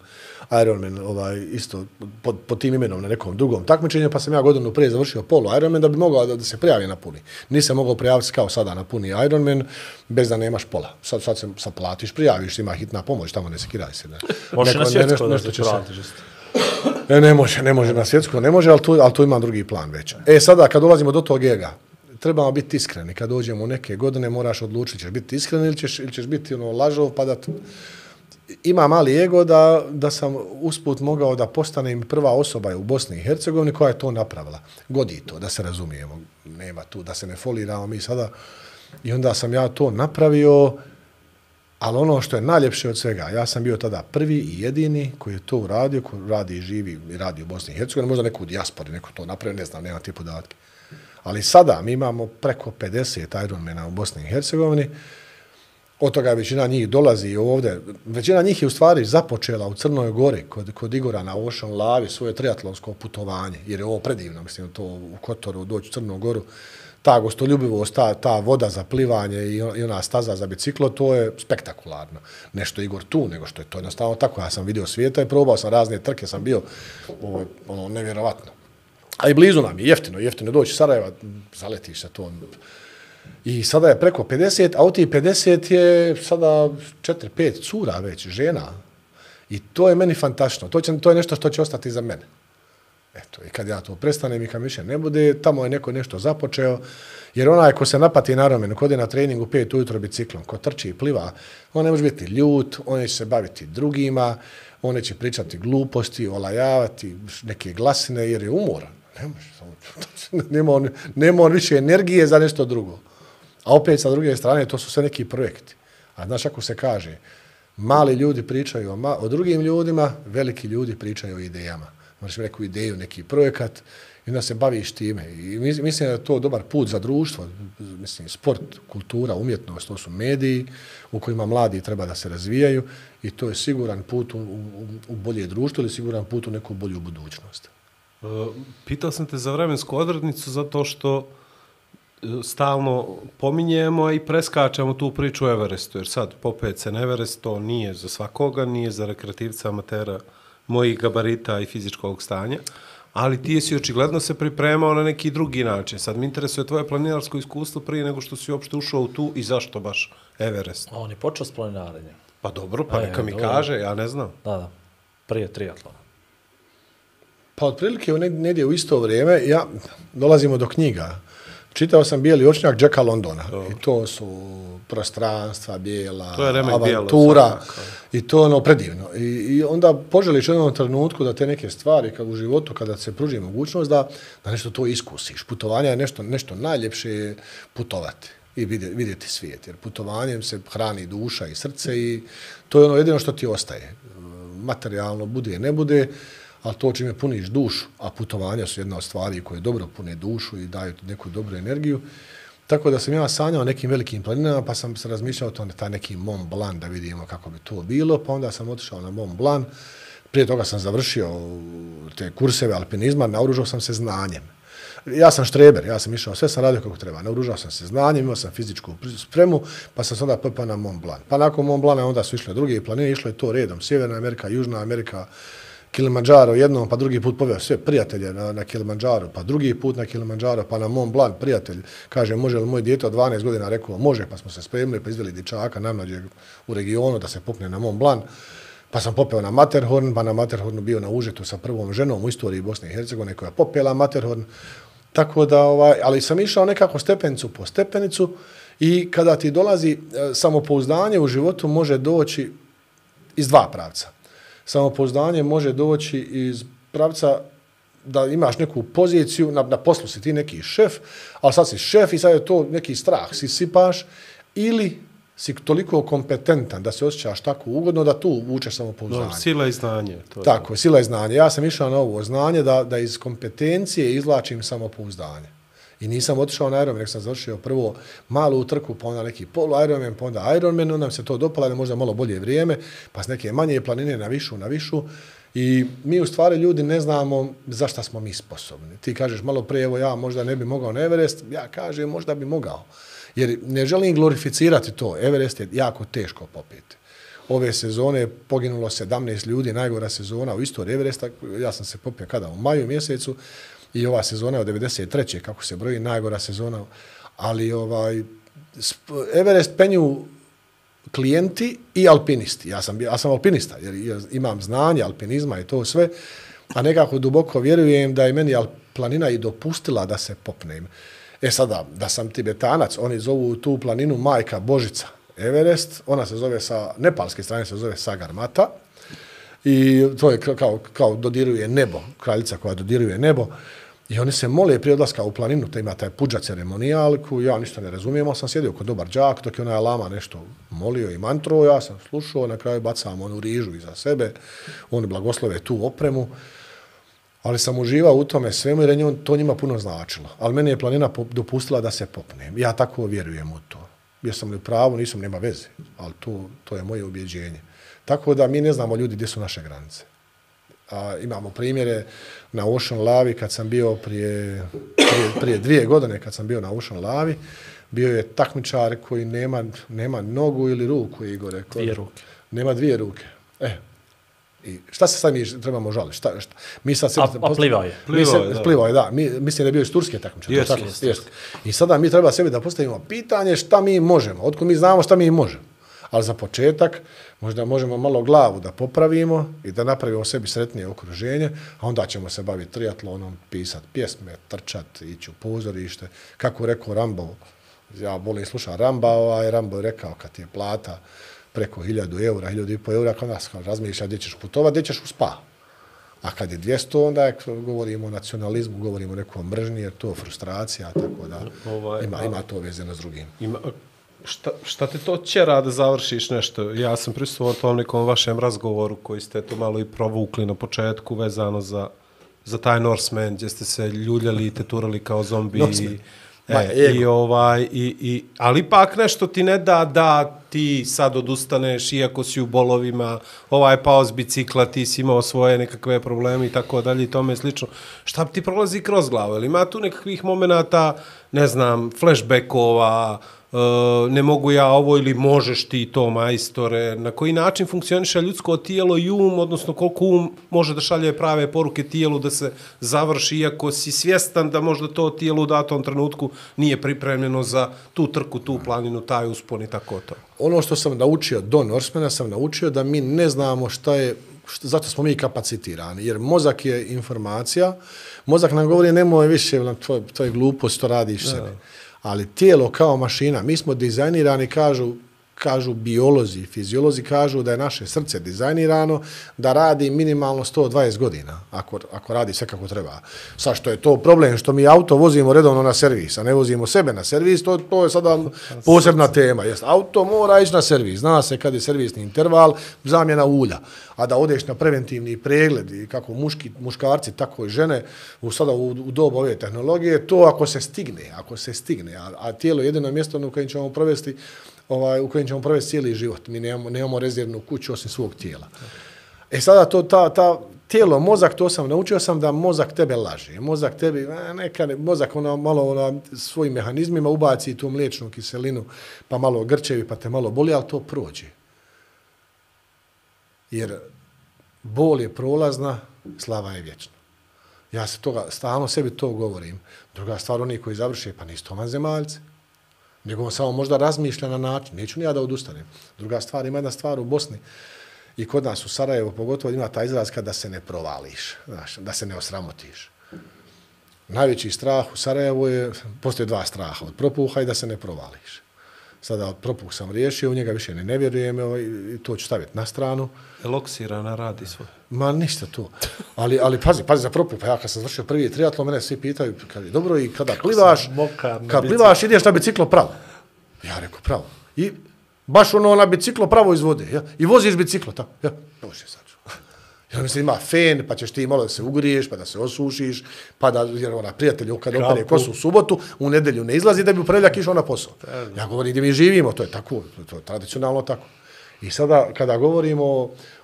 Ironman, ovaj, isto pod, pod tim imenom na nekom drugom takmičenju, pa sam ja godinu prije završio polu Ironman da bi mogao da, da se prijavi na puni. Nisam mogao prijaviti kao sada na puni Ironman bez da nemaš pola. Sad, sad se sad platiš, prijaviš, ima hitna pomoć, tamo ne sekiraj se. Da. Možeš na svjetsko da nešto ti će se- pratiš. Ne, ne može, ne može na svjetsko, ne može, ali tu, ali tu ima drugi plan već. E, sada, kad dolazimo do tog ega, trebamo biti iskreni. Kad dođemo u neke godine, moraš odlučiti, ćeš biti iskren ili ćeš, ili ćeš biti ono, lažov, pa da... T... Ima mali ego da, da sam usput mogao da postanem prva osoba u Bosni i Hercegovini koja je to napravila. Godi to, da se razumijemo. Nema tu, da se ne foliramo mi sada. I onda sam ja to napravio, ali ono što je najljepše od svega, ja sam bio tada prvi i jedini koji je to uradio, koji radi i živi i radi u Bosni i Hercegovini, možda neko u dijaspori, neko to napravio, ne znam, nemam te podatke. Ali sada mi imamo preko pedeset Ironmana u Bosni i Hercegovini, od toga većina njih dolazi ovdje, većina njih je u stvari započela u Crnoj Gori kod, kod Igora na Ocean Lavi svoje triatlonsko putovanje, jer je ovo predivno, mislim, to u Kotoru doći u Crnu Goru, ta gostoljubivost, ta, ta voda za plivanje i, i ona staza za biciklo, to je spektakularno. Nešto Igor tu, nego što je to jednostavno tako. Ja sam vidio svijeta i probao sam razne trke, sam bio ovo, ono, nevjerovatno. A i blizu nam je, jeftino, jeftino doći iz Sarajeva, zaletiš se to. I sada je preko pedeset, a od tih pedeset je sada četiri pet cura već, žena. I to je meni fantastično. To, će, to je nešto što će ostati za mene. Eto, i kad ja to prestanem i kad više ne bude, tamo je neko nešto započeo, jer onaj ko se napati na Ironmanu, ko ode na treningu pet ujutro biciklom, ko trči i pliva, on ne može biti ljut, on će se baviti drugima, on će pričati gluposti, olajavati neke glasine, jer je umoran. Ne može, nema, on, nema on više energije za nešto drugo. A opet sa druge strane, to su sve neki projekti. A znaš ako se kaže, mali ljudi pričaju o, ma, o drugim ljudima, veliki ljudi pričaju o idejama. Moraš neku ideju, neki projekat i onda se baviš time. I mislim da je to dobar put za društvo. Mislim, sport, kultura, umjetnost, to su mediji u kojima mladi treba da se razvijaju i to je siguran put u, u, u bolje društvo ili siguran put u neku bolju budućnost. Uh, pitao sam te za vremensku odrednicu zato što stalno pominjemo i preskačemo tu priču o Everestu, jer sad popet se na Everest, to nije za svakoga, nije za rekreativca, amatera, mojih gabarita i fizičkog stanja, ali ti si očigledno se pripremao na neki drugi način. Sad mi interesuje tvoje planinarsko iskustvo prije nego što si uopšte ušao u tu i zašto baš Everest? On je počeo s planinarenjem. Pa dobro, pa E, neka mi dobro. kaže, ja ne znam. Da, da. Prije triatlona. Pa otprilike u neg- negdje u isto vrijeme, ja, dolazimo do knjiga. Čitao sam Bijeli očnjak Jacka Londona. Dobro. I to su prostranstva, bijela, To je remek bijelo, avantura. svakako. I to je ono predivno. I, I onda poželiš u jednom trenutku da te neke stvari kao u životu, kada se pruži mogućnost, da, da nešto to iskusiš. Putovanje je nešto, nešto najljepše je putovati i vidjeti, vidjeti svijet. Jer putovanjem se hrani duša i srce i to je ono jedino što ti ostaje. Materijalno bude, ne bude, ali to čime puniš dušu, a putovanja su jedna od stvari koje dobro pune dušu i daju ti neku dobru energiju. Tako da sam ja sanjao nekim velikim planinama, pa sam se razmišljao o tom, taj neki Mont Blanc, da vidimo kako bi to bilo, pa onda sam otišao na Mont Blanc. Prije toga sam završio te kurseve alpinizma, naoružao sam se znanjem. Ja sam štreber, ja sam išao, sve sam radio kako treba, naoružao sam se znanjem, imao sam fizičku spremu, pa sam se onda popao na Mont Blanc. Pa nakon Mont Blanca onda su išle druge planine, išlo je to redom, Sjeverna Amerika, Južna Amerika, Kilimanjaro jednom, pa drugi put poveo sve prijatelje na, na Kilimanjaro, pa drugi put na Kilimanjaro, pa na Mont Blanc prijatelj. Kaže, može li moj dijete od dvanaest godina? Rekao, može, pa smo se spremili, pa izveli dječaka najmlađeg u regionu da se popne na Mont Blanc. Pa sam popeo na Matterhorn, pa na Matterhornu bio na Užetu sa prvom ženom u istoriji Bosne i Hercegovine koja je popela Matterhorn. Tako da, ovaj, ali sam išao nekako stepenicu po stepenicu i kada ti dolazi e, samopouzdanje u životu može doći iz dva pravca. Samopouzdanje može doći iz pravca da imaš neku poziciju, na, na poslu si ti neki šef, ali sad si šef i sad je to neki strah, si sipaš, ili si toliko kompetentan da se osjećaš tako ugodno da tu vučeš samopouzdanje. No, sila i znanje. To je Tako je, sila i znanje. Ja sam išao na ovo znanje da, da iz kompetencije izvlačim samopouzdanje. I nisam otišao na Ironman, nek sam završio prvo malu utrku, pa onda neki polu Ironman, pa onda Ironman, onda nam se to dopala, da možda malo bolje vrijeme, pa s neke manje planine na višu, na višu. I mi u stvari ljudi ne znamo za šta smo mi sposobni. Ti kažeš malo prije, evo ja možda ne bi mogao na Everest, ja kažem možda bi mogao. Jer ne želim glorificirati to, Everest je jako teško popeti. Ove sezone je poginulo sedamnaest ljudi, najgora sezona u istoriji Everesta, ja sam se popio kada? U maju mjesecu, i ova sezona je od devedeset treće kako se broji, najgora sezona, ali ovaj Everest penju klijenti i alpinisti. Ja sam, ja sam alpinista, jer imam znanje alpinizma i to sve, a nekako duboko vjerujem da je meni planina i dopustila da se popnem. E sada, da sam Tibetanac, oni zovu tu planinu Majka Božica Everest, ona se zove sa, nepalske strane se zove Sagarmata, i to je kao, kao dodiruje nebo, kraljica koja dodiruje nebo. I oni se mole prije odlaska u planinu, te ima taj puđa ceremonijal, koju ja ništa ne razumijem, ali sam sjedio kod dobar đak, dok je onaj lama nešto molio i mantro, ja sam slušao, na kraju bacam onu rižu iza sebe, oni blagoslove tu opremu, ali sam uživao u tome svemu jer je to njima puno značilo. Ali meni je planina dopustila da se popnem. Ja tako vjerujem u to. Jer sam li u pravu, nisam, nema veze, ali to, to je moje ubjeđenje. Tako da mi ne znamo ljudi gdje su naše granice. A, imamo primjere na Ocean Lavi kad sam bio prije, prije, prije dvije godine kad sam bio na Ocean Lavi, bio je takmičar koji nema, nema nogu ili ruku, Igore. Koji, dvije ruke. Nema dvije ruke. E, i šta se sad mi trebamo žaliti? Šta, šta? Mi sad a, a plivao je. Plivao je, mi se, da. Plivao je, da. Mi, mislim da je bio iz Turske takmičar. Jest, tako? jest, Jest. I sada mi treba sebi da postavimo pitanje šta mi možemo. Otkud mi znamo šta mi možemo. Ali za početak možda možemo malo glavu da popravimo i da napravimo sebi sretnije okruženje, a onda ćemo se baviti triatlonom, pisati pjesme, trčati, ići u pozorište. Kako rekao Rambo, ja volim slušati Ramba, ovaj Rambo je rekao kad ti je plata preko hiljadu eura, hiljadu i po eura, kad nas razmišlja gdje ćeš putovati, gdje ćeš u spa. A kad je dvjesto, onda je, govorimo o nacionalizmu, govorimo o nekom mržnji, jer to je frustracija, tako da Ovaj, ima, ima to vezano s drugim. Ima, šta, šta te to ćera da završiš nešto? Ja sam prisustvovao tom nekom vašem razgovoru koji ste to malo i provukli na početku vezano za, za taj Norseman, gdje ste se ljuljali i teturali kao zombi. I, Ma, e, i ovaj, i, i, ali ipak nešto ti ne da da ti sad odustaneš iako si u bolovima, ovaj pao s bicikla, ti si imao svoje nekakve probleme i tako dalje i tome slično. Šta ti prolazi kroz glavu? Ili ima tu nekakvih momenata, ne znam, flashbackova, ne mogu ja ovo ili možeš ti to, majstore, na koji način funkcioniše ljudsko tijelo i um, odnosno koliko um može da šalje prave poruke tijelu da se završi, iako si svjestan da možda to tijelo u datom trenutku nije pripremljeno za tu trku, tu planinu, taj uspon i tako to. Ono što sam naučio do Norsemana, sam naučio da mi ne znamo šta je, šta, zato smo mi kapacitirani, jer mozak je informacija, mozak nam govori nemoj više, to, to je glupost, to radiš sebe. Ali tijelo kao mašina, mi smo dizajnirani, kažu, kažu biolozi, fiziolozi kažu da je naše srce dizajnirano da radi minimalno sto dvadeset godina, ako, ako radi sve kako treba. Sad što je to problem, što mi auto vozimo redovno na servis, a ne vozimo sebe na servis, to, to je sada posebna tema. Jest, auto mora ići na servis, zna se kad je servisni interval, zamjena ulja, a da odeš na preventivni pregled i kako muški, muškarci, tako i žene, u, sada u, u dobu ove tehnologije, to ako se stigne, ako se stigne, a, a tijelo je jedino mjesto u kojem ćemo provesti Ovaj, u kojem ćemo provesti cijeli život. Mi nemamo, nemamo rezervnu kuću osim svog tijela. E sada to, ta, ta tijelo, mozak, to sam naučio sam da mozak tebe laže. Mozak tebi, neka, mozak ona, malo ona, svojim mehanizmima ubaci tu mliječnu kiselinu, pa malo grčevi, pa te malo boli, ali to prođe. Jer bol je prolazna, slava je vječna. Ja se toga, stalno sebi to govorim. Druga stvar, oni koji završe, pa nisu to vanzemaljci. Nego on samo možda razmišlja na način. Neću ni ja da odustanem. Druga stvar, ima jedna stvar u Bosni i kod nas u Sarajevu, pogotovo ima taj izraz kada se ne provališ, znaš, da se ne osramotiš. Najveći strah u Sarajevu je, postoje dva straha, od propuha i da se ne provališ. Sada od propuh sam riješio, u njega više ne, ne vjerujem i to ću staviti na stranu. Eloksirana radi svoje. Ma ništa to. Ali, ali pazi, pazi za propuh. Pa ja kad sam završio prvi triatlon, mene svi pitaju, kad je dobro i kada plivaš, kad plivaš ideš na biciklo pravo. Ja rekao pravo. I baš ono na biciklo pravo iz vode. Ja? I voziš biciklo tako. Ja, bože sad. Ja mislim ima fen, pa ćeš ti malo da se ugriješ, pa da se osušiš, pa da, jer ona prijatelj kad opere kosu u subotu, u nedelju ne izlazi da bi u ponedjeljak išao na posao. Ja govorim gdje mi živimo, to je tako, to je tradicionalno tako. I sada kada govorimo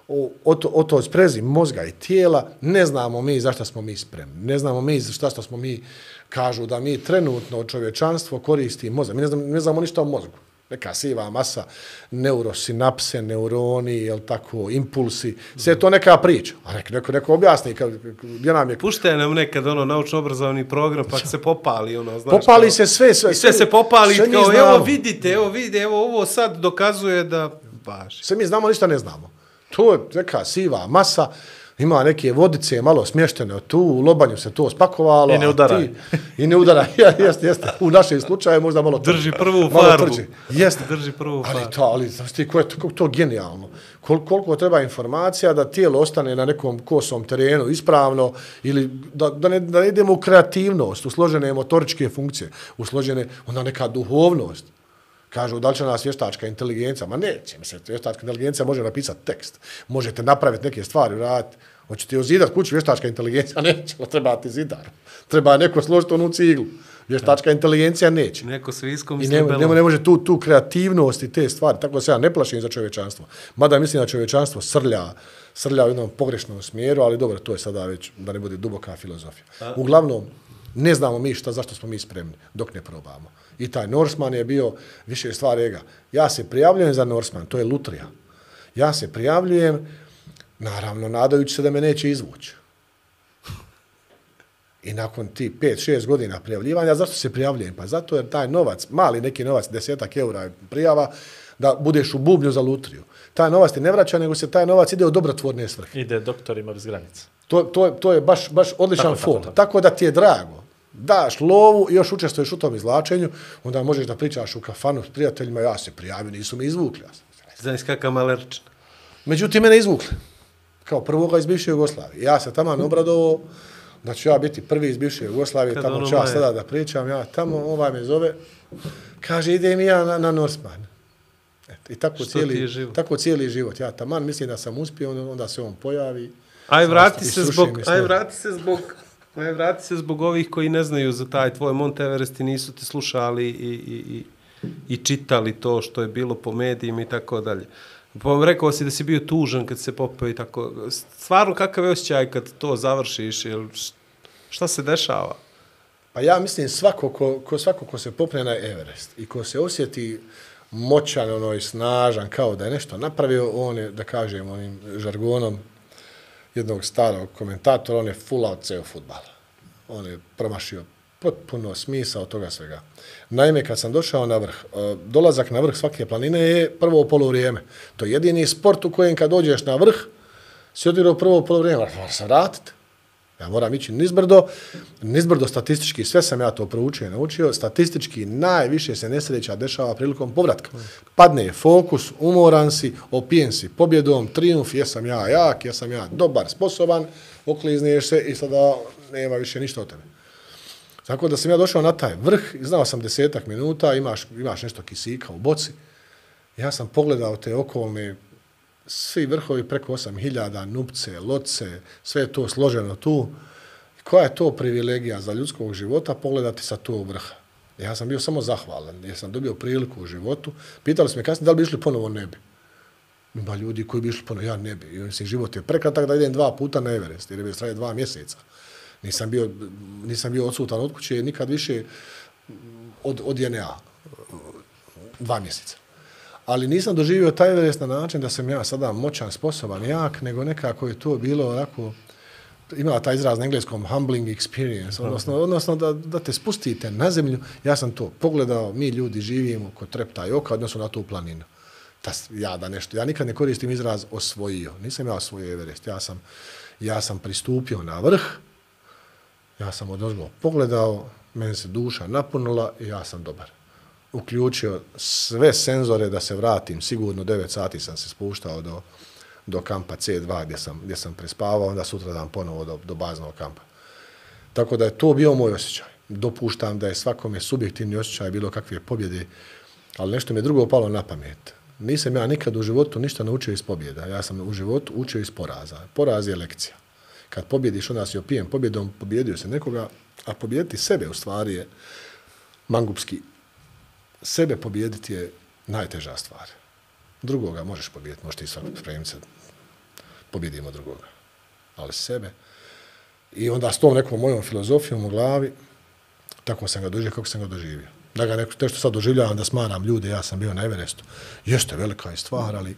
o, o, to, o toj sprezi mozga i tijela, ne znamo mi zašto smo mi spremni. Ne znamo mi zašto smo mi, kažu da mi trenutno čovječanstvo koristi mozak. Mi ne znamo, ne znamo ništa o mozgu. Neka siva masa, neurosinapse, neuroni, jel tako, impulsi, sve je to neka priča. A neko, neko, neko objasni, gdje nam je... Pušte nam nekad ono naučno-obrazovni program, pa se popali, ono, znaš. Popali kao, se sve, sve. I sve se popali, sve kao, evo vidite, evo vidite, evo ovo sad dokazuje da baš. Sve mi znamo, ništa ne znamo. To je neka siva masa, ima neke vodice malo smještene tu, u lobanju se to spakovalo. I ne udara. I ne udara, ja, jeste, jeste. U našem slučaju možda malo trži. Drži prvu farbu. Jeste. Drži prvu farbu. Ali to, ali, znaš ti, je to, to genijalno. Kol, koliko treba informacija da tijelo ostane na nekom kosom terenu ispravno ili da, da, ne, da ne idemo u kreativnost, u složene motoričke funkcije, u složene, onda neka duhovnost. Kažu, da li će nas vještačka inteligencija? Ma neće, mislim, vještačka inteligencija može napisati tekst. Možete napraviti neke stvari, raditi. Hoćete ozidati kuću, vještačka inteligencija neće, treba ti zidar. Treba neko složiti onu ciglu. Vještačka inteligencija neće. Neko s viskom i ne, ne, ne može tu, tu kreativnost i te stvari. Tako da se ja ne plašim za čovječanstvo. Mada mislim da čovječanstvo srlja, srlja u jednom pogrešnom smjeru, ali dobro, to je sada već, da ne bude duboka filozofija. A? Uglavnom, ne znamo mi šta, zašto smo mi spremni, dok ne probamo. I taj Norseman je bio više stvar ega. Ja se prijavljujem za Norseman, to je lutrija. Ja se prijavljujem, naravno, nadajući se da me neće izvući. I nakon ti pet šest godina prijavljivanja, zašto se prijavljujem? Pa zato jer taj novac, mali neki novac, desetak eura prijava, da budeš u bubnju za lutriju. Taj novac ti ne vraća, nego se taj novac ide u dobrotvorne svrhe. Ide doktorima bez granica. To, to, to je baš, baš odličan tako, fond. Tako, tako. Tako da ti je drago. Daš lovu i još učestvuješ u tom izvlačenju, onda možeš da pričaš u kafanu s prijateljima, ja se prijavio, nisu me izvukli. Znaš kakav malerčin. Međutim, mene izvukli. Kao prvoga iz bivše Jugoslavije. Ja se tamo obradovao da ću ja biti prvi iz bivše Jugoslavije, kad tamo ću ja sada da pričam, ja tamo, ovaj me zove, kaže, idem i ja na, na Norseman. I tako cijeli, tako cijeli život. Ja taman mislim da sam uspio, onda se on pojavi. Aj vrati se zbog, aj vrati se zbog, aj vrati se zbog ovih koji ne znaju za taj tvoj Mount Everest i nisu te slušali i, i, i, i čitali to što je bilo po medijima i tako dalje. Pa vam rekao si da si bio tužan kad se popeo i tako. Stvarno kakav je osjećaj kad to završiš? Jel, šta se dešava? Pa ja mislim svako ko, ko, svako ko se popne na Everest i ko se osjeti moćan, ono, i snažan, kao da je nešto napravio, on je, da kažem, onim žargonom jednog starog komentatora, on je full out ceo fudbala. On je promašio potpuno smisao toga svega. Naime, kad sam došao na vrh, dolazak na vrh svake planine je prvo polovrijeme. To je jedini sport u kojem kad dođeš na vrh, si odigrao prvo polovrijeme, moram se vratiti. Ja moram ići nizbrdo, nizbrdo statistički, sve sam ja to proučio i naučio, statistički najviše se nesreća dešava prilikom povratka. Padne fokus, umoran si, opijen si pobjedom, trijumf, jesam ja jak, jesam ja dobar, sposoban, oklizniješ se i sada nema više ništa od tebe. Tako da sam ja došao na taj vrh, znao sam desetak minuta, imaš, imaš nešto kisika u boci. Ja sam pogledao te okolne, svi vrhovi preko osam hiljada, Nupce, Loce, sve je to složeno tu. Koja je to privilegija za ljudskog života pogledati sa tog vrha? Ja sam bio samo zahvalan, jer sam dobio priliku u životu. Pitali su me kasnije da li bi išli ponovo, ne bi. Ima ljudi koji bi išli ponovo, ja ne bi. I mislim, život je prekratak da idem dva puta na Everest, jer je traje dva mjeseca. Nisam bio, nisam bio odsutan od kuće nikad više od, od J N A. Dva mjeseca. Ali nisam doživio taj Everest na način da sam ja sada moćan, sposoban, jak, nego nekako je to bilo onako, imala taj izraz na engleskom humbling experience, odnosno, odnosno da, da te spustite na zemlju. Ja sam to pogledao, mi ljudi živimo kod trepta i oka, odnosno na tu planinu. Ta, ja, da nešto, ja nikad ne koristim izraz osvojio. Nisam ja osvojio Everest. Ja sam, ja sam pristupio na vrh, ja sam odozgo pogledao, meni se duša napunila i ja sam dobar. Uključio sve senzore da se vratim, sigurno devet sati sam se spuštao do, do kampa C dva gdje sam, gdje sam prespavao, onda sutra dan ponovo do, do baznog kampa. Tako da je to bio moj osjećaj. Dopuštam da je svakome subjektivni osjećaj bilo kakve pobjede, ali nešto mi je drugo palo na pamet. Nisam ja nikad u životu ništa naučio iz pobjeda, ja sam u životu učio iz poraza. Poraz je lekcija. Kad pobjediš, onda si opijen pobjedom, pobjedio se nekoga, a pobjediti sebe u stvari je mangupski. Sebe pobijediti je najteža stvar. Drugoga možeš pobijediti, možeš ti spremiti se, pobjedimo drugoga. Ali sebe. I onda s tom nekom mojom filozofijom u glavi, tako sam ga doživio kako sam ga doživio. Da ga neko, nešto sad doživljavam, da smaram ljude, ja sam bio na Everestu. Jeste velika je stvar, ali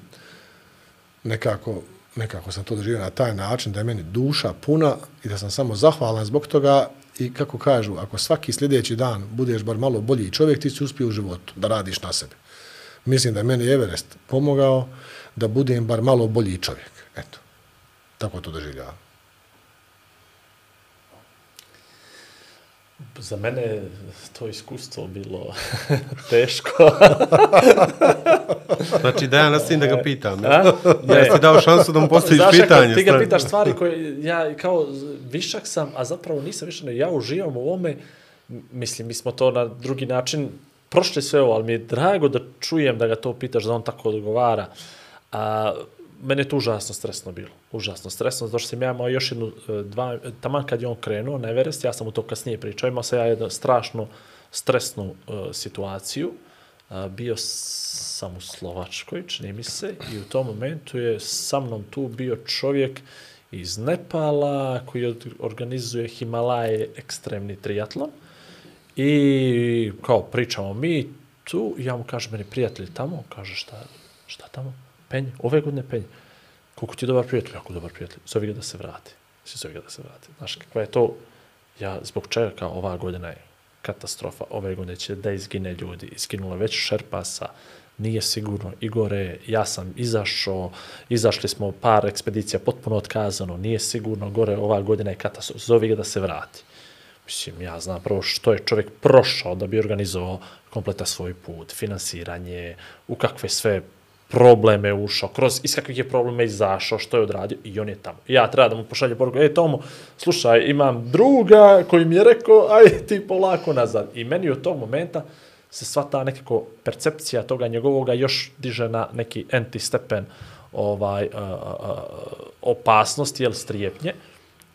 nekako, nekako sam to doživio na taj način da je meni duša puna i da sam samo zahvalan zbog toga. I kako kažu, ako svaki sljedeći dan budeš bar malo bolji čovjek, ti si uspio u životu da radiš na sebi. Mislim da je meni Everest pomogao da budem bar malo bolji čovjek. Eto, tako to doživljavam. Za mene je to iskustvo bilo teško. Znači da ja nastavim da ga pitam. Ja, ja ti dao šansu da mu postaviš pitanje. Ti ga pitaš stvari koje ja kao višak sam, a zapravo nisam višak, ja uživam u ovome. Mislim, mi smo to na drugi način prošli sve ovo, ali mi je drago da čujem da ga to pitaš, da on tako odgovara. A, mene je to užasno stresno bilo. Užasno stresno, zato što sam ja imao još jednu, dva, taman kad je on krenuo na Everest, ja sam u to kasnije pričao, imao sam ja jednu strašnu stresnu uh, situaciju. Uh, bio sam u Slovačkoj, čini mi se, i u tom momentu je sa mnom tu bio čovjek iz Nepala koji organizuje Himalaje ekstremni triatlon. I kao pričamo mi tu, ja mu kažem, meni prijatelj tamo, kaže šta, šta tamo? Penj, ove godine penj. Koliko ti je dobar prijatelj? Jako dobar prijatelj. Zovi ga da se vrati. Zovi ga da se vrati. Znaš, kakva je to? Ja, zbog čega kao ova godina je katastrofa. Ove godine će da izgine ljudi. Izginulo već Šerpasa. Nije sigurno. Igore, ja sam izašao. Izašli smo par ekspedicija potpuno otkazano. Nije sigurno. Gore, ova godina je katastrofa. Zovi ga da se vrati. Mislim, ja znam prvo što je čovjek prošao da bi organizovao kompleta svoj put. Finansiranje, u kakve sve probleme ušao, kroz iz kakvih je probleme izašao, što je odradio i on je tamo. Ja treba da mu pošalje poruku, ej Tomo, slušaj, imam druga koji mi je rekao, aj ti polako nazad. I meni od tog momenta se sva ta nekako percepcija toga njegovoga još diže na neki anti-stepen ovaj, uh, uh, opasnosti, jel, strijepnje.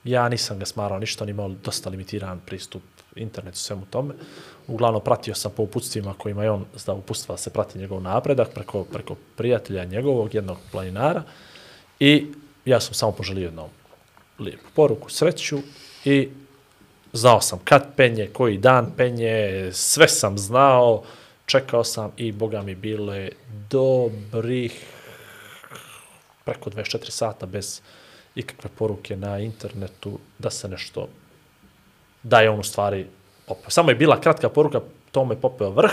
Ja nisam ga smarao ništa, on imao dosta limitiran pristup internetu, svemu tome. Uglavnom, pratio sam po uputstvima kojima je on zda uputstva se prati njegov napredak preko, preko prijatelja njegovog, jednog planinara. I ja sam samo poželio jednu lijepu poruku, sreću i znao sam kad penje, koji dan penje, sve sam znao, čekao sam i boga mi bilo je dobrih preko dvadeset četiri sata bez ikakve poruke na internetu da se nešto, da je on u stvari popeo. Samo je bila kratka poruka, tome je popeo vrh,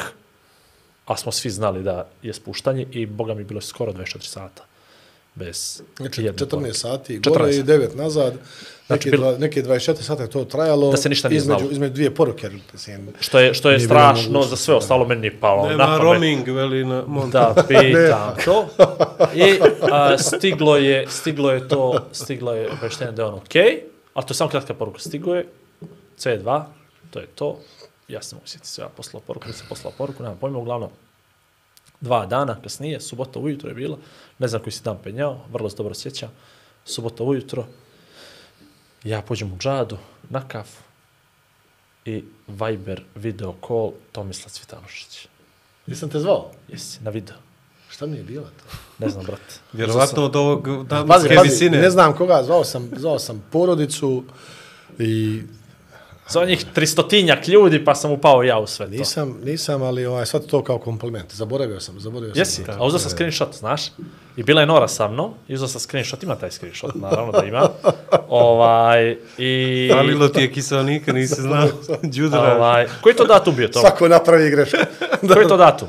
a smo svi znali da je spuštanje i boga mi bilo skoro dvadeset četiri sata. Bez znači, jedne četrnaest poruke. sati, gore i devet nazad, Znači, neke, dva, neke dvadeset četiri sata je to trajalo, da se ništa nije između, znalo. između dvije poruke. Mislim, Što je, što je strašno za sve ostalo, meni nije palo Nema na pamet. roaming, veli na montu. Da, pitam to. I a, stiglo je, stiglo je to, stiglo je obavještenje da je on okej, okay, ali to je samo kratka poruka. Stigo je C dva, to je to. Ja sam mogu sjetiti sve, ja poslao poruku, nisam poslao poruku, nemam pojma, uglavnom dva dana kasnije, subota ujutro je bilo, ne znam koji si dan penjao, vrlo se dobro sjećam, subota ujutro, ja pođem u džadu, na kafu i Viber video call Tomislav Cvitanušić. Nisam te zvao? Jesi, na video. Šta mi je bilo to? Ne znam, brate. Vjerovatno od ovog Pazi, damske pazi, visine. ne znam koga, zvao sam, zvao sam porodicu i Za njih tristotinjak ljudi, pa sam upao ja u sve to. nisam, nisam, ali ovaj, sad to kao kompliment. Zaboravio sam, zaboravio sam. Jesi, a uzeo sam screenshot, znaš? I bila je Nora sa mnom, i uzeo sam screenshot, ima taj screenshot, naravno da ima. ovaj, i... Falilo ti je kiselnika, nisi znao. Đudara. Ovaj, koji to datum bio to? Svako napravi grešku. Koji je to datum?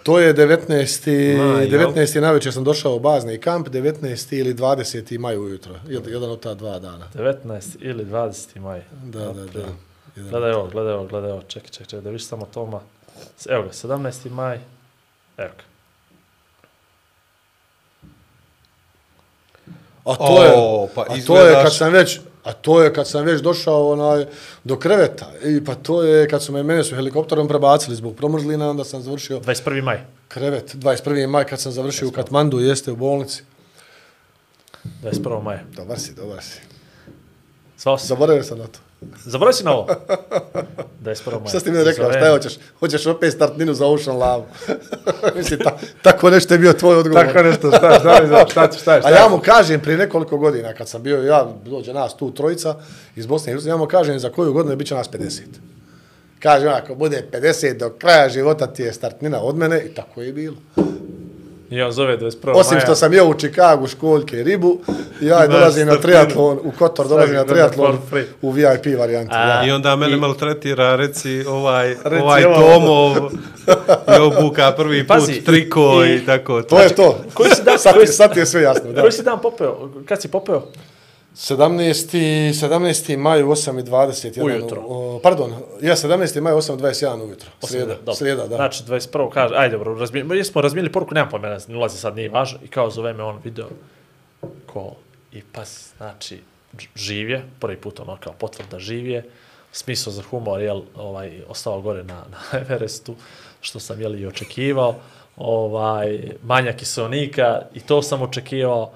To je devetnaesti Maj, devetnaesti navečer sam došao u bazni kamp, devetnaesti ili dvadeseti maj ujutro. Jed- Jedan od ta dva dana. devetnaesti ili dvadeseti maj. Da, da, da. Jedan. Gledaj ovo, gledaj ovo, gledaj ovo, čekaj, čekaj, čekaj, da viš samo Toma. Evo ga, sedamnaesti maj, evo ga. A to je, O, pa a to je izgledaš- kad sam već, a to je kad sam već došao onaj do kreveta. I pa to je kad su me mene su helikopterom prebacili zbog promrzlina, onda sam završio dvadeset prvi maj. krevet dvadeset prvi maj kad sam završio u Katmandu, jeste u bolnici. dvadeset prvog maja. Dobar si, dobar si. Zvao si? Zaboravio sam na to. Zaboravio si na ovo? dvadeset prvog maja. Šta si ti mi rekao, Zovem. šta je, hoćeš? Hoćeš opet startninu za Ocean Love. Mislim, ta, tako nešto je bio tvoj odgovor. Tako nešto, šta, šta, šta, šta, šta, šta. A ja mu kažem prije nekoliko godina, kad sam bio, ja, dođe nas tu trojica iz Bosne i Hercegovine, ja mu kažem za koju godinu bit će nas pedeset. Kažem, ako bude pedeset do kraja života ti je startnina od mene i tako je bilo. I on zove dvadeset prvog maja. Osim što sam jeo u Čikagu školjke i ribu, ja Imaš dolazim na startninu. triatlon, u Kotor dolazim na Svaki triatlon for free. u V I P varijanti. Da. I onda mene maltretira, reci, ovaj, Reci ovaj ovo. Tomov je obuka prvi put Pazi, triko i, i- tako. To je to. Koji si dan- sad, koji ti- si- sad ti je sve jasno. Da. Koji si dan popeo? Kad si popeo? sedamnaesti sedamnaesti maj u osam i dvadeset jedan. Ujutro. O, pardon, ja sedamnaesti maj u osam i dvadeset jedan ujutro. Srijeda, Dobro. srijeda, da. Znači, dvadeset prvog kaže, ajde, dobro, razmijeli, jesmo razmijeli poruku, nemam pojma, ne ulazi sad, nije važno, i kao zove me on video call. I pa, znači, ž- živ je, prvi put ono kao potvrda živ je, smisao za humor, jel, ovaj, ostao gore na, na Everestu, što sam, jel, i očekivao, ovaj, manja kiselnika, i to sam očekivao,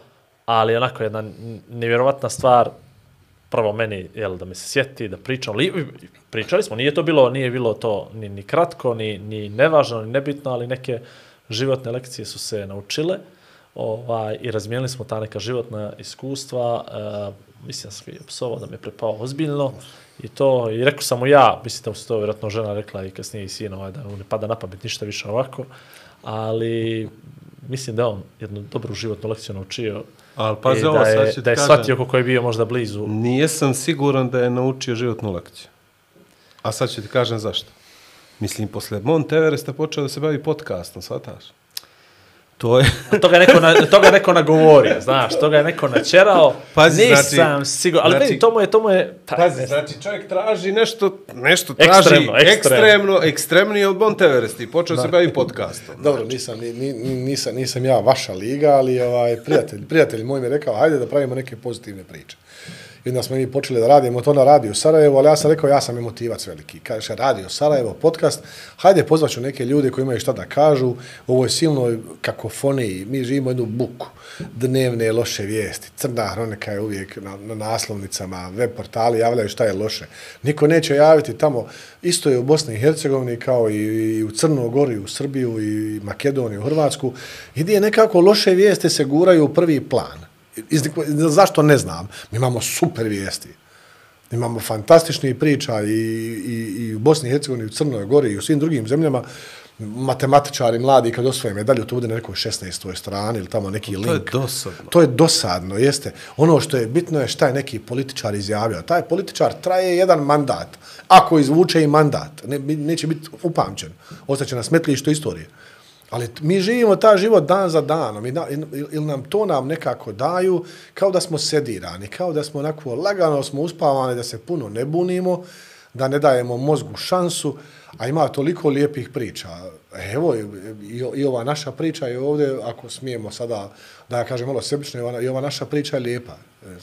ali onako jedna n- nevjerovatna stvar, prvo meni, jel, da me se sjeti, da pričam, li, pričali smo, nije to bilo, nije bilo to ni, ni kratko, ni, ni nevažno, ni nebitno, ali neke životne lekcije su se naučile, ovaj, i razmijenili smo ta neka životna iskustva, uh, mislim da sam je psovao da me prepao ozbiljno, i to, i rekao sam mu ja, mislim da mu se to vjerojatno žena rekla i kasnije i sin, ovaj, da mu ne pada na pamet ništa više ovako, ali mislim da je on jednu dobru životnu lekciju naučio. Ali pazi I ovo, da sad je, ću ti da je kažem. shvatio kako je bio možda blizu. Nijesam siguran da je naučio životnu lekciju. A sad ću ti kažem zašto. Mislim, posle Mount Everesta počeo da se bavi podcastom, shvataš? To je... A toga je neko, na, toga je neko nagovorio, znaš, toga je neko načerao, Pazi, nisam znači- siguran, ali znači- vidi, to mu je, to mu je, pa, Pazi, znači čovjek traži nešto, nešto traži Ekstremno, ekstremno. ekstremno, ekstremnije od Mount Everesta i počeo se bavi podcastom. Dobro, nisam, ni, ni, nisam, nisam ja vaša liga, ali ovaj, prijatelj, prijatelj moj mi je rekao, hajde da pravimo neke pozitivne priče. I onda smo mi počeli da radimo to na Radio Sarajevo, ali ja sam rekao, ja sam emotivac veliki. Kaže, Radio Sarajevo, podcast, hajde pozvaću neke ljude koji imaju šta da kažu, u ovoj silnoj kakofoniji, mi živimo jednu buku, dnevne loše vijesti, crna hronika je uvijek na, na naslovnicama, web portali javljaju šta je loše. Niko neće javiti tamo, isto je u Bosni i Hercegovini kao i, i u Crnu Goru, i u Srbiju, i Makedoniju, u Hrvatsku, i gdje nekako loše vijesti se guraju u prvi plan. Iz, zašto ne znam? Mi imamo super vijesti. Imamo fantastičnih priča i, i, i u Bosni i Hercegovini, u Crnoj Gori i u svim drugim zemljama. Matematičari mladi kad osvoje medalju, to bude na nekoj šesnaestoj strani ili tamo neki link. To je dosadno. To je dosadno, jeste. Ono što je bitno je šta je neki političar izjavio. Taj političar traje jedan mandat. Ako izvuče i mandat, ne, neće biti upamćen. Ostaće na smetlištu istorije. Ali mi živimo ta život dan za danom ili nam to nam nekako daju kao da smo sedirani, kao da smo onako lagano smo uspavani, da se puno ne bunimo, da ne dajemo mozgu šansu, a ima toliko lijepih priča. Evo, i, i ova naša priča je ovdje, ako smijemo sada, da ja kažem malo sebično, i ova, i ova naša priča je lijepa.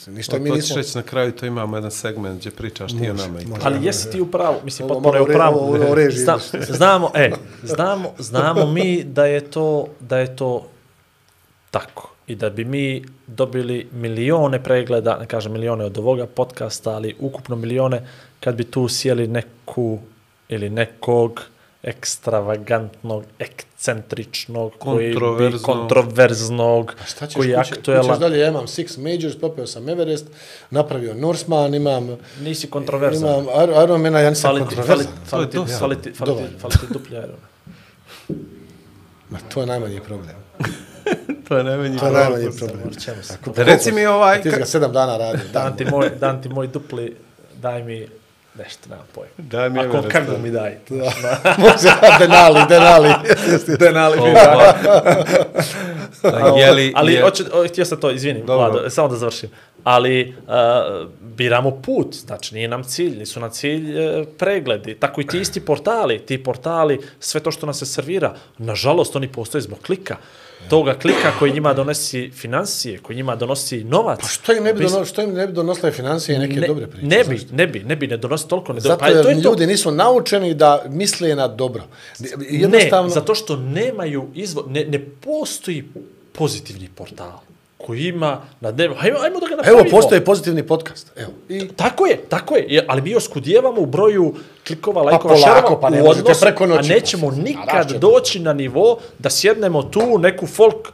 Ništa mi nismo... reći na kraju, to imamo jedan segment gdje pričaš ti o nama. I ali jesi ti u pravu, mislim, potpuno je u pravu. Zna, znamo, e, znamo, znamo mi da je to, da je to tako. I da bi mi dobili milione pregleda, ne kažem milione od ovoga podcasta, ali ukupno milione, kad bi tu sjeli neku ili nekog ekstravagantnog, ekcentričnog, koji bi kontroverznog, koji je aktuelan. Kućeš dalje, ja imam Six Majors, popeo sam Everest, napravio Norseman, imam... Nisi kontroverzan. Imam Ironmana, ja nisam kontroverzan. Fali ti, fali ti, fali ti, fali ti duplji Ironman. Ma, to je najmanji problem. To je najmanji to je problem. Najmanji problem. Da reci mi ovaj... Ti ga sedam dana radi. Dan ti moj, dan ti moj dupli, daj mi... Nešto, nemam pojma. Daj mi Ako kako mi daj. Može, denali, denali. denali mi daj. Jeli, ali, je... hoću, htio sam to, izvinim, Vlado, samo da završim. Ali uh, biramo put, znači nije nam cilj, nisu nam cilj uh, pregledi. Tako i ti isti portali, ti portali, sve to što nas se servira, nažalost oni postoje zbog klika. Toga klika koji njima donosi financije, koji njima donosi novac. Pa što im ne bi, dono, što im ne bi donosile financije i neke ne, dobre priče? Ne bi, ne bi, ne bi, ne donosi toliko. Ne do... Zato pa, jer to je ljudi to. nisu naučeni da misle na dobro. Jednostavno... Ne, zato što nemaju izvor, ne, ne postoji pozitivni portal koji ima na dnevno. Hajmo, hajmo da ga napravimo. Evo, postoji pozitivni podcast. Evo. I... Tako je, tako je. Ali mi oskudijevamo u broju klikova, pa lajkova, šerova pa ne u odnosu, preko noći. a nećemo nikad doći na nivo da sjednemo tu neku folk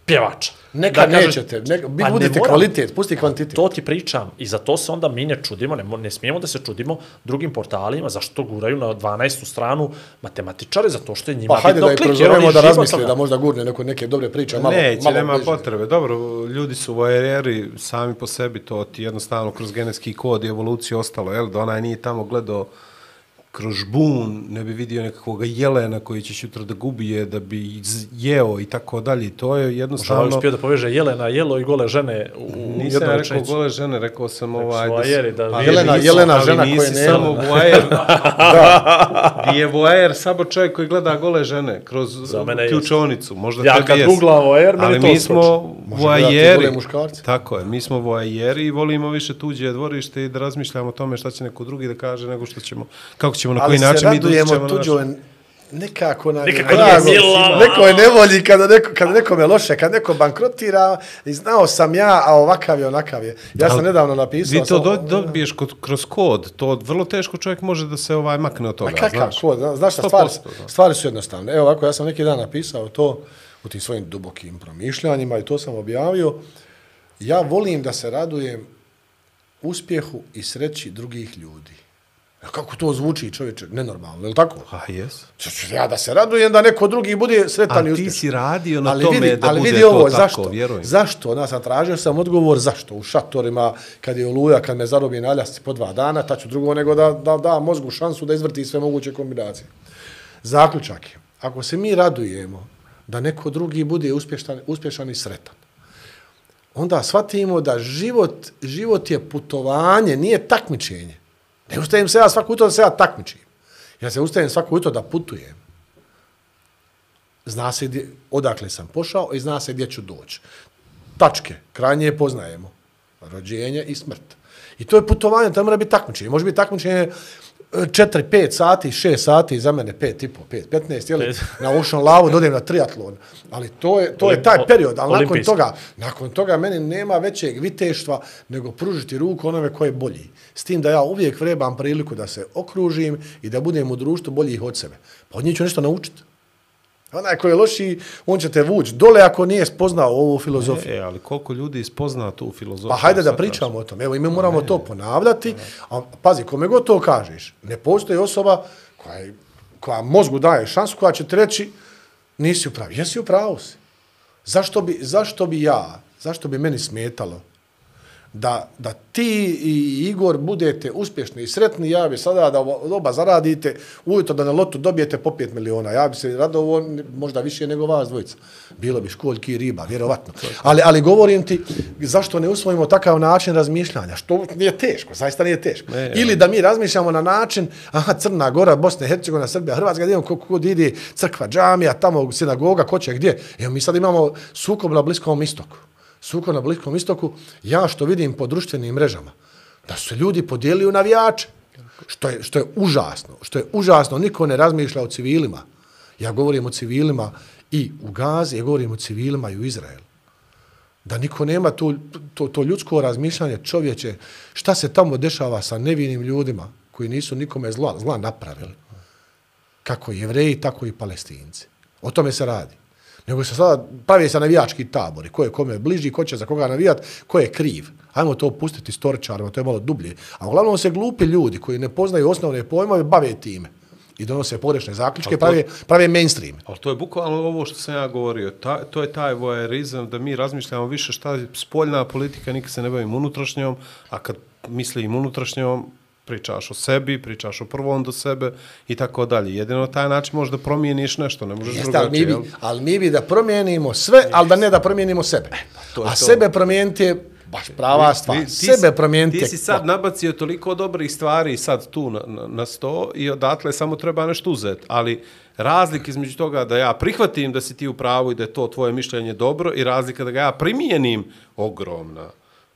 pjevača. Neka da nećete, neka, vi pa budite kvalitet, pusti kvantitet. To ti pričam i za to se onda mi ne čudimo, ne, ne smijemo da se čudimo drugim portalima, zašto guraju na dvanaestu stranu matematičare, zato što je njima pa, bitno klik. Pa hajde da je da razmisli, da možda gurne neko, neke dobre priče. Malo, Neće, malo nema bliže. potrebe. Dobro, ljudi su voajeri sami po sebi, to ti jednostavno kroz genetski kod i evoluciju ostalo, jel? Da onaj nije tamo gledao kroz žbun, ne bi vidio nekakvog jelena koji će jutra da gubije, da bi jeo i tako dalje. To je jednostavno... Možda uspio da poveže jelena, jelo i gole žene u Nisam ja rekao gole žene, rekao sam ovaj... Voajeri, da... Pa, jelena, nisu, jelena žena koja ne... samo voajer. Da. Di je voajer samo čovjek koji gleda gole žene kroz ključonicu. Možda ja kad googlam voajer, meni to mi smo voajeri. Muškarci. Tako je, mi smo voajeri i volimo više tuđe dvorište i da razmišljamo o tome šta će neko drugi da kaže nego što ćemo... Kako ćemo na koji način mi dođemo na tuđo, nekako nam nekako je drago. Neko je nevolji kada neko, kada nekome loše, kada neko bankrotira i znao sam ja, a ovakav je, onakav je. Ja sam nedavno napisao... Vi to do, dobiješ kod, kroz kod, to vrlo teško čovjek može da se ovaj makne od toga, a kakav znaš. Kod, znaš šta, stvari, stvari su jednostavne. Evo ovako, ja sam neki dan napisao to u tim svojim dubokim promišljanjima i to sam objavio. Ja volim da se radujem uspjehu i sreći drugih ljudi. Kako to zvuči, čovječe, nenormalno, je li tako? A, jes. Ja da se radujem da neko drugi bude sretan i uspješan. A ti si radio na ali tome vidi, da ali bude vidi to ovo, tako, zašto? Vjerujem. Zašto? Ja sam tražio sam odgovor zašto. U šatorima, kad je oluja, kad me zarobi na aljasci po dva dana, taću drugo nego da, da da mozgu šansu da izvrti sve moguće kombinacije. Zaključak je, ako se mi radujemo da neko drugi bude uspješan, uspješan i sretan, onda shvatimo da život, život je putovanje, nije takmičenje. Ne ustajem se ja svako jutro da se ja takmičim. Ja se ustajem svako jutro da putujem. Zna se gdje, odakle sam pošao i zna se gdje ću doći. Tačke, krajnje poznajemo. Rođenje i smrt. I to je putovanje, to mora biti takmičenje. Može biti takmičenje četiri, pet sati, šest sati, za mene pet i po, pet, petnaest, jeli, na Ocean Lavu, dodem na triatlon. Ali to je, to je taj period, ali nakon toga, nakon toga meni nema većeg viteštva nego pružiti ruku onome koje je bolji. S tim da ja uvijek vrebam priliku da se okružim i da budem u društvu boljih od sebe. Pa od njih ću nešto naučiti. Onaj koji je lošiji, on će te vući dole ako nije spoznao ovu filozofiju. E, ali koliko ljudi spozna tu filozofiju? Pa hajde da pričamo o tom. Evo, i mi moramo to ponavljati. A pazi, kome god to kažeš, ne postoji osoba koja, je, koja mozgu daje šansu, koja će ti reći nisi u pravu. Jesi u pravu si. Zašto bi, zašto bi ja, zašto bi meni smetalo da, da ti i Igor budete uspješni i sretni, ja bi sada da oba zaradite, ujutro da na lotu dobijete po pet miliona. Ja bi se radovo možda više nego vas dvojica. Bilo bi školjki i riba, vjerovatno. Ali, ali govorim ti, zašto ne usvojimo takav način razmišljanja? Što nije teško, zaista nije teško. Ne, ili da mi razmišljamo na način, aha, Crna Gora, Bosna i Hercegovina, Srbija, Hrvatska, gdje imamo kod ide crkva, džamija, tamo sinagoga, ko će gdje. Evo, mi sad imamo sukob na Bliskom istoku. Sukob na Bliskom istoku, ja što vidim po društvenim mrežama, da su se ljudi podijelili u navijače, što je, što je užasno, što je užasno, niko ne razmišlja o civilima. Ja govorim o civilima i u Gazi, ja govorim o civilima i u Izraelu. Da niko nema to, to, to ljudsko razmišljanje čovječe, šta se tamo dešava sa nevinim ljudima koji nisu nikome zla, zla napravili. Kako Jevreji, tako i Palestinci. O tome se radi. Nego se sada pravi se navijački tabori, ko je kome bliži, ko će za koga navijat, ko je kriv. Hajmo to pustiti storičarima, to je malo dublje. A uglavnom se glupi ljudi koji ne poznaju osnovne pojmove bave time. I donose pogrešne zaključke, to, prave, prave mainstream. Ali to je bukvalno ovo što sam ja govorio. Ta, to je taj voajerizam da mi razmišljamo više šta je spoljna politika, nikad se ne bavim unutrašnjom, a kad mislim unutrašnjom, pričaš o sebi, pričaš o prvom do sebe i tako dalje. Jedino na taj način možeš da promijeniš nešto, ne možeš Jeste, drugačije. Ali mi, bi, ali mi bi da promijenimo sve, Jeste. ali da ne da promijenimo sebe. To je a to. sebe promijeniti je baš prava stvar. Ti, ti, sebe promijeniti. Ti si sad nabacio toliko dobrih stvari sad tu na, na, na sto i odatle samo treba nešto uzeti. Ali razlika između toga da ja prihvatim da si ti u pravu i da je to tvoje mišljenje dobro i razlika da ga ja primijenim ogromna.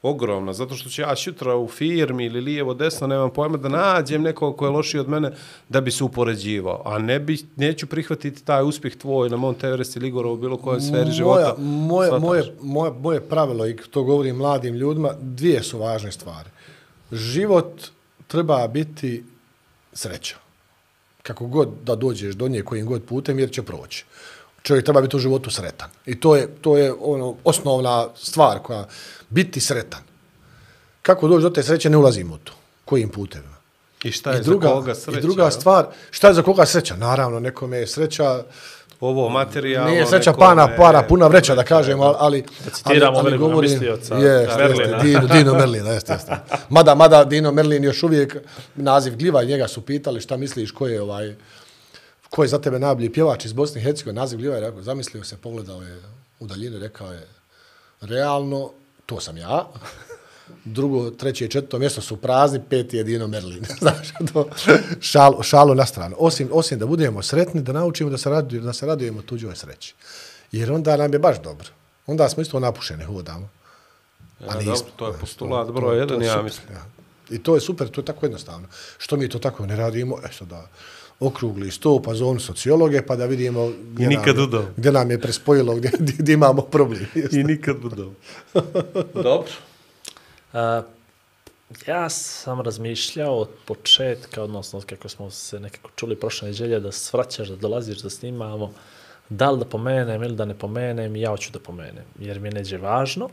Ogromna, zato što ću ja šutra u firmi ili lijevo, desno, nemam pojma, da nađem nekog ko je lošiji od mene da bi se upoređivao. A ne bi, neću prihvatiti taj uspjeh tvoj na Mount Everest ili Igora u bilo kojoj sferi života. Moje, moje, moje, moje pravilo, i to govorim mladim ljudima, dvije su važne stvari. Život treba biti sreća. Kako god da dođeš do nje kojim god putem, jer će proći. Čovjek treba biti u životu sretan. I to je, to je ono, osnovna stvar koja biti sretan. Kako doći do te sreće, ne ulazimo u to. Kojim putevima. I šta je I druga, za koga sreća? I druga stvar, šta je za koga sreća? Naravno, nekome je sreća... Ovo materijalno... Nije sreća pana, para, puna vreća, da kažemo, ali... Da citiramo ali, ali govorim, mislioca jest, Merlina. Jeste, Dino, Dino Merlina, jeste, jeste. Mada, mada Dino Merlin još uvijek naziv gljiva i njega su pitali šta misliš, ko je ovaj... Ko je za tebe najbolji pjevač iz Bosne i Hercegovine, naziv gljiva je rekao, zamislio se, pogledao je u daljinu, rekao je, realno, to sam ja. Drugo, treće i četvrto mjesto su prazni, peti je Dino Merlin. Znaš, to šalu, šalu na stranu. Osim, osim da budemo sretni, da naučimo da se, radujemo, da se radujemo tuđoj sreći. Jer onda nam je baš dobro. Onda smo isto napušeni, hodamo. Ja, nismo, dobro, to je postulat broj jedan, ja mislim. Ja. I to je super, to je tako jednostavno. Što mi to tako ne radimo? Eto da... okrugli sto, pa zonu sociologe, pa da vidimo gdje, nam, gdje nam je prespojilo, gdje, gdje imamo problem. I nikad udao. Dobro. Uh, ja sam razmišljao od početka, odnosno kako smo se nekako čuli prošle nedjelje, da svraćaš, da dolaziš, da snimamo, da li da pomenem ili da ne pomenem, ja hoću da pomenem, jer mi je neđe važno,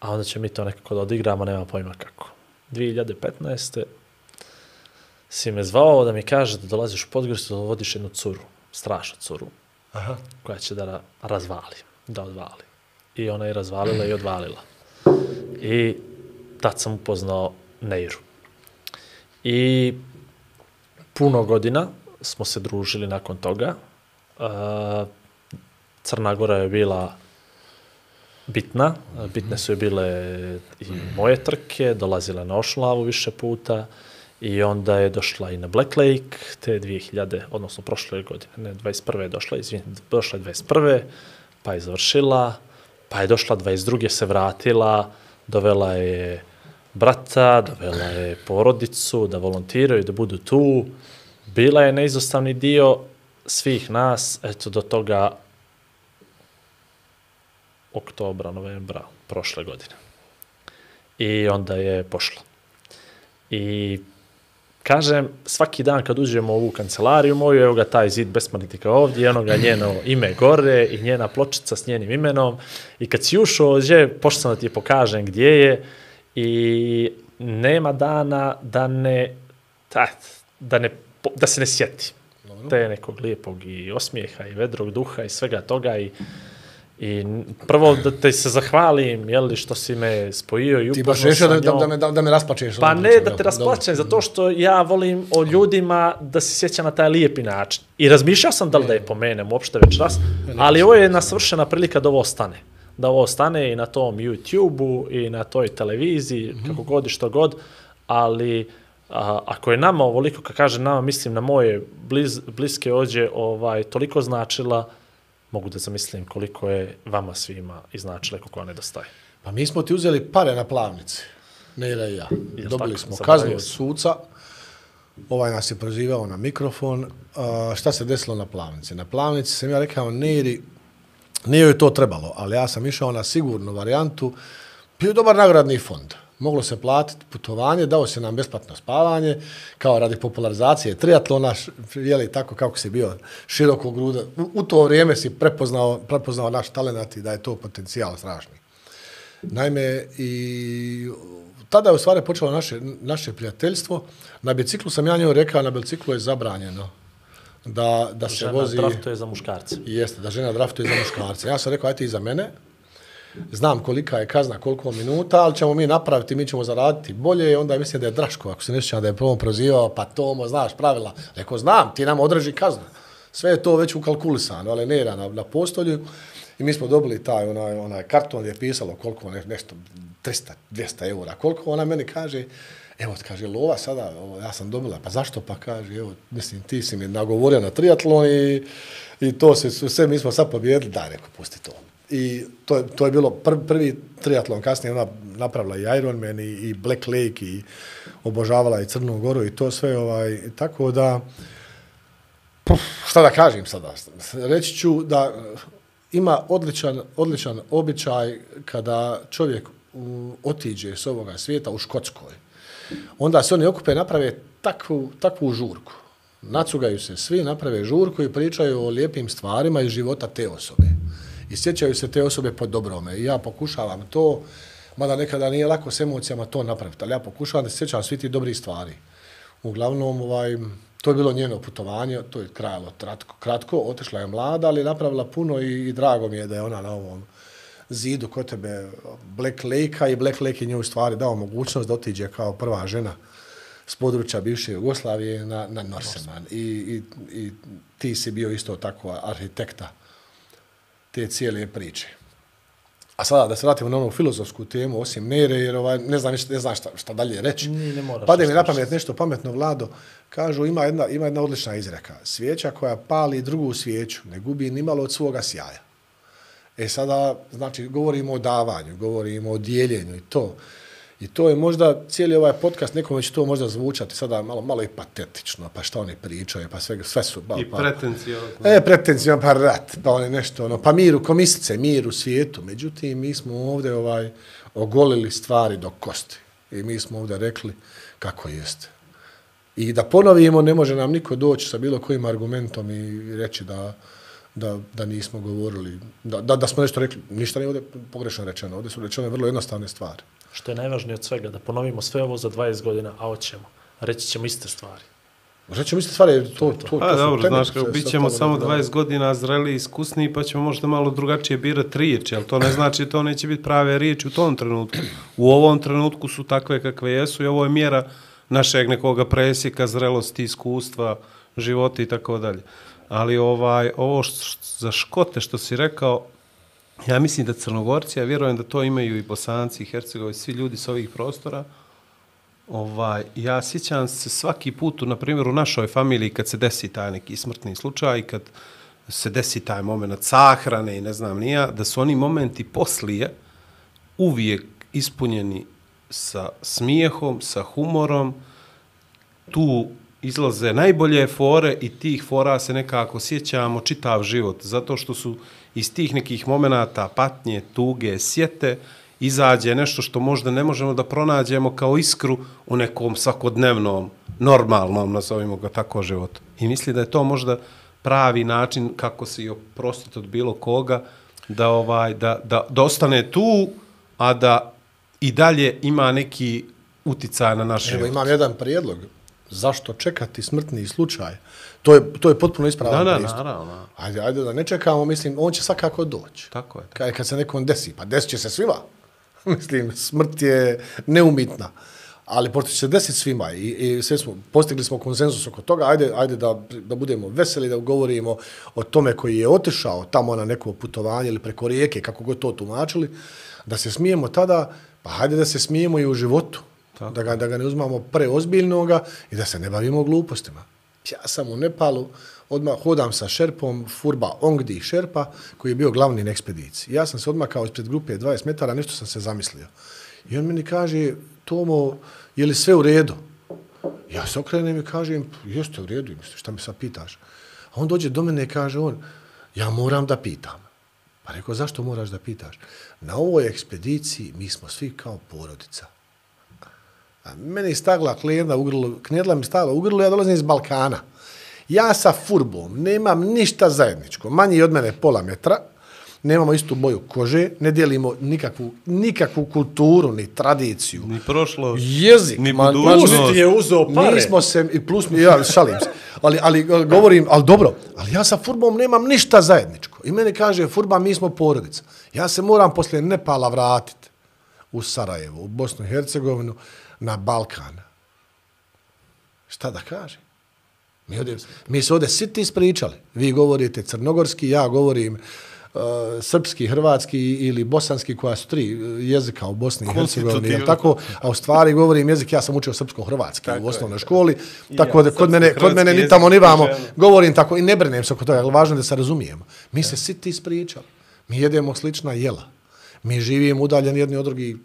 a onda će mi to nekako da odigramo, nema pojma kako. dvije hiljade petnaeste si me zvao da mi kaže da dolaziš u Podgoricu, da vodiš jednu curu, strašnu curu, Aha. koja će da razvali, da odvali. I ona je razvalila i odvalila. I tad sam upoznao Neiru. I puno godina smo se družili nakon toga. Crna Gora je bila bitna, bitne su je bile i moje trke, dolazile na Ošlavu više puta, i onda je došla i na Black Lake, te dvije hiljade, odnosno prošle godine, ne, dvadeset prve je došla, izvin, došla je dvadeset prve, pa je završila, pa je došla dvadeset druge se vratila, dovela je brata, dovela je porodicu, da volontiraju, da budu tu. Bila je neizostavni dio svih nas, eto do toga oktobra, novembra prošle godine. I onda je pošla. I kažem, svaki dan kad uđemo u ovu kancelariju moju, evo ga taj zid besmrtnika ovdje, ono ga njeno ime gore i njena pločica s njenim imenom. I kad si ušao ovdje, pošto sam da ti pokažem gdje je i nema dana da ne, da, da, ne, da se ne sjeti. Te nekog lijepog i osmijeha i vedrog duha i svega toga i I prvo da te se zahvalim, jeli, što si me spojio i upoznao sa njom. Ti baš rešio da, da, me, da, da me rasplačeš. Pa ne da te rasplačem, zato što ja volim o ljudima da se sjeća na taj lijepi način. I razmišljao sam da li da je pomenem uopšte večeras, ali ovo je jedna svršena prilika da ovo ostane. Da ovo ostane i na tom YouTube-u i na toj televiziji, mm-hmm. kako god i što god, ali a, ako je nama ovoliko, kad kažem nama, mislim na moje bliz, bliske ođe, ovaj, toliko značila, mogu da zamislim koliko je vama svima iznačile, koliko vam nedostaje. Pa mi smo ti uzeli pare na plavnici, Nera i ja. Jel Dobili tako? smo Zaboravio kaznu od suca, ovaj nas je prozivao na mikrofon. A, šta se desilo na plavnici? Na plavnici sam ja rekao Neri, nije joj to trebalo, ali ja sam išao na sigurnu varijantu, bio je dobar nagradni fond. Moglo se platiti putovanje, dao se nam besplatno spavanje, kao radi popularizacije triatlona, jeli tako kako si bio širokog gruda. U, u to vrijeme si prepoznao, prepoznao naš talent i da je to potencijal strašni. Naime, i tada je u stvari počelo naše, naše prijateljstvo. Na biciklu sam ja njoj rekao, na biciklu je zabranjeno da, da se žena vozi... Žena draftuje za muškarce. Jeste, da žena draftuje za muškarce. Ja sam rekao, ajte i za mene. Znam kolika je kazna, koliko minuta, ali ćemo mi napraviti, mi ćemo zaraditi bolje. Onda mislim da je Draško, ako se ne sjećam da je prvom prozivao, pa Tomo, znaš pravila. Rekao, znam, ti nam održi kaznu. Sve je to već ukalkulisano, ali Nera na, na postolju. I mi smo dobili taj onaj, onaj karton gdje je pisalo koliko, ne, nešto, tristo, dvjesto eura. Koliko ona meni kaže, evo, kaže, lova sada, ovo, ja sam dobila, pa zašto pa kaže, evo, mislim, ti si mi nagovorio na triatlon i, i to se, sve mi smo sad pobjedili, daj, rekao, pusti to. I to je, to je bilo pr, prvi triatlon, kasnije ona napravila i Ironman i, i Black Lake i obožavala i Crnu Goru i to sve, ovaj, tako da, puf, šta da kažem sada, reći ću da ima odličan, odličan običaj kada čovjek u, otiđe s ovoga svijeta u Škotskoj. Onda se oni okupe, naprave takvu, takvu žurku. Nacugaju se svi, naprave žurku i pričaju o lijepim stvarima iz života te osobe. I sjećaju se te osobe po dobrome. I ja pokušavam to, mada nekada nije lako s emocijama to napraviti, ali ja pokušavam da se sjećam svi ti dobrih stvari. Uglavnom, ovaj, to je bilo njeno putovanje, to je trajalo kratko, kratko, otišla je mlada, ali napravila puno i, i drago mi je da je ona na ovom zidu kod tebe Black Lake-a i Black Lake je njoj u stvari dao mogućnost da otiđe kao prva žena s područja bivše Jugoslavije na, na Norseman. I, i, I ti si bio isto tako arhitekta te cijele priče. A sada da se vratimo na onu filozofsku temu, osim Nere, jer ovaj, ne znam, ne znam šta, šta dalje reći. Ne, ne moraš. Pade mi na pamet nešto pametno, Vlado. Kažu, ima jedna, ima jedna odlična izreka. Svijeća koja pali drugu svijeću ne gubi ni malo od svoga sjaja. E sada, znači, govorimo o davanju, govorimo o dijeljenju i to. I to je možda, cijeli ovaj podcast, nekome će to možda zvučati sada malo, malo i patetično, pa šta oni pričaju, pa sve, sve su... Pa, I pa, pretencijozno. E, pretencijozno, pa rat, pa oni nešto, ono, pa mir u komisice, mir u svijetu. Međutim, mi smo ovdje ovaj, ogolili stvari do kosti. I mi smo ovdje rekli kako jeste. I da ponovimo, ne može nam niko doći sa bilo kojim argumentom i reći da, da, da nismo govorili, da, da, da smo nešto rekli. Ništa nije ovdje pogrešno rečeno. Ovdje su rečene vrlo jednostavne stvari. Što je najvažnije od svega, da ponovimo sve ovo za dvadeset godina, a hoćemo. Reći ćemo iste stvari. Reći ćemo iste stvari, to, to, to, pa, to dobro, znaš, kako bit ćemo samo dvadeset godina zreli i iskusniji, pa ćemo možda malo drugačije birati riječi, ali to ne znači to neće biti prave riječi u tom trenutku. U ovom trenutku su takve kakve jesu i ovo je mjera našeg nekoga presjeka, zrelosti, iskustva, života i tako dalje. Ali ovaj, ovo što, za Škote što si rekao, ja mislim da Crnogorci, ja vjerujem da to imaju i Bosanci, i Hercegovi, svi ljudi s ovih prostora. Ovaj, ja sjećam se svaki put, na primjer, u našoj familiji kad se desi taj neki smrtni slučaj, kad se desi taj moment sahrane i ne znam nija, da su oni momenti poslije uvijek ispunjeni sa smijehom, sa humorom, tu izlaze najbolje fore i tih fora se nekako sjećamo čitav život, zato što su iz tih nekih momenata patnje, tuge, sjete, izađe nešto što možda ne možemo da pronađemo kao iskru u nekom svakodnevnom normalnom, nazovimo ga tako, životu. I misli da je to možda pravi način kako se i oprostiti od bilo koga, da, ovaj, da, da, da ostane tu, a da i dalje ima neki uticaj na naš Evo, život. imam jedan prijedlog. Zašto čekati smrtni slučaj? To je, to je potpuno ispravan Da, da, pristup. naravno. Ajde, ajde da ne čekamo, mislim, on će svakako doći. Tako je. Kad, kad se nekom desi, pa desit će se svima. Mislim, smrt je neumitna. Ali pošto će se desiti svima i, i sve smo, postigli smo konsenzus oko toga, ajde, ajde da, da budemo veseli, da govorimo o tome koji je otišao tamo na neko putovanje ili preko rijeke, kako god to tumačili, da se smijemo tada, pa ajde da se smijemo i u životu. Da ga, da ga ne uzmamo preozbiljnoga i da se ne bavimo glupostima. Ja sam u Nepalu, odmah hodam sa šerpom Furba Ongdi Šerpa, koji je bio glavni na ekspediciji. Ja sam se odmakao ispred grupe dvadeset metara, nešto sam se zamislio. I on meni kaže, Tomo, je li sve u redu? Ja se okrenem i kažem, jeste u redu, misliš, šta mi sad pitaš? A on dođe do mene i kaže on, ja moram da pitam. Pa rekao, zašto moraš da pitaš? Na ovoj ekspediciji mi smo svi kao porodica. A meni je stagla knedla u grlu, knedla mi stagla u grlu, ja dolazim iz Balkana. Ja sa Furbom nemam ništa zajedničko. Manji od mene pola metra, nemamo istu boju kože, ne dijelimo nikakvu, nikakvu kulturu, ni tradiciju. Ni prošlo, jezik, ni ma, budućnost. ma, Ti je uzeo pare. Nismo se, i plus, ja šalim se, ali, ali govorim, ali dobro, ali ja sa Furbom nemam ništa zajedničko. I meni kaže, Furba, mi smo porodica. Ja se moram poslije Nepala vratiti u Sarajevo, u Bosnu i Hercegovinu, na Balkan. Šta da kažem? Mi, ovdje, mi se ovdje siti ispričali. Vi govorite crnogorski, ja govorim uh, srpski, hrvatski ili bosanski, koja su tri jezika u Bosni i Hercegovini. Jel tako? A u stvari govorim jezik, ja sam učio srpsko-hrvatski u osnovnoj školi, tako ja, da kod mene, kod mene ni tamo ni vamo govorim tako i ne brinem se oko toga, ali važno da se razumijemo. Mi ja. se siti ispričali. Mi jedemo slična jela. Mi živimo udaljeni jedni od drugih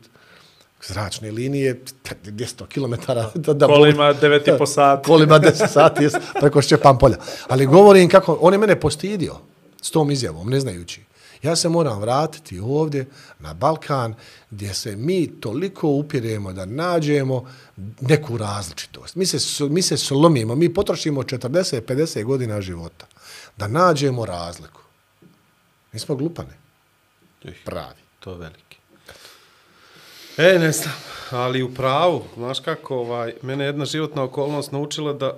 zračne linije, dvjesto kilometara. Da, da kolima devet i po sati. Kolima deset sati, jes, preko Šćepan polja. Ali govorim kako, on je mene postidio s tom izjavom, ne znajući. Ja se moram vratiti ovdje na Balkan, gdje se mi toliko upiremo da nađemo neku različitost. Mi se, mi se slomimo, mi potrošimo četrdeset do pedeset godina života da nađemo razliku. Mi smo glupane. Pravi. To je veliki. E, ne znam, ali u pravu, znaš kako, ovaj, mene jedna životna okolnost naučila da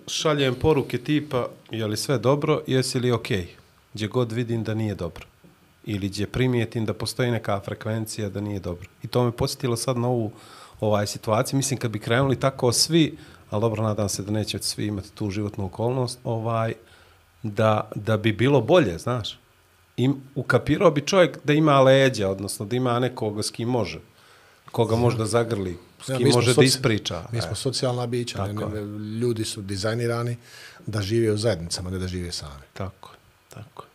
šaljem poruke tipa, je li sve dobro, jesi li okej, okay? Gdje god vidim da nije dobro. Ili gdje primijetim da postoji neka frekvencija da nije dobro. I to me posjetilo sad na ovu ovaj, situaciju. Mislim, kad bi krenuli tako svi, ali dobro, nadam se da neće svi imati tu životnu okolnost, ovaj, da, da bi bilo bolje, znaš. I ukapirao bi čovjek da ima leđa, odnosno da ima nekoga s kim može. Koga može da zagrli, s kim ja, može soci... da ispriča. Mi smo e. socijalna bića, ne, ne, ljudi su dizajnirani da žive u zajednicama, ne da žive sami. Tako, tako.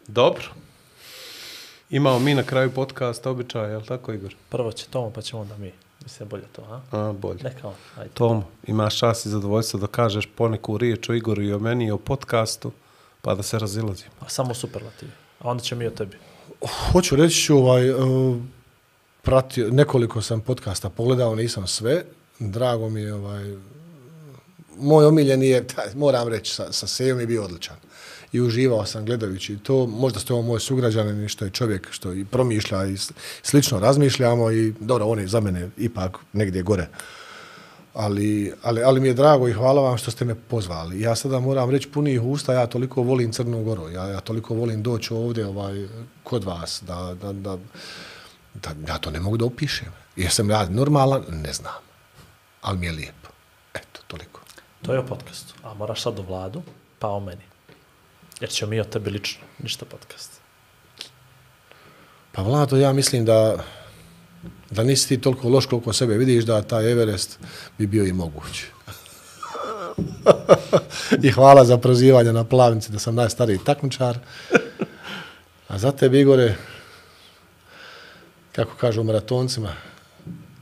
Dobro. Imamo mi na kraju podcasta običaja, je li tako, Igor? Prvo će Tomo, pa ćemo onda mi. Mislim, bolje to, a? A, bolje. Neka on, ajde. Tomo, imaš čast i zadovoljstvo da kažeš poneku riječ o Igoru i o meni i o podcastu, pa da se razilazimo. A samo superlativi. A onda će mi o tebi. Hoću reći ću ovaj... Uh, pratio, nekoliko sam podcasta pogledao, nisam sve. Drago mi je, ovaj, moj omiljeni je, taj, moram reći, sa, sa Sejom je bio odličan. I uživao sam gledajući to. Možda ste ovo moj sugrađanin, što je čovjek što i promišlja i slično razmišljamo i dobro, on je za mene ipak negdje gore. Ali, ali, ali mi je drago i hvala vam što ste me pozvali. Ja sada moram reći punih usta, ja toliko volim Crnu Goru, ja, ja toliko volim doći ovdje ovaj, kod vas, da, da, da Da, ja to ne mogu da opišem. Jesam ja normalan? Ne znam. Ali mi je lijepo. Eto, toliko. To je o podcastu. A moraš sad o Vladu, pa o meni. Jer će mi o tebi lično. Ništa podcast. Pa Vlado, ja mislim da da nisi ti toliko loš koliko sebe vidiš, da taj Everest bi bio i moguć. I hvala za prozivanje na Plavnici da sam najstariji takmičar. A za tebe, Igore, kako kažu maratoncima,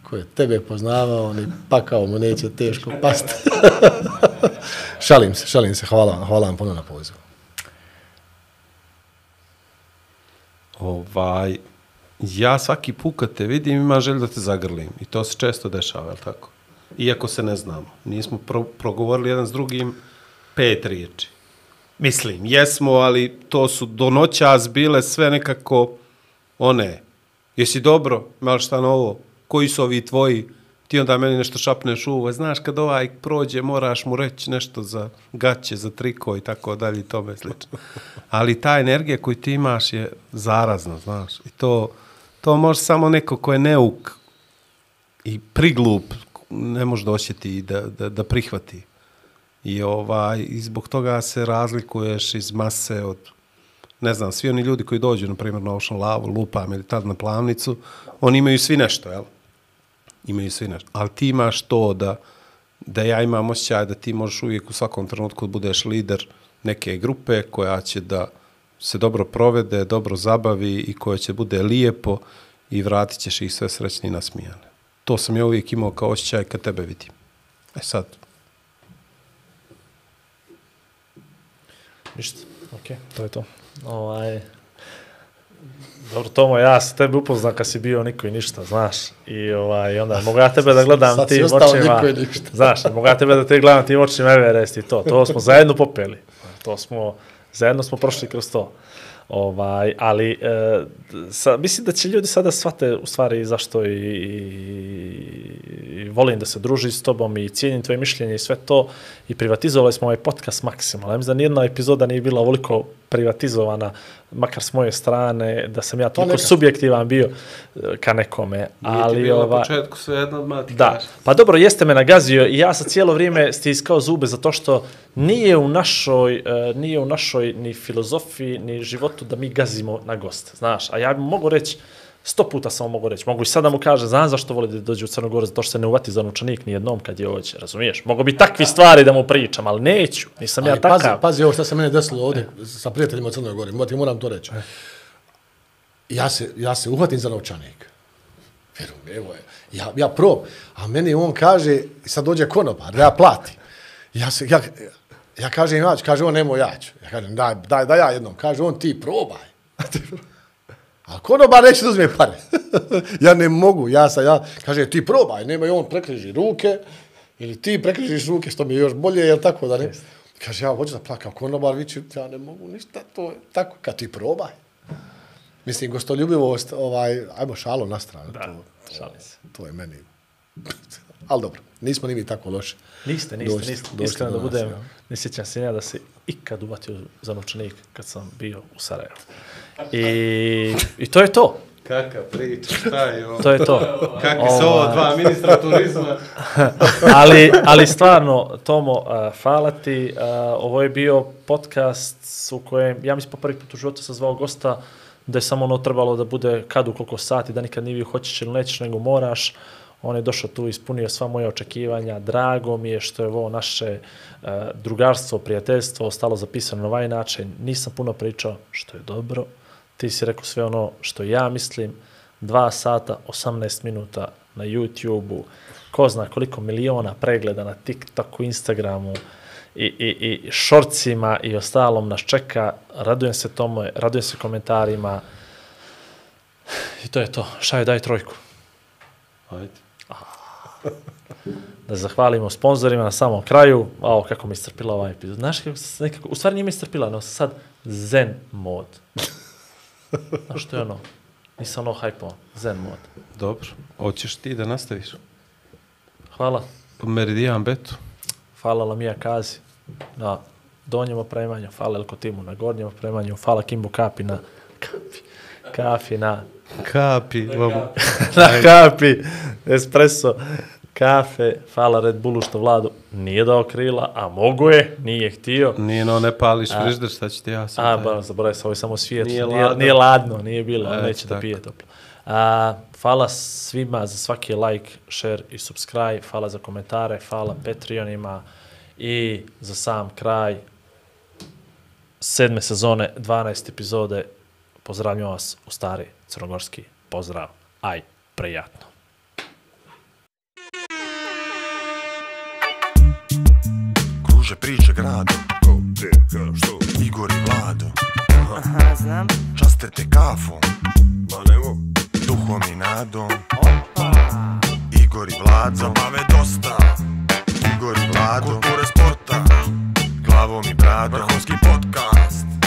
ko je tebe poznavao, ni pakao mu neće teško pasti. šalim se, šalim se. Hvala, hvala vam puno na pozivu. Ovaj, ja svaki put kad te vidim imam želju da te zagrlim. I to se često dešava, je li tako? iako se ne znamo. Nismo pro, progovorili jedan s drugim pet riječi. Mislim, jesmo, ali to su do noćas bile sve nekako one. Jesi dobro? Malo šta novo? Koji su ovi tvoji? Ti onda meni nešto šapneš u uvo. Znaš, kad ovaj prođe, moraš mu reći nešto za gaće, za triko i tako dalje i tome slično. Ali ta energija koju ti imaš je zarazna, znaš. I to, to može samo neko ko je neuk i priglup ne može doćeti da, da, da prihvati. I, ovaj, i zbog toga se razlikuješ iz mase od, ne znam, svi oni ljudi koji dođu, na primjer, na Ocean Lavu, lupam ili tad na Plavnicu, oni imaju svi nešto, jel? Imaju svi nešto. Ali ti imaš to da, da ja imam osjećaj da ti možeš uvijek u svakom trenutku budeš lider neke grupe koja će da se dobro provede, dobro zabavi i koja će bude lijepo i vratit ćeš ih sve srećni i nasmijane. To sam ja uvijek imao kao osjećaj kad tebe vidim. E sad. Ništa, okej, okay, to je to. Ovaj... Dobro, Tomo, ja sam tebe upoznao kad si bio niko i ništa, znaš. I ovaj, onda mogu ja tebe da gledam sad tim očima. Znaš, mogu ja tebe da te gledam tim očima Everest i to. To smo zajedno popeli. To smo, zajedno smo prošli kroz to. Ovaj, ali e, sa, mislim da će ljudi sada shvate u stvari zašto i, i, i volim da se druži s tobom i cijenim tvoje mišljenje i sve to i privatizovali smo ovaj podcast maksimalno. Ja mislim da nijedna epizoda nije bila ovoliko privatizovana, makar s moje strane, da sam ja toliko subjektivan bio ka nekome. Ali, nije ti bilo ova, na početku sve jedno od mati. Da, pa dobro, jeste me nagazio i ja sam cijelo vrijeme stiskao zube zato što nije u našoj, uh, nije u našoj ni filozofiji, ni životu da mi gazimo na goste, znaš. A ja mogu reći, sto puta samo mogu reći, mogu i sada mu kaže, znam zašto voli da dođe u Crnogoru, zato što se ne uvati za novčanik ni jednom kad je ovdje, razumiješ? Mogu bi takvi stvari da mu pričam, ali neću, nisam ali ja takav. Pazi, pazi ovo što se mene desilo ovdje sa prijateljima u Crnoj Gori, ti moram to reći. Ja se, ja se uhvatim za novčanik. Vjerujem, evo je. Ja, ja prob, a meni on kaže, sad dođe konobar, ja platim. Ja, se, ja, ja kažem, ja ću, kaže on, nemoj ja ću. Ja kažem, daj, daj, daj ja jednom. Kaže on, ti probaj. A konobar neće da uzme pare. Ja ne mogu, ja sam, ja, kaže, ti probaj, nemoj, on prekriži ruke, ili ti prekrižiš ruke, što mi je još bolje, jel tako da ne? Kaže, ja hoću da plakam, konobar vići, ja ne mogu ništa, to je tako, kad ti probaj. Mislim, gostoljubivost, ovaj, ajmo šalo na stranu. Da, to, šalim se. To je meni. Ali dobro, nismo ni mi tako loši. Niste, niste, došli, niste. došli Iskreno da nas, budem, ja. ne sjećam se ja da se ikad uvatio za novčanik kad sam bio u Sarajevu. I, i to je to. Kaka priča, šta je ovo? To je to. Kakvi su ovo dva ministra turizma? ali, ali stvarno, Tomo, uh, hvala ti. Uh, ovo je bio podcast u kojem, ja mislim po prvi put u životu sam zvao gosta da je samo ono trebalo da bude kad u koliko sati, da nikad nije bio hoćeš ili nećeš, nego moraš. On je došao tu, ispunio sva moja očekivanja. Drago mi je što je ovo naše uh, drugarstvo, prijateljstvo ostalo zapisano na ovaj način. Nisam puno pričao, što je dobro. Ti si rekao sve ono što ja mislim. Dva sata, osamnaest minuta na YouTube-u. Ko zna koliko miliona pregleda na TikToku, Instagramu i, i, i šorcima i ostalom nas čeka. Radujem se tome, radujem se komentarima. I to je to. Šaju, daj trojku. Ajde. Da zahvalimo sponzorima na samom kraju. Ao, kako mi istrpila ovaj epizod. Znaš kako se nekako, u stvari nije mi istrpila, no sad zen mod. Znaš što je ono? Nisam ono hajpo, zen mod. Dobro, hoćeš ti da nastaviš? Hvala. Meridian Betu. Hvala Lamija Kazi na donjem opremanju, hvala Elko Timu na gornjem opremanju, hvala Kimbo Kapi na kapi, kafi na Kapi. na kapi, espresso, kafe, hvala Red Bullu što Vladu nije dao krila, a mogu je, nije htio. Nije no, ne pališ frižder, šta će ti ja sam. A, ba, zaboravim se, ovo je samo svijet, Nije, nije, ladno. nije ladno, nije bilo, E, neće tako. da pije toplo. A, hvala svima za svaki like, share i subscribe, hvala za komentare, hvala Patreonima i za sam kraj sedme sezone, dvanaeste epizode, pozdravljam vas u stari crnogorski pozdrav, aj, prijatno. Kruže priče gradom. Ko, gdje, ka, što? Igor i Vlado. Aha, znam. Časte te kafom. Ma nemo. Duhom i nadom. Opa. Igor Igor i Vlado, zabave dosta. Igor i Vlado, kulture sporta, glavom i bradom, vrhunski podcast.